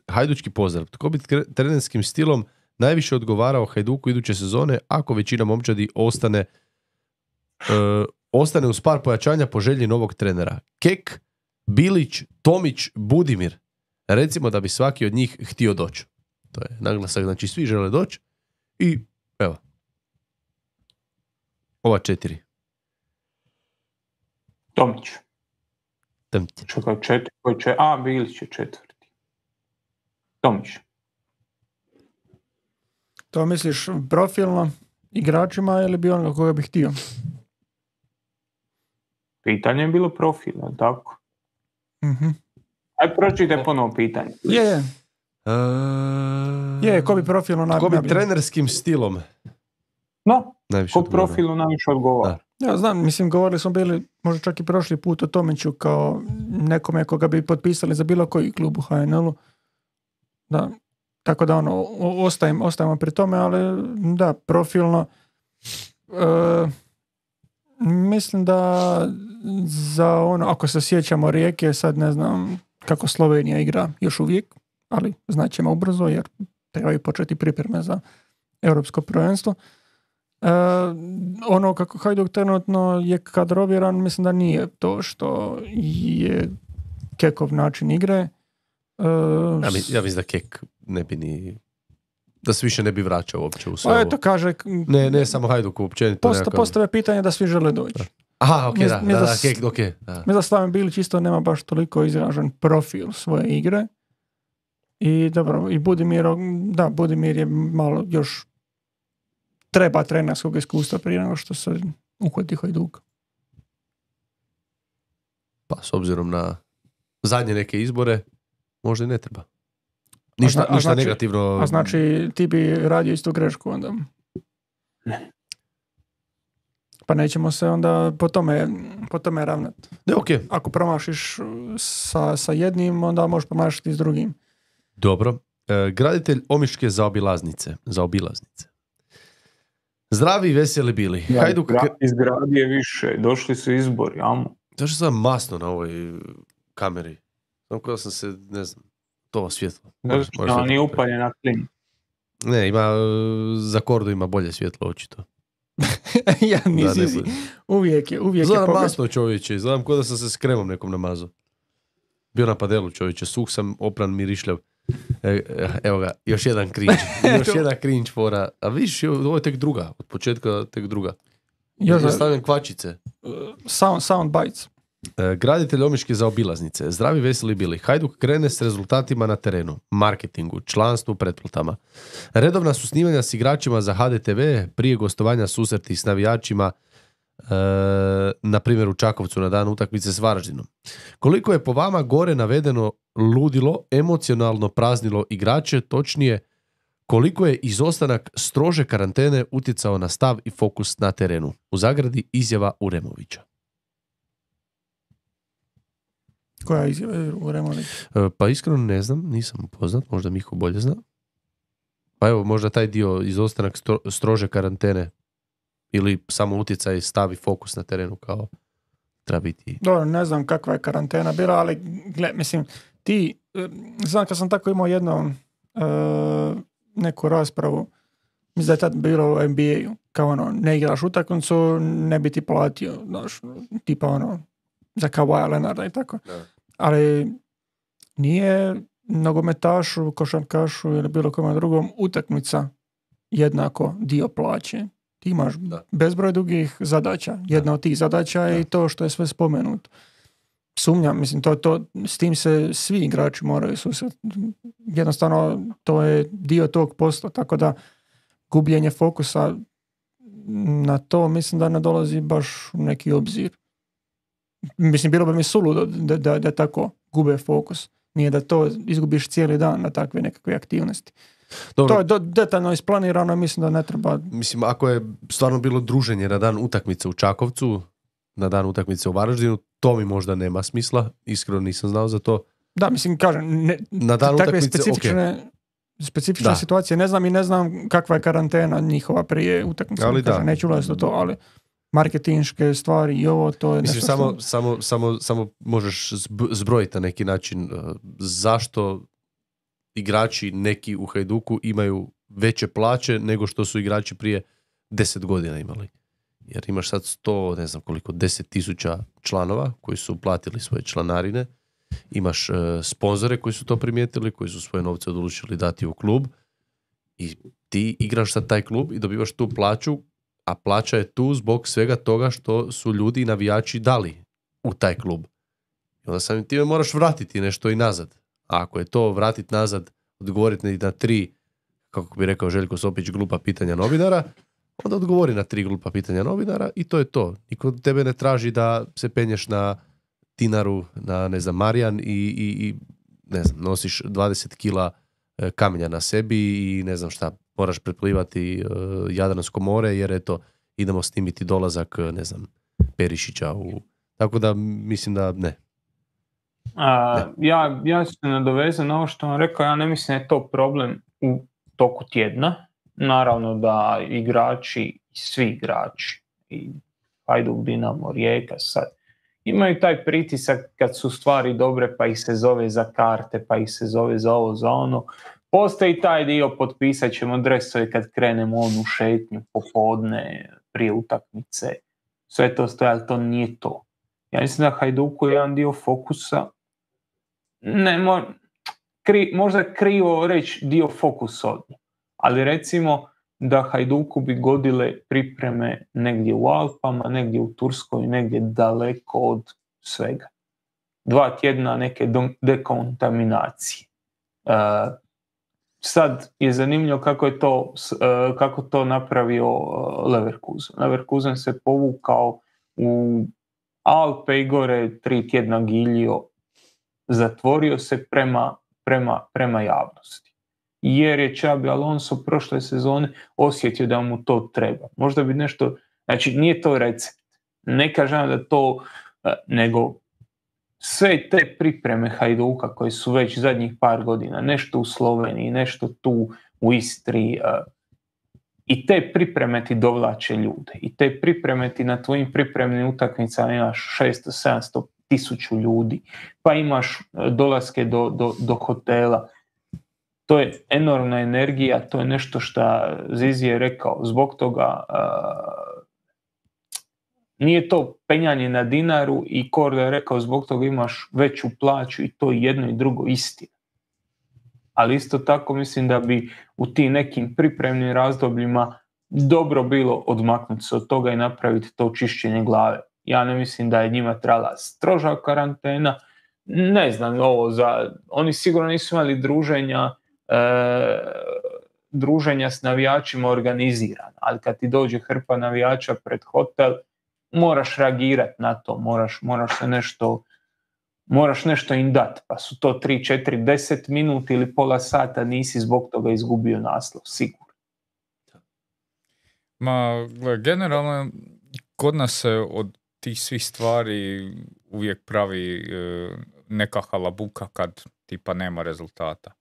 hajdučki pozdrav, tko bi kre- trenerskim stilom najviše odgovarao Hajduku iduće sezone, ako većina momčadi ostane uh, ostane uz par pojačanja po želji novog trenera? Kek, Bilić, Tomić, Budimir. Recimo da bi svaki od njih htio doći. To je naglasak, znači svi žele doći i evo. Ova četiri. Tomić. Tomić. Čekaj, četiri, koji će... A, Bilić je četvrti. Tomić. To misliš profilno igračima ili bi onoga koga bi htio? Pitanje je bilo profila, tako? Mhm. Aj, pročitaj ponovo pitanje. Je, je. Uh, Je, ko bi profilno Tko bi najbolje? trenerskim stilom No, najviše ko odgovarao? profilu najviše odgovara. Ja znam, mislim, govorili smo bili možda čak i prošli put o Tomiću kao nekome koga bi potpisali za bilo koji klub u ha en el-u. Da, tako da ono, o- ostajem, ostajemo pri tome, ali da, profilno e, mislim da za ono, ako se sjećamo Rijeke, sad ne znam kako Slovenija igra još uvijek, ali znaćemo ubrzo jer trebaju početi pripreme za europsko prvenstvo. E, ono kako Hajduk trenutno je kadroviran, mislim da nije to što je Kekov način igre. E, Ja, mi, ja mislim da Kek ne bi ni... Da se više ne bi vraćao uopće u sve pa ovo. eto kaže, Ne, ne samo Hajduk, općenito. posta, nekakav- postave pitanje da svi žele doći. Aha, ok, Mi- da, mi da, da da, s- Kek, ok. Da. Mislim da Slaven Bilić isto nema baš toliko izražen profil svoje igre. I dobro, i Budimir, da, Budimir je malo još treba trenerskog iskustva prije nego što se uhvati Hajduk. Pa s obzirom na zadnje neke izbore, možda i ne treba. Ništa, zna- a ništa znači- negativno. A znači ti bi radio istu grešku onda? Pa nećemo se onda po tome, po tome ravnati. Ne, ok. Ako promašiš sa, sa jednim, onda možeš promašiti s drugim. Dobro. E, graditelj Omiške zaobilaznice. Zaobilaznice. Zdravi i veseli bili. Hajduk... Izgra- Izgradi je više, došli su izbori, amo. Zašto sam masno na ovoj kameri? Samo kada sam se, ne znam, to svjetlo. Možeš- možeš Ona to- nije upaljena klin. Ne, ima, e, za Kordu ima bolje svjetlo, očito. Ja Da, nisi, ne si- bude. uvijek je, uvijek je Izgledam pogled. masno, čovječe, izgledam kao da sam se s kremom nekom namazao. Bio na padelu, čovječe, suh sam, opran, mirišljav. E, e, evo ga, još jedan cringe. Još jedan cringe fora. A vidiš, ovo je tek druga, od početka tek druga. Još, Ja stavljam kvačice. sound, sound bites. E, graditelj Omiške zaobilaznice. Zdravi, veseli bili. Hajduk krene s rezultatima na terenu, marketingu, članstvu, pretplatama. Redovna su snimanja s igračima za ha de te ve, prije gostovanja susreti s navijačima, e, na primjer u Čakovcu na dan utakmice s Varaždinom. Koliko je po vama gore navedeno ludilo, emocionalno praznilo igrače, točnije koliko je izostanak strože karantene utjecao na stav i fokus na terenu? U zagradi izjava Uremovića. Koja je izjava u Remović? E, Pa iskreno ne znam, nisam upoznat, možda Miho bolje zna. Pa evo, možda taj dio izostanak stro, strože karantene ili samo utjecaj, stav i fokus na terenu kao treba biti. Dobro, ne znam kakva je karantena bila, ali gle, mislim, ti, eh, znam kad sam tako imao jednom eh, neku raspravu, mislim da je tad bilo u en be a-u, kao ono, ne igraš utakmicu, ne bi ti platio, znaš, tipa ono, za Kawhi Leonarda i tako. Da. Ali nije nogometašu, košarkašu ili bilo kome drugom utakmica jednako dio plaće. Ti imaš Da. bezbroj drugih zadaća. Jedna od tih zadaća je Da. i to što je sve spomenuto. sumnjam, mislim, to, to, s tim se svi igrači moraju susreti. Jednostavno, to je dio tog posla, tako da gubljenje fokusa na to mislim da ne dolazi baš u neki obzir. Mislim, bilo bi mi suludo da, da, da tako gube fokus. Nije da to izgubiš cijeli dan na takve nekakve aktivnosti. Dobro. To je do, detaljno isplanirano i mislim da ne treba... Mislim, ako je stvarno bilo druženje na dan utakmice u Čakovcu, na dan utakmice u Varaždinu, to mi možda nema smisla. Iskreno nisam znao za to. Da, mislim, kažem, ne, na dan takve utakmice, specifične, okay. specifične Da. situacije ne znam i ne znam kakva je karantena njihova prije utakmice. Ali Kažem, da. neću ulaziti u to, ali marketinške stvari i ovo, to je Mislim, nešto samo, što... samo, samo, samo možeš zb- zbrojiti na neki način uh, zašto igrači neki u Hajduku imaju veće plaće nego što su igrači prije deset godina imali. Jer imaš sad sto, ne znam koliko, deset tisuća članova koji su platili svoje članarine. Imaš uh, sponzore koji su to primijetili, koji su svoje novce odlučili dati u klub. I ti igraš sad taj klub i dobivaš tu plaću, a plaća je tu zbog svega toga što su ljudi i navijači dali u taj klub. I onda samim time moraš vratiti nešto i nazad. A ako je to vratiti nazad, odgovoriti na tri, kako bi rekao Željko Sopić, glupa pitanja novinara, onda odgovori na tri glupa pitanja novinara i to je to. Niko od tebe ne traži da se penješ na Tinaru, na, ne znam, Marijan i, i, i ne znam, nosiš dvadeset kila e, kamenja na sebi i ne znam šta, moraš preplivati uh, Jadransko more jer eto, idemo snimiti dolazak, ne znam, Perišića u... Tako da mislim da ne. A, ja, ja ću se nadovezati na ovo što vam rekao, ja ne mislim da je to problem u toku tjedna. Naravno da igrači, svi igrači, i Hajduk, Dinamo, Rijeka sad, imaju taj pritisak kad su stvari dobre pa ih se zove za karte, pa ih se zove za ovo, za ono. Postoji taj dio, potpisat ćemo dresove kad krenemo onu šetnju popodne prije utakmice. Sve to stoji, ali to nije to. Ja mislim da Hajduku je jedan dio fokusa, ne, mo, kri, možda krivo reći dio fokusa od njih, ali recimo da Hajduku bi godile pripreme negdje u Alpama, negdje u Turskoj, negdje daleko od svega. Dva tjedna neke dekontaminacije. Uh, sad je zanimljivo kako je to, uh, kako to napravio uh, Leverkusen. Leverkusen se povukao u Alpe i gore tri tjedna giljio, zatvorio se prema, prema, prema javnosti. Jer je Xabi Alonso prošle sezone osjetio da mu to treba. Možda bi nešto, znači nije to recept. Ne kažem da to, nego sve te pripreme Hajduka koje su već zadnjih par godina, nešto u Sloveniji, nešto tu u Istri, i te pripreme ti dovlače ljude. I te pripreme ti na tvojim pripremnim utakmicama imaš šesto sedamsto tisuću ljudi, pa imaš dolaske do, do, do hotela. To je enormna energija, to je nešto što Zizi je rekao. Zbog toga uh, nije to penjanje na dinaru i Korda je rekao zbog toga imaš veću plaću i to je jedno i drugo istina. Ali isto tako mislim da bi u tim nekim pripremnim razdobljima dobro bilo odmaknuti se od toga i napraviti to čišćenje glave. Ja ne mislim da je njima trebala stroža karantena, ne znam ovo za, oni sigurno nisu imali druženja e, druženja s navijačima organizirana, ali kad ti dođe hrpa navijača pred hotel, moraš reagirati na to, moraš, moraš se nešto moraš nešto im dati, pa su to tri, četiri, deset minuta ili pola sata, nisi zbog toga izgubio naslov, sigurno. Ma, generalno, kod nas se od tih svih stvari uvijek pravi e, neka halabuka kad tipa nema rezultata.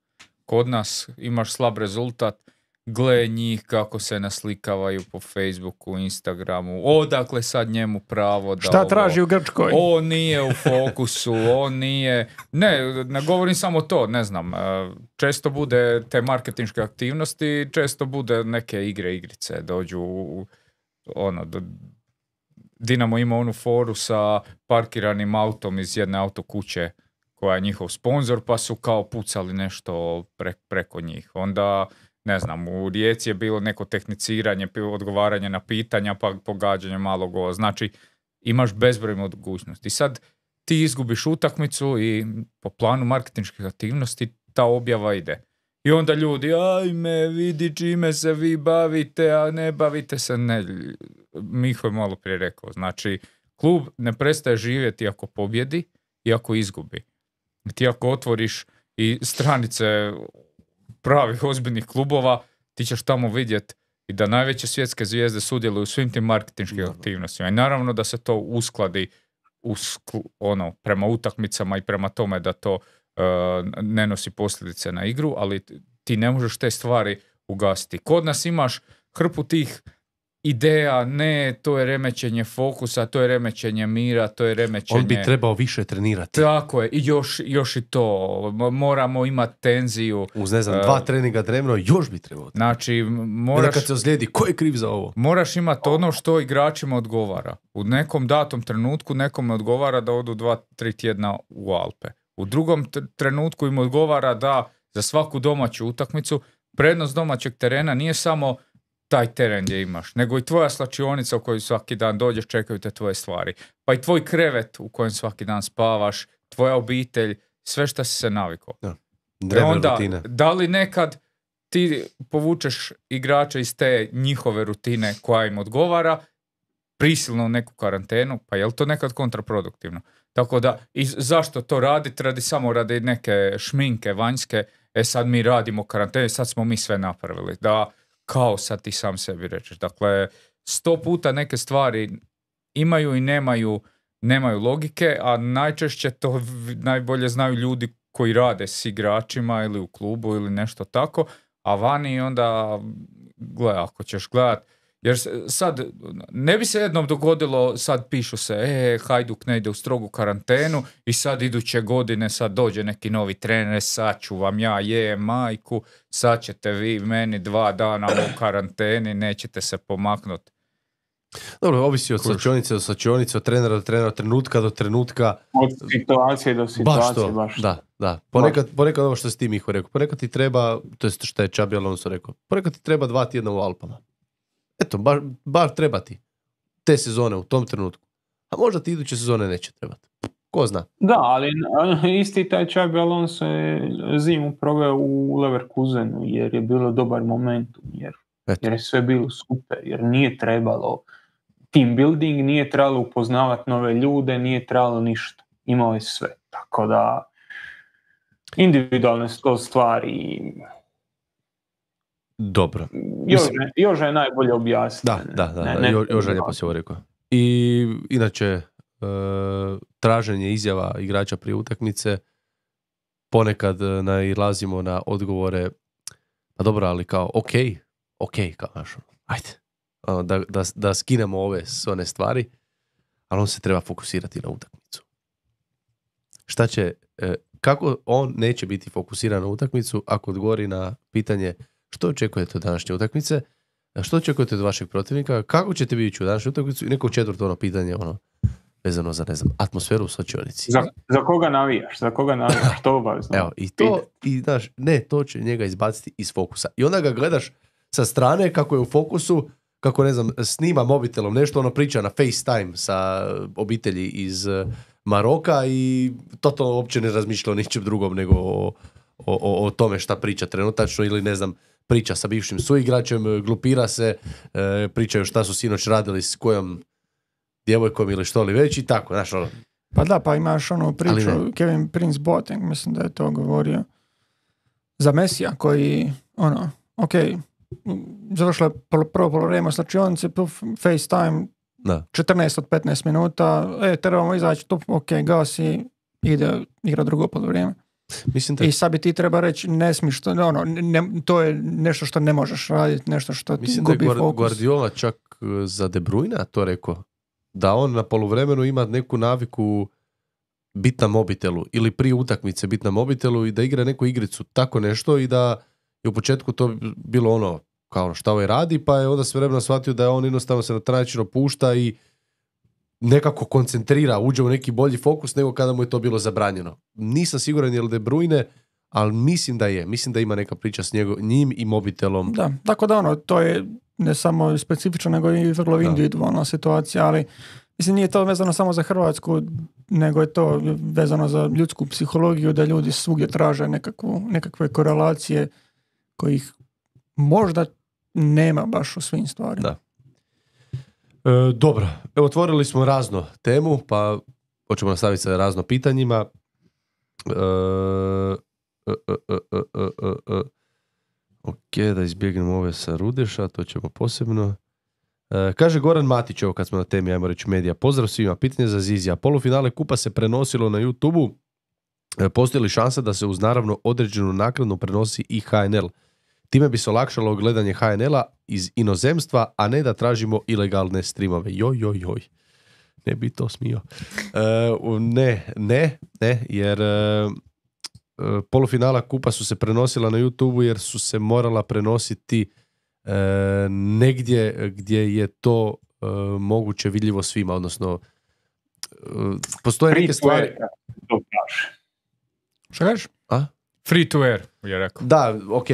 Kod nas imaš slab rezultat, gle njih kako se naslikavaju po Facebooku, Instagramu, odakle sad njemu pravo da... Šta ovo, traži u Grčkoj? On nije u fokusu, on nije... Ne, ne govorim samo to, ne znam. Često bude te marketinške aktivnosti, često bude neke igre, igrice, dođu u, ono... Do, Dinamo ima onu foru sa parkiranim autom iz jedne autokuće koja je njihov sponzor, pa su kao pucali nešto pre, preko njih. Onda, ne znam, u Rijeci je bilo neko tehniciranje, odgovaranje na pitanja, pa pogađanje malog gola. Znači, imaš bezbroj mogućnosti. Sad, ti izgubiš utakmicu i po planu marketinških aktivnosti ta objava ide. I onda ljudi, ajme, vidi čime se vi bavite, a ne bavite se, ne. Miho je malo prije rekao, znači, klub ne prestaje živjeti ako pobjedi i ako izgubi. Ti ako otvoriš i stranice pravih ozbiljnih klubova, ti ćeš tamo vidjeti i da najveće svjetske zvijezde sudjeluju u svim tim marketinškim aktivnostima. I naravno da se to uskladi uskl- ono, prema utakmicama i prema tome da to uh, ne nosi posljedice na igru, ali ti ne možeš te stvari ugasiti. Kod nas imaš hrpu tih ideja, ne, to je remećenje fokusa, to je remećenje mira, to je remećenje... On bi trebao više trenirati. Tako je, i još, još i to. Moramo imati tenziju. Uz, ne znam, dva uh, treninga dnevno, još bi trebao. Znači, moraš... Jer kad se ozlijedi, ko je kriv za ovo? Moraš imati ono što igračima odgovara. U nekom datom trenutku nekome odgovara da odu dva, tri tjedna u Alpe. U drugom t- trenutku im odgovara da za svaku domaću utakmicu prednost domaćeg terena nije samo taj teren gdje imaš, nego i tvoja slačionica u kojoj svaki dan dođeš, čekaju te tvoje stvari. Pa i tvoj krevet u kojem svaki dan spavaš, tvoja obitelj, sve što si se navikao. Ja. E onda, da li nekad ti povučeš igrača iz te njihove rutine koja im odgovara, prisilno u neku karantenu, pa je li to nekad kontraproduktivno? Tako da, i zašto to raditi? Radi samo radi neke šminke vanjske, e sad mi radimo karantenu, sad smo mi sve napravili. Da, kao sad ti sam sebi rečeš. Dakle, sto puta neke stvari imaju i nemaju, nemaju logike, a najčešće to najbolje znaju ljudi koji rade s igračima ili u klubu ili nešto tako, a vani onda, gledaj, ako ćeš gledat, jer sad, ne bi se jednom dogodilo, sad pišu se, e, Hajduk ne ide u strogu karantenu i sad iduće godine sad dođe neki novi trener, sad ću vam ja je majku, sad ćete vi meni dva dana u karanteni, nećete se pomaknuti. Dobro, ovisi od slačionice do slačionice, od trenera do trenera, od trenutka do trenutka. Od situacije do situacije, baš to. Baš da, da. Ponekad, ponekad ovo što si ti Miho rekao, ponekad ti treba, to je što je Xabi Alonso rekao, ponekad ti treba dva tjedna u Alpama. Eto, bar, bar treba ti te sezone u tom trenutku. A možda ti iduće sezone neće trebati. Ko zna? Da, ali isti taj Xabi Alonso je zimu proveo u Leverkusenu jer je bilo dobar momentum, jer, jer je sve bilo super, jer nije trebalo team building, nije trebalo upoznavati nove ljude, nije trebalo ništa. Imao je sve. Tako da individualne sto stvari... Dobro. Jože, Jože je najbolje objasniti. Da, da, da, ne, ne, jo, Jože je lijepo se ovo rekao. I inače, e, traženje izjava igrača prije utakmice, ponekad nailazimo na odgovore, pa dobro, ali kao, ok, ok, kao naš, ajde, da, da, da skinemo ove sve one stvari, ali on se treba fokusirati na utakmicu. Šta će, e, kako on neće biti fokusiran na utakmicu ako odgovori na pitanje što očekujete od današnje utakmice, što očekujete od vašeg protivnika, kako ćete vidjeti u današnju utakmicu i neko četvrto ono pitanje, ono, vezano za, ne znam, atmosferu u slačionici. Za, za koga navijaš? Za koga navijaš? To obavezno. Evo, i to, i znaš, ne, to će njega izbaciti iz fokusa. I onda ga gledaš sa strane kako je u fokusu, kako, ne znam, snima mobitelom nešto, ono priča na FaceTime sa obitelji iz Maroka i totalno uopće ne razmišlja o ničem drugom nego o, o, o, o tome šta priča trenutačno ili, ne znam, priča sa bivšim suigračem, glupira se, e, pričaju šta su sinoć radili s kojom djevojkom ili što li već i tako, znaš ono. Pa da, pa imaš onu priču, Kevin Prince Boateng, mislim da je to govorio, za Mesija koji, ono, ok, završila je prvo polovreme u slačionici, FaceTime, da. četrnaest od petnaest minuta, e, trebamo izaći, tu, ok, gasi, ide igra drugo polovreme. Mislim da... I sad bi ti treba reći, ne smiš, to, ono, ne, to je nešto što ne možeš raditi, nešto što ti mislim gubi fokus. Mislim da je Guardiola čak za De Bruyne to rekao, da on na poluvremenu ima neku naviku bit na mobitelu ili prije utakmice bit na mobitelu i da igra neku igricu, tako nešto, i da je u početku to bilo ono, kao šta ovaj radi, pa je onda sve vremena shvatio da je on jednostavno se na taj način opušta i nekako koncentrira, uđe u neki bolji fokus nego kada mu je to bilo zabranjeno. Nisam siguran je li De Bruyne, ali mislim da je. Mislim da ima neka priča s njego, njim i mobitelom. Da, tako da ono, to je ne samo specifično, nego i vrlo individualna situacija, ali Mislim, nije to vezano samo za Hrvatsku, nego je to vezano za ljudsku psihologiju, da ljudi svugdje traže nekakvu, nekakve korelacije kojih možda nema baš u svim stvarima. Da. E, dobro, evo otvorili smo razno temu, pa hoćemo nastaviti sa razno pitanjima. E, e, e, e, e, e, e. Ok, da izbjegnemo ove sa Rudeša, to ćemo posebno. E, kaže Goran Matić, evo kad smo na temi, ajmo reći medija. Pozdrav svima, pitanje za Zizija. Polufinale kupa se prenosilo na YouTubeu. E, postoji li šansa da se uz naravno određenu naknadu prenosi i H N L? Time bi se olakšalo gledanje H N L-a iz inozemstva, a ne da tražimo ilegalne streamove. Joj, joj, joj. Ne bi to smio. E, ne, ne, ne, jer e, polufinala kupa su se prenosila na YouTubeu jer su se morala prenositi e, negdje gdje je to e, moguće vidljivo svima, odnosno e, postoje neke stvari... Što kažeš? A? Free to air, je rekao. Da, ok,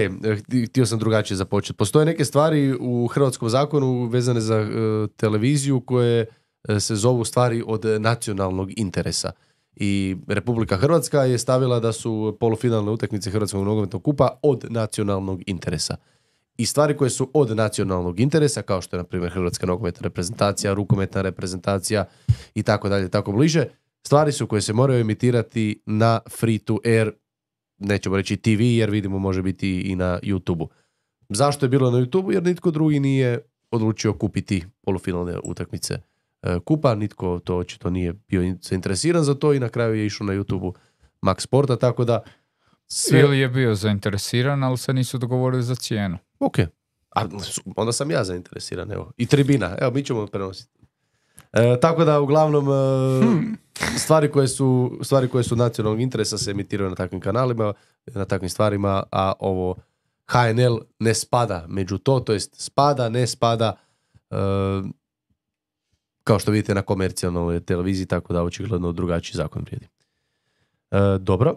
htio sam drugačije započeti. Postoje neke stvari u hrvatskom zakonu vezane za uh, televiziju koje uh, se zovu stvari od nacionalnog interesa. I Republika Hrvatska je stavila da su polufinalne utakmice Hrvatskog nogometnog kupa od nacionalnog interesa. I stvari koje su od nacionalnog interesa, kao što je, na primjer, Hrvatska nogometna reprezentacija, rukometna reprezentacija i tako dalje, tako bliže, stvari su koje se moraju emitirati na free to air, nećemo reći T V, jer vidimo može biti i na YouTubeu. Zašto je bilo na YouTubeu? Jer nitko drugi nije odlučio kupiti polufinalne utakmice kupa, nitko to očito nije bio zainteresiran za to i na kraju je išao na YouTubeu Max Sporta, tako da sve... Ili je bio zainteresiran, ali se nisu dogovorili za cijenu. Ok, a onda sam ja zainteresiran, evo. I tribina, evo, mi ćemo prenositi. E, tako da, uglavnom, e, hmm. stvari, koje su, stvari koje su nacionalnog interesa se emitiraju na takvim kanalima, na takvim stvarima, a ovo H N L ne spada među to, to jest spada, ne spada, e, kao što vidite na komercijalnoj televiziji, tako da očigledno drugačiji zakon vrijedi. E, dobro.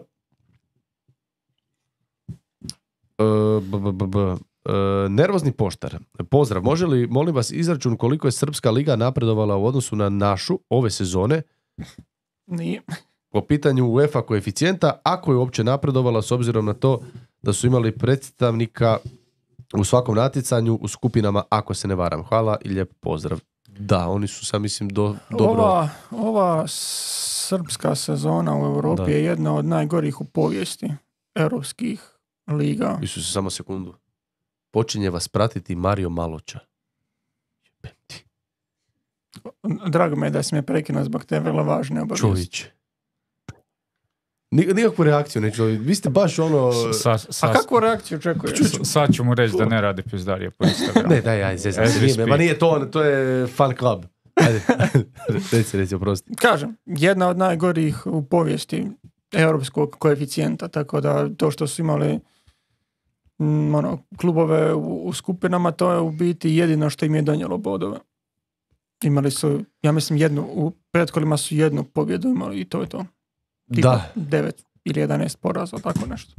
E, b, b, b, b. E, nervozni poštar. Pozdrav, može li, molim vas, izračun koliko je Srpska liga napredovala u odnosu na našu ove sezone? Nije. Po pitanju UEFA koeficijenta, ako je uopće napredovala s obzirom na to da su imali predstavnika u svakom natjecanju u skupinama, ako se ne varam. Hvala i lijep pozdrav. Da, oni su sam mislim do, dobro... Ova, ova srpska sezona u Europi da. je jedna od najgorih u povijesti europskih liga. Isuse, samo sekundu. Počinje vas pratiti Mario Maloča. Drago me je da si me prekinuo zbog te vrlo važne obavijesti. Čovječ. Nikakvu reakciju neću. Vi ste baš ono... Sa, sa, A kakvu reakciju očekuješ? Sad ću mu reći da ne radi pizdarije po Instagramu. Ne, daj, aj, zezam se. Nije, ma nije to, to je fan club. Ajde, reci, reci, oprosti. Kažem, jedna od najgorih u povijesti europskog koeficijenta, tako da to što su imali m, ono, klubove u, u skupinama, to je u biti jedino što im je donijelo bodove. Imali su, ja mislim, jednu, u pretkolima su jednu pobjedu imali i to je to. Tipa da. devet ili jedanaest poraza, tako nešto.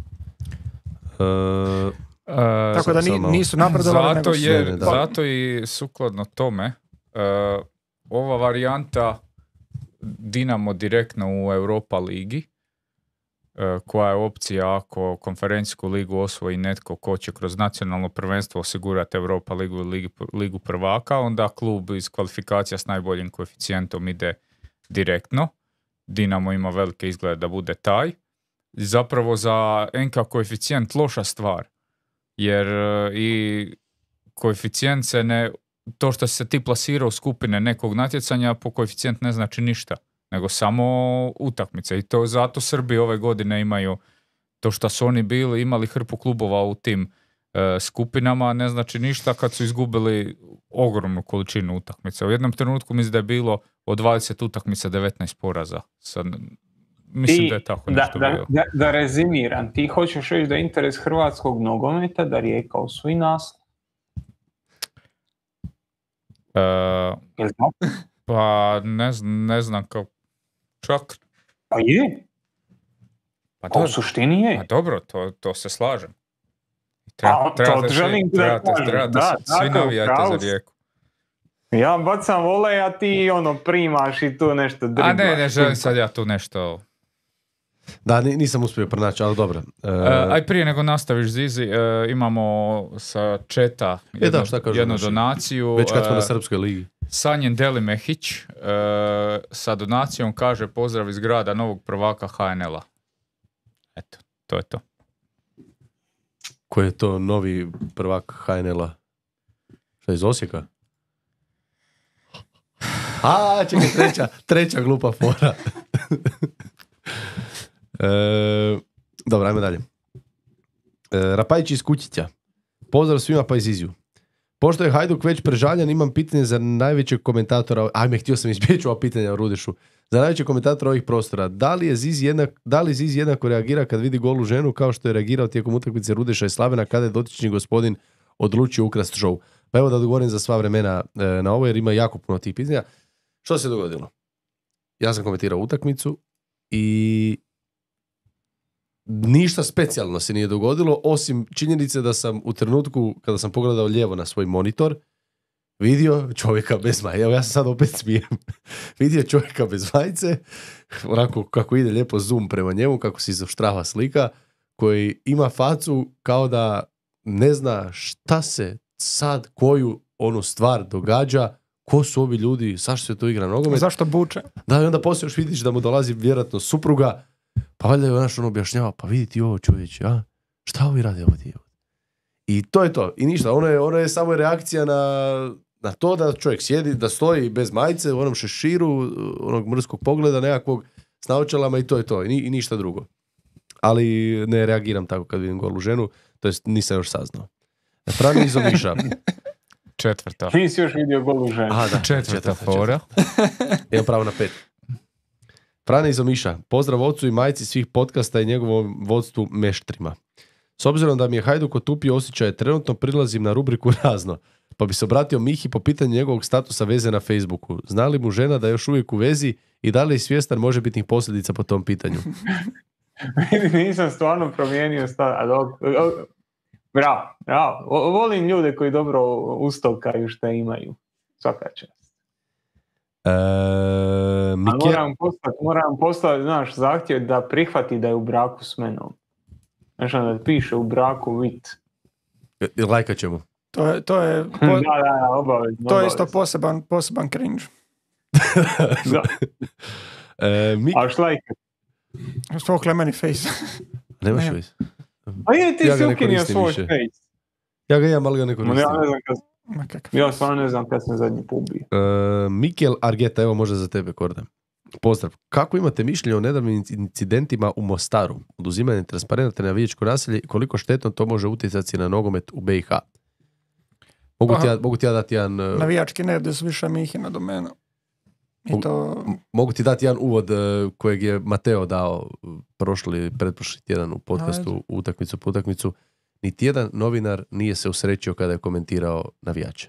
Uh, Uh, tako da ni, nisu napredovali. Zato, nego jer, su... zato i sukladno tome uh, ova varijanta Dinamo direktno u Europa ligi, uh, koja je opcija ako konferencijsku ligu osvoji netko ko će kroz nacionalno prvenstvo osigurati Europa ligu i ligu, ligu prvaka, onda klub iz kvalifikacija s najboljim koeficijentom ide direktno. Dinamo ima velike izglede da bude taj. Zapravo za N K koeficijent loša stvar. Jer uh, i koeficijent se ne, to što se ti plasira u skupine nekog natjecanja po koeficijent ne znači ništa, nego samo utakmice. I to zato Srbi ove godine imaju to što su oni bili, imali hrpu klubova u tim uh, skupinama, ne znači ništa kad su izgubili ogromnu količinu utakmica. U jednom trenutku mislim da je bilo od dvadeset utakmica devetnaest poraza. Sad, mislim ti, da je tako da, nešto da, bilo. Da, da rezimiram, ti hoćeš reći da je interes hrvatskog nogometa da Rijeka osvoji naslov? Uh, pa ne, ne znam kao čak. Pa je. Pa, pa u suštini je. Pa dobro, to, to se slažem. Treba, A, trebate to želim svi, trebate, da trebate da, svi navijajte za Rijeku. Ja bacam volej, a ti ono primaš i tu nešto driblaš. A ne, ne želim sad ja tu nešto... Da, nisam uspio pronaći, ali dobro. Uh, uh, aj prije nego nastaviš, Zizi, uh, imamo sa četa jednu, e da, šta kažu, jednu naši? donaciju. Već kad smo uh, na Srpskoj ligi. Sanjen Delimehić uh, sa donacijom kaže pozdrav iz grada novog prvaka H N L-a. Eto, to je to. Ko je to novi prvak H N L-a? Šta je iz Osijeka? A, čekaj, treća, treća glupa fora. e, dobro, ajmo dalje. E, Rapajić iz Kućića. Pozdrav svima pa iz Iziju. Pošto je Hajduk već prežaljan, imam pitanje za najvećeg komentatora. Ajme, htio sam izbjeći ova pitanja o Rudešu. Za najvećeg komentatora ovih prostora. Da li je Ziz jednak, da li Ziz jednako reagira kad vidi golu ženu kao što je reagirao tijekom utakmice Rudeša i Slavena kada je dotični gospodin odlučio ukrasti show? Pa evo da odgovorim za sva vremena e, na ovo jer ima jako puno tih pitanja. Što se dogodilo? Ja sam komentirao utakmicu i ništa specijalno se nije dogodilo, osim činjenice da sam u trenutku kada sam pogledao lijevo na svoj monitor vidio čovjeka bez majice. Evo ja sam sad opet smijem. Vidio čovjeka bez majice, onako kako ide lijepo zoom prema njemu, kako se izoštrava slika, koji ima facu kao da ne zna šta se sad, koju onu stvar događa, ko su ovi ljudi, zašto se to igra nogomet. Zašto buče? Da, i onda poslije još vidiš da mu dolazi vjerojatno supruga, pa valjda je naš on objašnjava, pa vidi ti ovo čovječe, a? Šta ovi radi ovdje? I to je to. I ništa, ono je, ono je samo reakcija na, na to da čovjek sjedi, da stoji bez majice, u onom šeširu, onog mrskog pogleda nekakvog s naočalama i to je to. I, i ništa drugo. Ali ne reagiram tako kad vidim golu ženu, to jest nisam još saznao. Frani iz Omiša. Četvrta. Nisi još vidio golu ženu. Aha, da, Četvrta, četvrta fora. Imam pravo na pet. Frane iz Omiša. Pozdrav ocu i majci svih podcasta i njegovom vodstvu meštrima. S obzirom da mi je Hajduk otupio osjećaje, trenutno prilazim na rubriku razno, pa bi se obratio Mihi po pitanju njegovog statusa veze na Facebooku. Zna li mu žena da je još uvijek u vezi i da li je svjestan možebitnih posljedica po tom pitanju? Nisam stvarno promijenio stav. Bravo, bravo. Volim ljude koji dobro ustovkaju šta imaju. Svaka čast. E, Mike... moram poslati, moram poslati, znaš, zahtjev da prihvati da je u braku s menom. Znaš, da piše u braku vit. I lajkat ćemo. To je, to je, po, da, da, da, obavezno. to je isto poseban, poseban cringe. Da. e, mi... A šlajka? Svokle meni face. Nemaš Ne. face? A je, ti Ja si ga ne ukinio koristim svoj više. face. Ja ga imam, ali ga ne Ma koristim. Ja ne znam kad, Ma kakav ja face. stvarno ne znam kad sam zadnji put bio. E, Mikel Argeta, evo možda za tebe, Korda. Pozdrav. Kako imate mišljenje o nedavnim incidentima u Mostaru? Oduzimanje transparenta na navijačko naselje i koliko štetno to može utjecati na nogomet u B i H? Mogu ti ja, mogu ti ja dati jedan... uh, Navijački nerdi su više Mihina domena. I to... Mogu ti dati jedan uvod uh, kojeg je Mateo dao uh, prošli, pretprošli tjedan u podcastu Ajde. utakmicu po utakmicu. Niti jedan novinar nije se usrećio kada je komentirao navijače.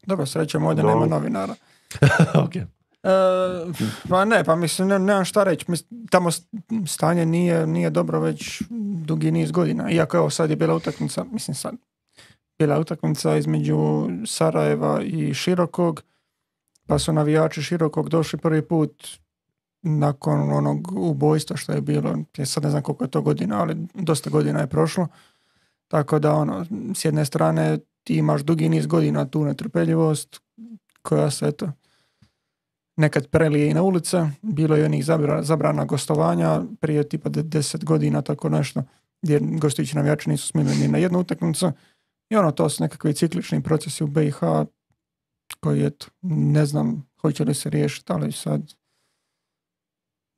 Dobro, srećem, ovdje Dobro. nema novinara. Ok. E, pa ne, pa mislim, ne, nemam šta reći. Mislim, tamo s- stanje nije, nije dobro već dugi niz godina. Iako evo sad je bila utakmica, mislim sad, bila je utakmica između Sarajeva i Širokog, pa su navijači Širokog došli prvi put nakon onog ubojstva što je bilo, ja sad ne znam koliko je to godina, ali dosta godina je prošlo. Tako da ono, s jedne strane ti imaš dugi niz godina tu netrpeljivost koja se eto nekad prelije i na ulice, bilo je onih zabra, zabrana gostovanja prije tipa de- deset godina, tako nešto, gdje gostujući navijači nisu smjeli ni na jednu utakmicu. I ono, to su nekakvi ciklični procesi u B i H koji, eto, ne znam hoće li se riješiti, ali sad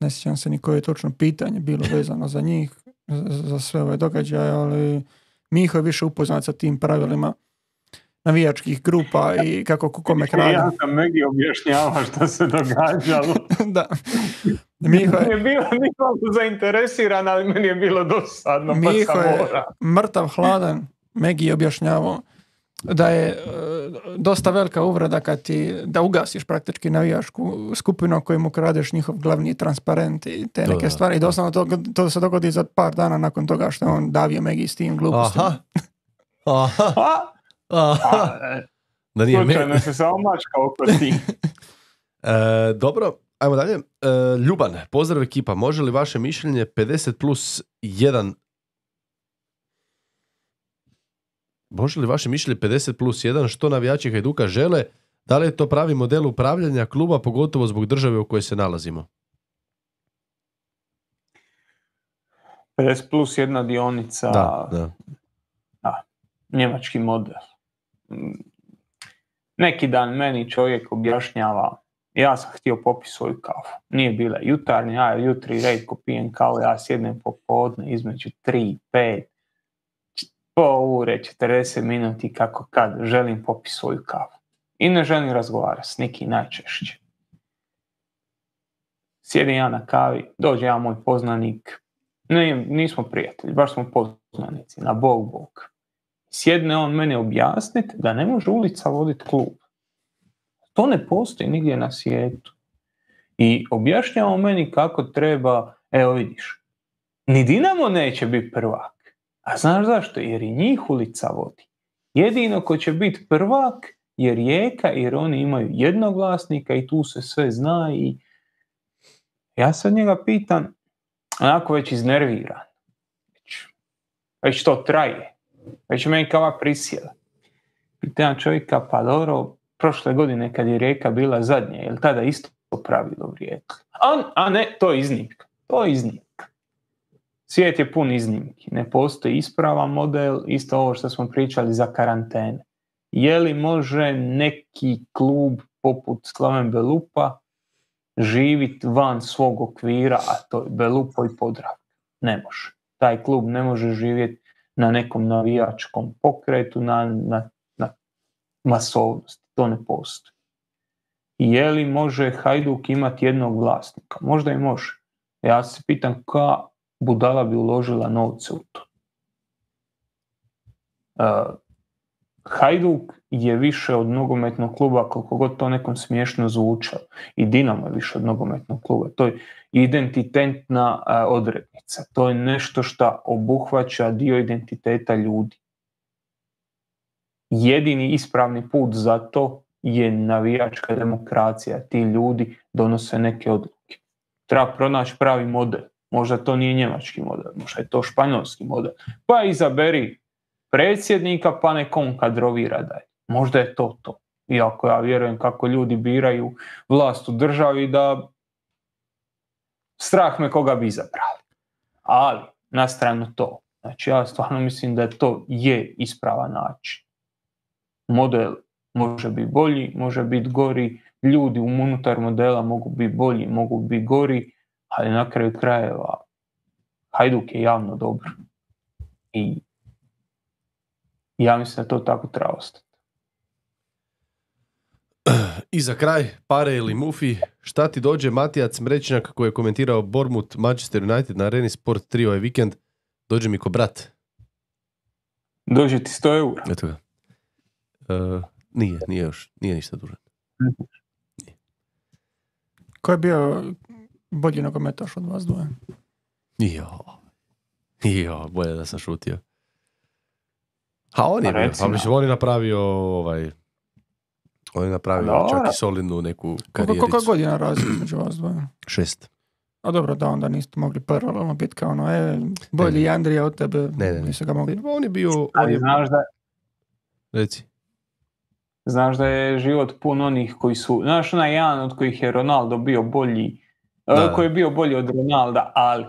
ne sjećam se ni koje je točno pitanje bilo vezano za njih, za, za sve ove događaje, ali Miho je više upoznat sa tim pravilima navijačkih grupa i kako ko kome krade. Ja sam Megi objašnjavao što se događalo. Da. Miho Je je bilo nisam zainteresiran, ali meni je bilo dosadno, pa Miho sam je mora. mrtav hladan. Megi je objašnjavao da je e, dosta velika uvreda kad ti, da ugasiš praktički navijačku skupinu kojemu kradeš njihov glavni transparent i te Da, neke da. stvari. I doslovno to, to se dogodi za par dana nakon toga što je on davio Megi s tim glupostima. Aha. Aha. A, Aha, A, da nije me... slučajno se samo mačka oko ti. E, dobro, ajmo dalje. E, Ljuban, pozdrav ekipa. Može li vaše mišljenje pedeset plus jedan Može li vaše mišljenje pedeset plus jedan što navijači Hajduka žele? Da li je to pravi model upravljanja kluba, pogotovo zbog države u kojoj se nalazimo? pedeset plus jedna dionica, Da, da. da, njemački model. Neki dan meni čovjek objašnjava, ja sam htio popiti svoju kafu. Nije bila jutarnja, ja jutri redko pijem kavu, ja sjednem popodne između tri, pet, pol ure, četrdeset minuti kako kad želim popiti svoju kafu. I ne želim razgovarati s nikim najčešće. Sjedim ja na kavi, dođe ja moj poznanik, ne, nismo prijatelji, baš smo poznanici, na bog bog. Sjedne on mene objasniti da ne može ulica voditi klub. To ne postoji nigdje na svijetu. I objašnjava meni kako treba, evo vidiš, ni Dinamo neće biti prvak. A znaš zašto? Jer i njih ulica vodi. Jedino ko će biti prvak je Rijeka, jer oni imaju jednog vlasnika i tu se sve zna. I ja sad njega pitam, onako već iznerviran. Već, već to traje. Već meni kava prisjela. Pitam čovjeka, pa dobro, prošle godine kad je Rijeka bila zadnja, je li tada isto pravilo vrijedilo? A, a ne, to je iznimka. To je iznimka. Svijet je pun iznimki. Ne postoji ispravan model, isto ovo što smo pričali za karantene. Je li može neki klub poput Slaven Belupa živjeti van svog okvira, a to je Belupo i Podravka? Ne može. Taj klub ne može živjeti na nekom navijačkom pokretu, na, na, na masovnosti. To ne postoji. Je li može Hajduk imati jednog vlasnika? Možda i može. Ja se pitam ka budala bi uložila novce u to. Uh, Hajduk je više od nogometnog kluba, koliko god to nekom smiješno zvučalo. I Dinamo je više od nogometnog kluba. To je identitetna uh, odrednica. To je nešto što obuhvaća dio identiteta ljudi. Jedini ispravni put za to je navijačka demokracija. Ti ljudi donose neke odluke. Treba pronaći pravi model. Možda to nije njemački model, možda je to španjolski model. Pa izaberi predsjednika, pa nekom kadrovira dalje. Možda je to to. Iako ja vjerujem kako ljudi biraju vlast u državi, da strah me koga bi izabrali. Ali, na stranu to. Znači, ja stvarno mislim da to je ispravan način. Model može biti bolji, može biti gori, ljudi unutar modela mogu biti bolji, mogu biti gori, ali na kraju krajeva Hajduk je javno dobro. I ja mislim da to tako treba ostati. I za kraj, Pare ili Mufi, šta ti dođe Matijac Mrečnjak koji je komentirao Bournemouth Manchester United na Areni Sport tri ovaj vikend, dođe mi ko brat. Dođe ti sto eura. Eto ga. Uh, nije, nije još, nije ništa dužan. Nije. Ko je bio bolji nogometaš od vas dvoje? Jo, jo, bolje da sam šutio. A on je bio, pa mislim, on je napravio ovaj, on je napravio Dobre. čak i solidnu neku karijericu. Koliko godina razlika među vas dvoje? Šest. A dobro, da onda niste mogli paralelno biti kao ono, e, bolji ne, Andrija od tebe, ne, ne, nisu ga mogli. On je bio, on Ali je, znaš da, reci. znaš da je život pun onih koji su, znaš onaj jedan od kojih je Ronaldo bio bolji, Da. koji je bio bolji od Ronalda, ali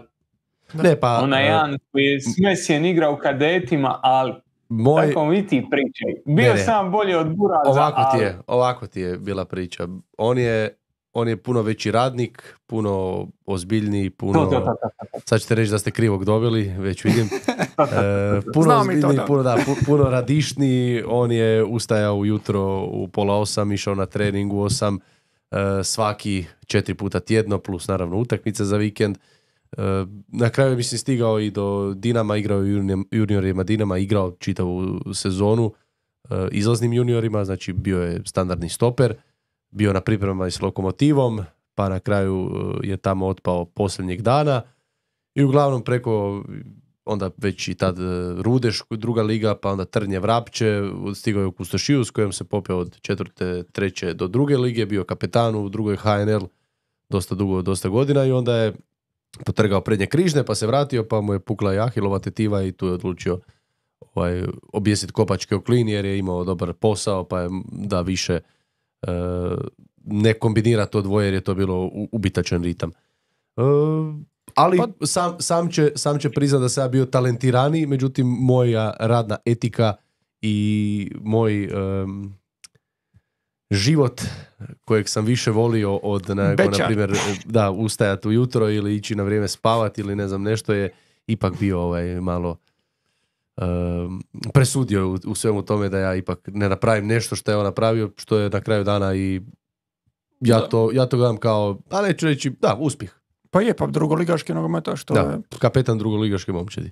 Ne, pa, onaj jedan koji je s Mesijem igrao u kadetima, ali moj, tako mi ti pričaj. Bio Ne, ne. sam bolji od Buraza, ovako ti ali... je, ovako ti je bila priča. On je, on je puno veći radnik, puno ozbiljniji, puno... To, to, to, to, to. Sad ćete reći da ste krivog dobili, već vidim. E, puno Znamo mi to, ozbiljniji, da. puno, da, pu- puno radišniji. On je ustajao ujutro u pola osam, išao na trening u osam, e, svaki četiri puta tjedno, plus naravno utakmice za vikend. E, na kraju je, mislim, stigao i do Dinama, igrao u junior- juniorima Dinama, igrao čitavu sezonu e, izlaznim juniorima, znači bio je standardni stoper, bio na pripremama i s Lokomotivom, pa na kraju e, je tamo otpao posljednjeg dana i uglavnom preko onda već i tad Rudeš, druga liga, pa onda Trnje Vrapče, stigao je u Kustošiju s kojom se popeo od četvrte, treće do druge lige, bio kapetan u drugoj H N L dosta dugo, dosta godina i onda je potrgao prednje križne, pa se vratio, pa mu je pukla i ahilova tetiva i tu je odlučio ovaj, objesiti kopačke u klin jer je imao dobar posao, pa je da više e, ne kombinira to dvoje jer je to bilo ubitačan ritam. E, ali pa, sam, sam, će, sam će priznat da sam ja bio talentiraniji, međutim moja radna etika i moj um, život kojeg sam više volio od na, na primjer da ustajati ujutro ili ići na vrijeme spavati ili ne znam nešto je ipak bio ovaj malo um, presudio u, u svemu tome da ja ipak ne napravim nešto što je on napravio, što je na kraju dana i ja to, ja to gledam kao, a neću reći, da, uspjeh. Pa je, pa drugoligaški nogometaš, što da, je... kapetan drugoligaške momčadi.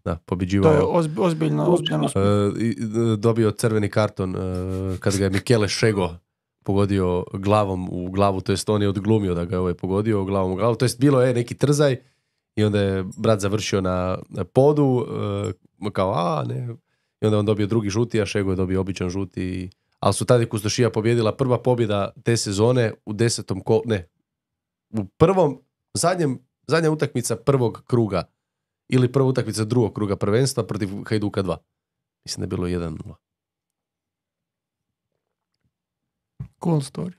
Da, pobjeđivao... To je ozb, ozbiljno, ozbiljno uspjeh. Uh, dobio crveni karton uh, kad ga je Michele Šego pogodio glavom u glavu, to jest on je odglumio da ga je ovaj pogodio glavom u glavu, to jest bilo je neki trzaj i onda je brat završio na, na podu, uh, kao a ne, i onda on dobio drugi žuti, a Šego je dobio običan žuti, ali su tada Kustošija pobjedila prva pobjeda te sezone u desetom kolu, ne, u prvom, zadnjem, zadnja utakmica prvog kruga ili prva utakmica drugog kruga prvenstva protiv Hajduka dva. Mislim da je bilo jedan nula. Cool story.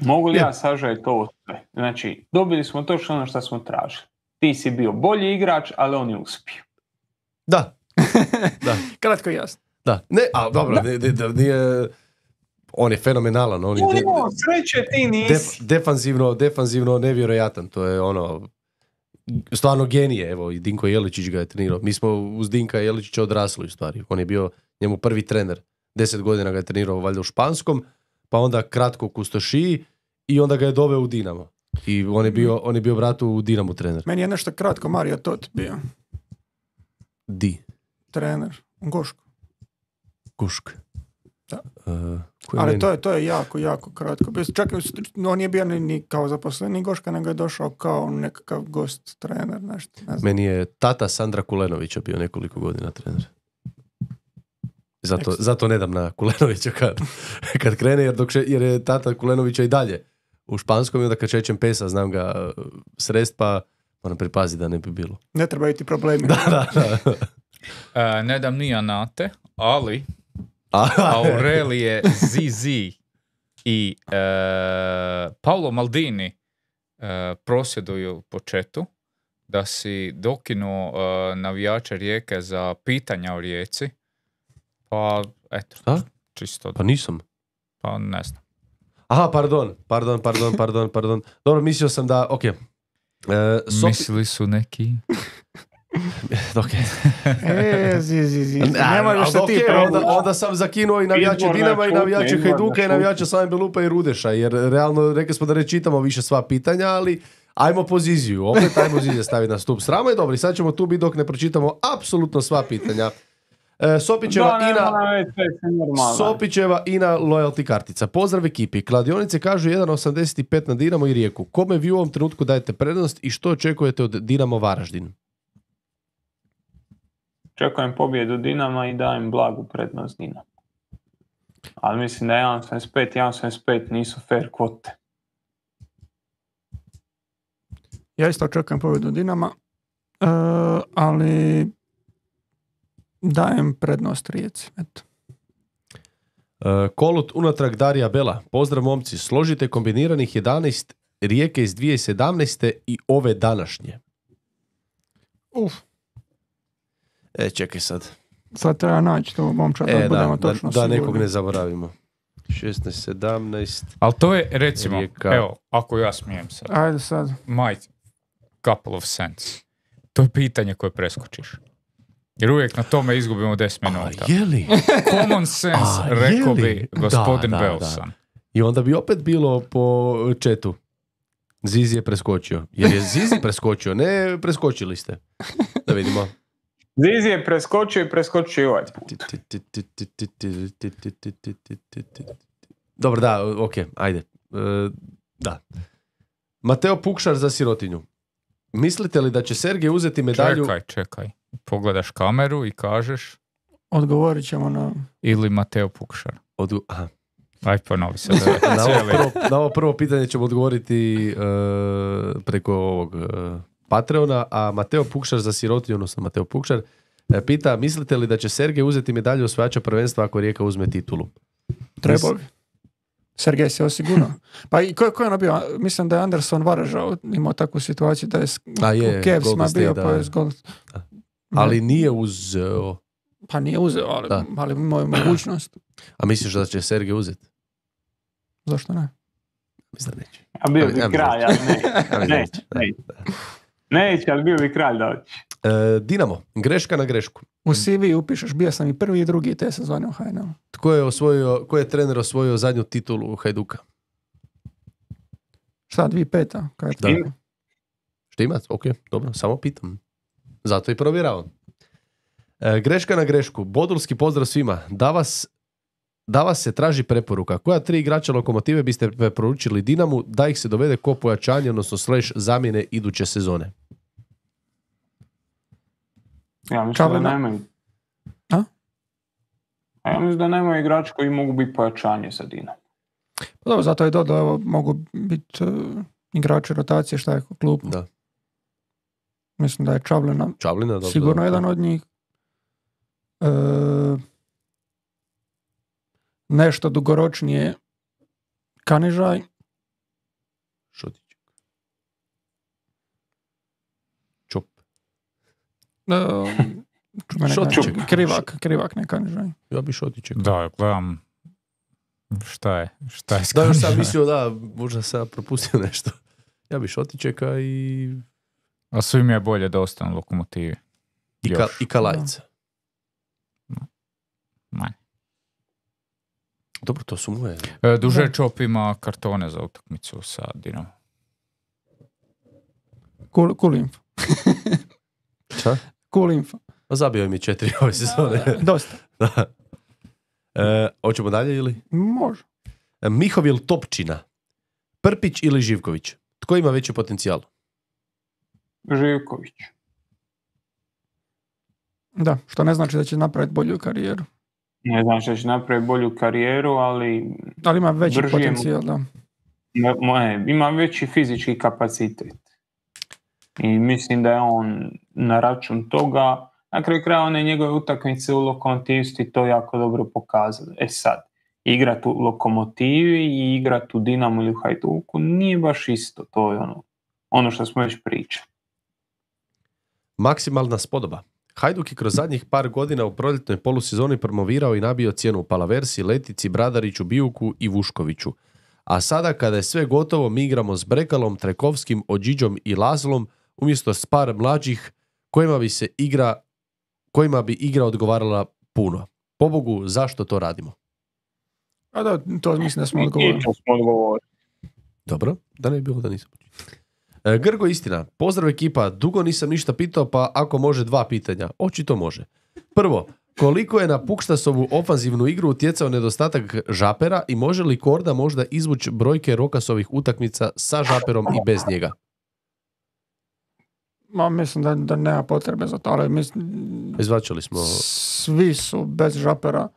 Mogu li Je. ja sažeti ovo sve? Znači, dobili smo točno ono što smo tražili. Ti si bio bolji igrač, ali on je uspio. Da. Da. Kratko i jasno. Da. Ne, a dobro, ne, ne, nije, on je fenomenalan. On je de, No, sreće ti nisi. def, defanzivno, defanzivno nevjerojatan. To je ono, stvarno genije. Evo, i Dinko Jeličić ga je trenirao. Mi smo uz Dinka Jeličića odrasli u stvari. On je bio njemu prvi trener. Deset godina ga je trenirao valjda u Španskom, pa onda kratko u Kustošiji i onda ga je doveo u Dinamo. I on je bio, on je bio bratu u Dinamu trener. Meni je nešto kratko Mario Tot bio. Di? Trener. U Gošku. Kušk. Da. Uh, Ali to je, to je jako, jako kratko. Bez- Čak on nije bio ni, ni kao zaposleni Goška, nego je došao kao nekakav gost trener. Nešto, ne znam. Meni je tata Sandra Kulenovića bio nekoliko godina trener. Zato, zato ne dam na Kulenovića kad, kad krene, jer, dok še, jer je tata Kulenovića i dalje u Španskom i onda kad šećem pesa znam ga srest, pa moram pripaziti da ne bi bilo. Ne treba ti problemi. Da, da, da. E, ne dam ni Anate, ali Aha. Aurelije Zizi i e, Paolo Maldini e, prosvjeduju po četu da si dokinuo e, navijače Rijeke za pitanja o Rijeci. Pa, eto, Šta? čisto, Pa nisam. pa ne znam. Aha, pardon, pardon, pardon, pardon, pardon. Dobro, mislio sam da, ok. E, Sopi... Mislili su neki... ok. E, zi, zi, zi. A, Nema još ali što ti ok, pravi. onda, onda sam zakinuo i navijače Izborna Dinama i šutnja, navijače izborna Hajduka i šutnja. navijače Slaven Belupa i Rudeša, jer realno rekli smo da ne čitamo više sva pitanja, ali ajmo poziciju, opet ajmo Zizija staviti na stup srama i dobro, i sad ćemo tu biti dok ne pročitamo apsolutno sva pitanja. E, Sopićeva Da, Ina... nema veze, sve je normalno. Sopićeva Ina loyalty kartica. Pozdrav ekipi. Kladionice kažu jedan osamdeset pet na Dinamo i Rijeku. Kome vi u ovom trenutku dajete prednost i što očekujete od Dinamo Varaždin? Čekujem pobjedu Dinama i dajem blagu prednost Dinama. Ali mislim da jedan osamdeset pet i jedan osamdeset pet nisu fair kvote. Ja isto očekujem pobjedu Dinama, e, ali dajem prednost Rijeci. Eto. Uh, Kolut unatrag Darija Bela. Pozdrav momci. Složite kombiniranih jedanaest Rijeke iz dvije tisuće sedamnaeste i ove današnje. Uf, E, čekaj sad. sad treba naći to momčad, da E, da, budemo da, točno da sigurni. nekog ne zaboravimo. šesnaest sedamnaest. Ali to je, recimo, Rijeka. evo, ako ja smijem sad, Ajde sad. my couple of cents. To je pitanje koje preskočiš. Jer uvijek na tome izgubimo deset minuta. A, je li? Common sense, A, je rekao li? bi gospodin Da, da, Belsan. I onda bi opet bilo po četu. Zizi je preskočio. Jer je Zizi preskočio, ne preskočili ste. Da vidimo. Zizi je preskočio i preskočio i ovaj put. Dobro, da, ok, ajde. E, da. Mateo Pukšar za sirotinju. mislite li da će Sergej uzeti medalju... Čekaj, čekaj. Pogledaš kameru i kažeš Odgovorit ćemo na... ili Mateo Pukšar. Od... Aha. Aj ponovi se. Na ovo, prvo, na ovo prvo pitanje ćemo odgovoriti uh, preko ovog uh, Patreona, a Mateo Pukšar za sirotinju, odnosno Mateo Pukšar, uh, pita, mislite li da će Sergej uzeti medalju osvajača prvenstva ako Rijeka uzme titulu? Trebao bi. Sergej se osigurao. Pa i ko, ko je ono bio? Mislim da je Anderson Varažao imao takvu situaciju da je, A je, u Cavsima Golden bio, State, pa da. je zgod... Ali nije uzeo... Pa nije uzeo, ali, Da. ali imao je mogućnost. A misliš da će Sergej uzeti? Zašto ne? Mislim da neće. A bio bi Ja mislim kralj, ali ne. Ja mislim da Neće, neće. neće. Neće, ali bio bi kralj doći. E, Dinamo, greška na grešku. U C V upišeš, bio sam i prvi i drugi te sezone u H N L. Tko je, osvojio, ko je trener osvojio zadnju titulu Hajduka? Šta, dvije peta? Kaj je to? Da. Štimac? Ok, dobro, samo pitam. Zato i provjeravam. E, greška na grešku. Bodulski pozdrav svima. Da vas, da vas se traži preporuka. Koja tri igrača Lokomotive biste preporučili Dinamu da ih se dovede ko pojačanje, odnosno slash zamjene iduće sezone? Ja mislim Čavlina. da nemaju. A? A ja mislim da nemaju igrači koji mogu biti pojačanje za Dinamo. Pa dobro, zato je dodao, evo, mogu biti uh, igrači rotacije, šta je ko klub. Da. Mislim da je Čavlina Čavlina, dobro. sigurno dobro. jedan od njih. E, nešto dugoročnije Kanižaj. Šotić. Čop. E, mene Šotićek. kaže, krivak, krivak, ne Kanižaj. Ja bi Šotićek. Da, gledam šta je, šta je s Da, još sam Kanižajem. mislio da, možda sam propustio nešto. Ja bi Šotićeka i, A svim je bolje da ostanu Lokomotivi. i, ka, Još. i Kalajica. Manje. Dobro, to su moje. E, Duže Da. Čop ima kartone za utakmicu sa Dinamo. Cool, cool info. Šta? Cool info. Pa zabio mi četiri ove sezone. Dosta. Da. E, hoćemo dalje ili? Može. E, Mihovil Topčina. Prpić ili Živković? Tko ima veći potencijal? Živković. Da, što ne znači da će napraviti bolju karijeru. Ne znam što će napraviti bolju karijeru, ali Ali ima veći Držim. potencijal, da. mo- moje, ima veći fizički kapacitet. I mislim da je on na račun toga, na kraju kraja one njegove utakmice u Lokomotivi su ti to jako dobro pokazali. E sad, igrat u Lokomotivi i igrat u Dinamu ili u Hajduku nije baš isto, to je ono, ono što smo već pričali. Maksimalna spodoba. Hajduk je kroz zadnjih par godina u proljetnoj polusezoni promovirao i nabio cijenu u Palaversi, Letici, Bradariću, Bijuku i Vuškoviću. A sada kada je sve gotovo mi igramo s Brekalom, Trekovskim, Ođiđom i Lazlom umjesto s par mlađih kojima bi se igra kojima bi igra odgovarala puno. Pobogu, zašto to radimo? A da, to mislim da smo I odgovorili. to smo odgovorili. Dobro, da ne bi bilo da nisam. E, Grgo, istina. Pozdrav ekipa, dugo nisam ništa pitao, pa ako može dva pitanja. Očito može. Prvo, koliko je na Pukštasovu ofanzivnu igru utjecao nedostatak Žapera i može li Korda možda izvući brojke Rokasovih utakmica sa Žaperom i bez njega? Ma, mislim da, da nema potrebe za to, ali mislim, Izvačali smo... svi su bez Žapera,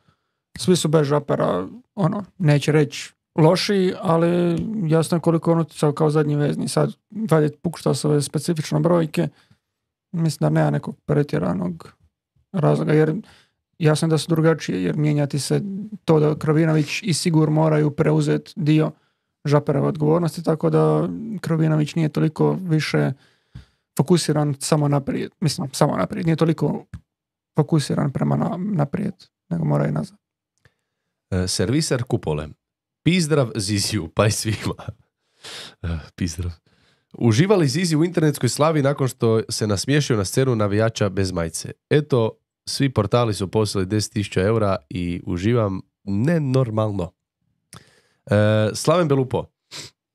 svi su bez Žapera, ono, neće reći lošiji, ali jasno je koliko je on utjecao kao zadnji vezni. Sad, vaditi Pukštasove specifične brojke, mislim da nema nekog pretjeranog razloga, jer jasno je da su drugačije, jer mijenjati se to da Krovinović i Sigur moraju preuzeti dio Žaperove odgovornosti, tako da Krovinović nije toliko više fokusiran samo naprijed, mislim, samo naprijed, nije toliko fokusiran prema na, naprijed, nego mora i nazad. E, Serviser Kupole. Pizdrav Ziziju, pa i svima. E, Pizdrav. Uživali Zizi u internetskoj slavi nakon što se nasmiješio na scenu navijača bez majice. Eto, svi portali su poslali deset tisuća eura i uživam nenormalno. E, Slaven Belupo.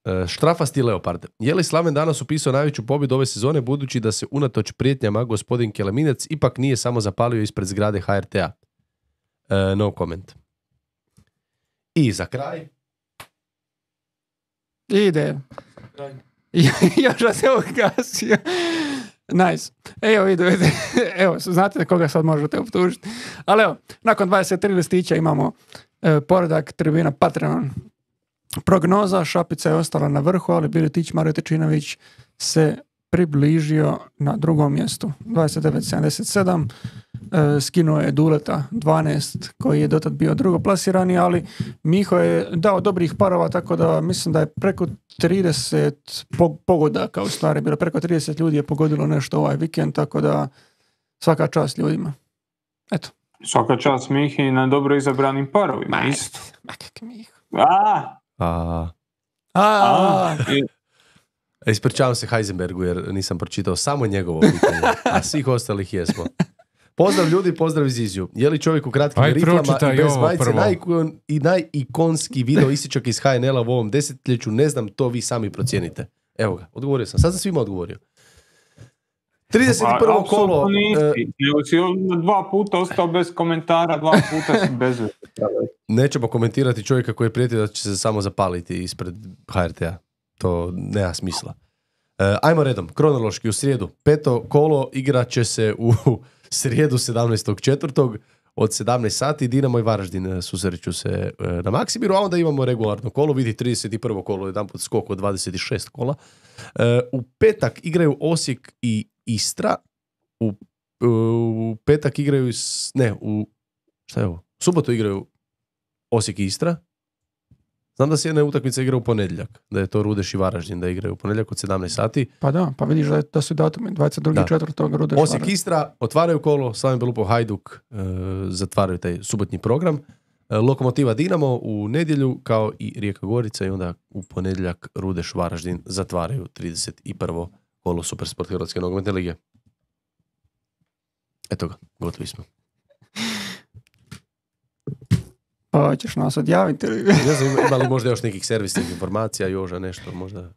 E, Štrafasti Leopard. Je li Slaven danas upisao najveću pobjedu ove sezone budući da se unatoč prijetnjama gospodin Keleminec ipak nije samo zapalio ispred zgrade H R T-a? E, no comment. I za kraj. Ide. Joža se ugasio. Nice. Evo, vidu, evo, znate koga sad možete optužiti. Ali evo, nakon dvadeset tri listića imamo e, poredak tribina Patreon. Prognoza, Šapica je ostala na vrhu, ali Biletić, Mario Tečinović se približio na drugom mjestu. dvadeset devet sedamdeset sedam. E, skinuo je Duleta dvanaest, koji je dotad bio drugoplasirani, ali Miho je dao dobrih parova, tako da mislim da je preko trideset po- pogodaka, u stvari bilo preko trideset ljudi je pogodilo nešto ovaj vikend, tako da svaka čast ljudima. Eto. Svaka čast Mihi na dobro izabranim parovima. Ma, Isto. ma kak Miho. A, A, A, a, i- ispričavam se Heisenbergu jer nisam pročitao samo njegovo pitanje, a svih ostalih jesmo. Pozdrav ljudi, pozdrav iz Iziju. Je li čovjek u kratkim Aj, riflama pročitaj i bez ovo majice prvo. najikon, i najikonski video ističak iz H N L-a u ovom desetljeću? Ne znam, to vi sami procijenite. Evo ga, odgovorio sam. Sad sam svima odgovorio. trideset prvo pa, kolo. apsolutno nisi. e, Nego si on dva puta ostao bez komentara, dva puta si bez veze. nećemo komentirati čovjeka koji je prijetio da će se samo zapaliti ispred H R T-a. To nema smisla. E, ajmo redom, kronološki u srijedu. Peto kolo igrat će se u srijedu sedamnaestog četvrtog od sedamnaest sati. Dinamo i Varaždin susreću se e, na Maksimiru, a onda imamo regularno kolo. Vidi trideset prvo kolo, jedan put skok od dvadeset šest kola. E, u petak igraju Osijek i Istra. U, u petak igraju, s- ne, u, šta je ovo? U subotu igraju Osijek i Istra. Znam da se jedna utakmica igra u ponedjeljak, da je to Rudeš i Varaždin, da igraju u ponedjeljak od sedamnaest sati. pa da, pa vidiš da, je- da su datumi dvadeset drugi Da. četvrtog Rudeš Osijek Varaždin. Istra otvaraju kolo, Slaven Belupo Hajduk e, zatvaraju taj subotnji program. E, Lokomotiva Dinamo u nedjelju, kao i Rijeka Gorica, i onda u ponedjeljak Rudeš Varaždin zatvaraju trideset prvo kolo Supersport Hrvatske nogometne lige. Eto ga, gotovi smo. Pa hoćeš nas odjaviti ili? Ne znam, ima- ima li možda još nekih servisnih informacija, Joža, nešto, možda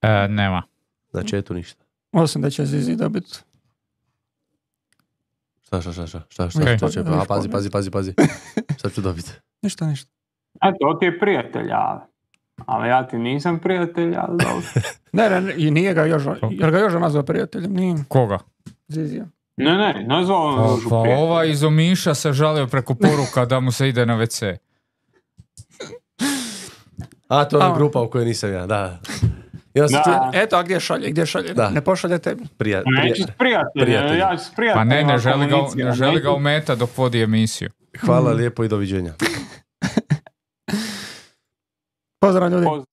E, nema. na chatu ništa. Osim da će Zizi dobiti. Šta, šta, šta, šta, šta, šta, Okej. šta će, a, pazi, pazi, pazi, pazi, šta ću dobiti? Ništa, ništa. Eto, on ti je prijatelj, ali, ali ja ti nisam prijatelj, ali dobro. Ne, ne, ne, i nije ga Joža, jer ga Joža nazvao prijateljem, nije Koga? Zizija. Ne, ne, nazvao on Pa, Jožu pa prijatelj. ovaj iz Omiša se žalio preko poruka da mu se ide na ve ce. A, to je ona A. grupa u kojoj nisam ja, da. Ja sam Da. čuo, Eto, a gdje šalje, gdje šalje? Da. Ne pošalje tebi. prija, Neću prija, s prijateljem, prijatelj. ja ću s Pa prijateljem. ne, ne želi ga, komuniciram, ne želi ga neću- umeta dok vodi emisiju. hvala lijepo i doviđenja. Pozdrav ljudi. Pozdrav.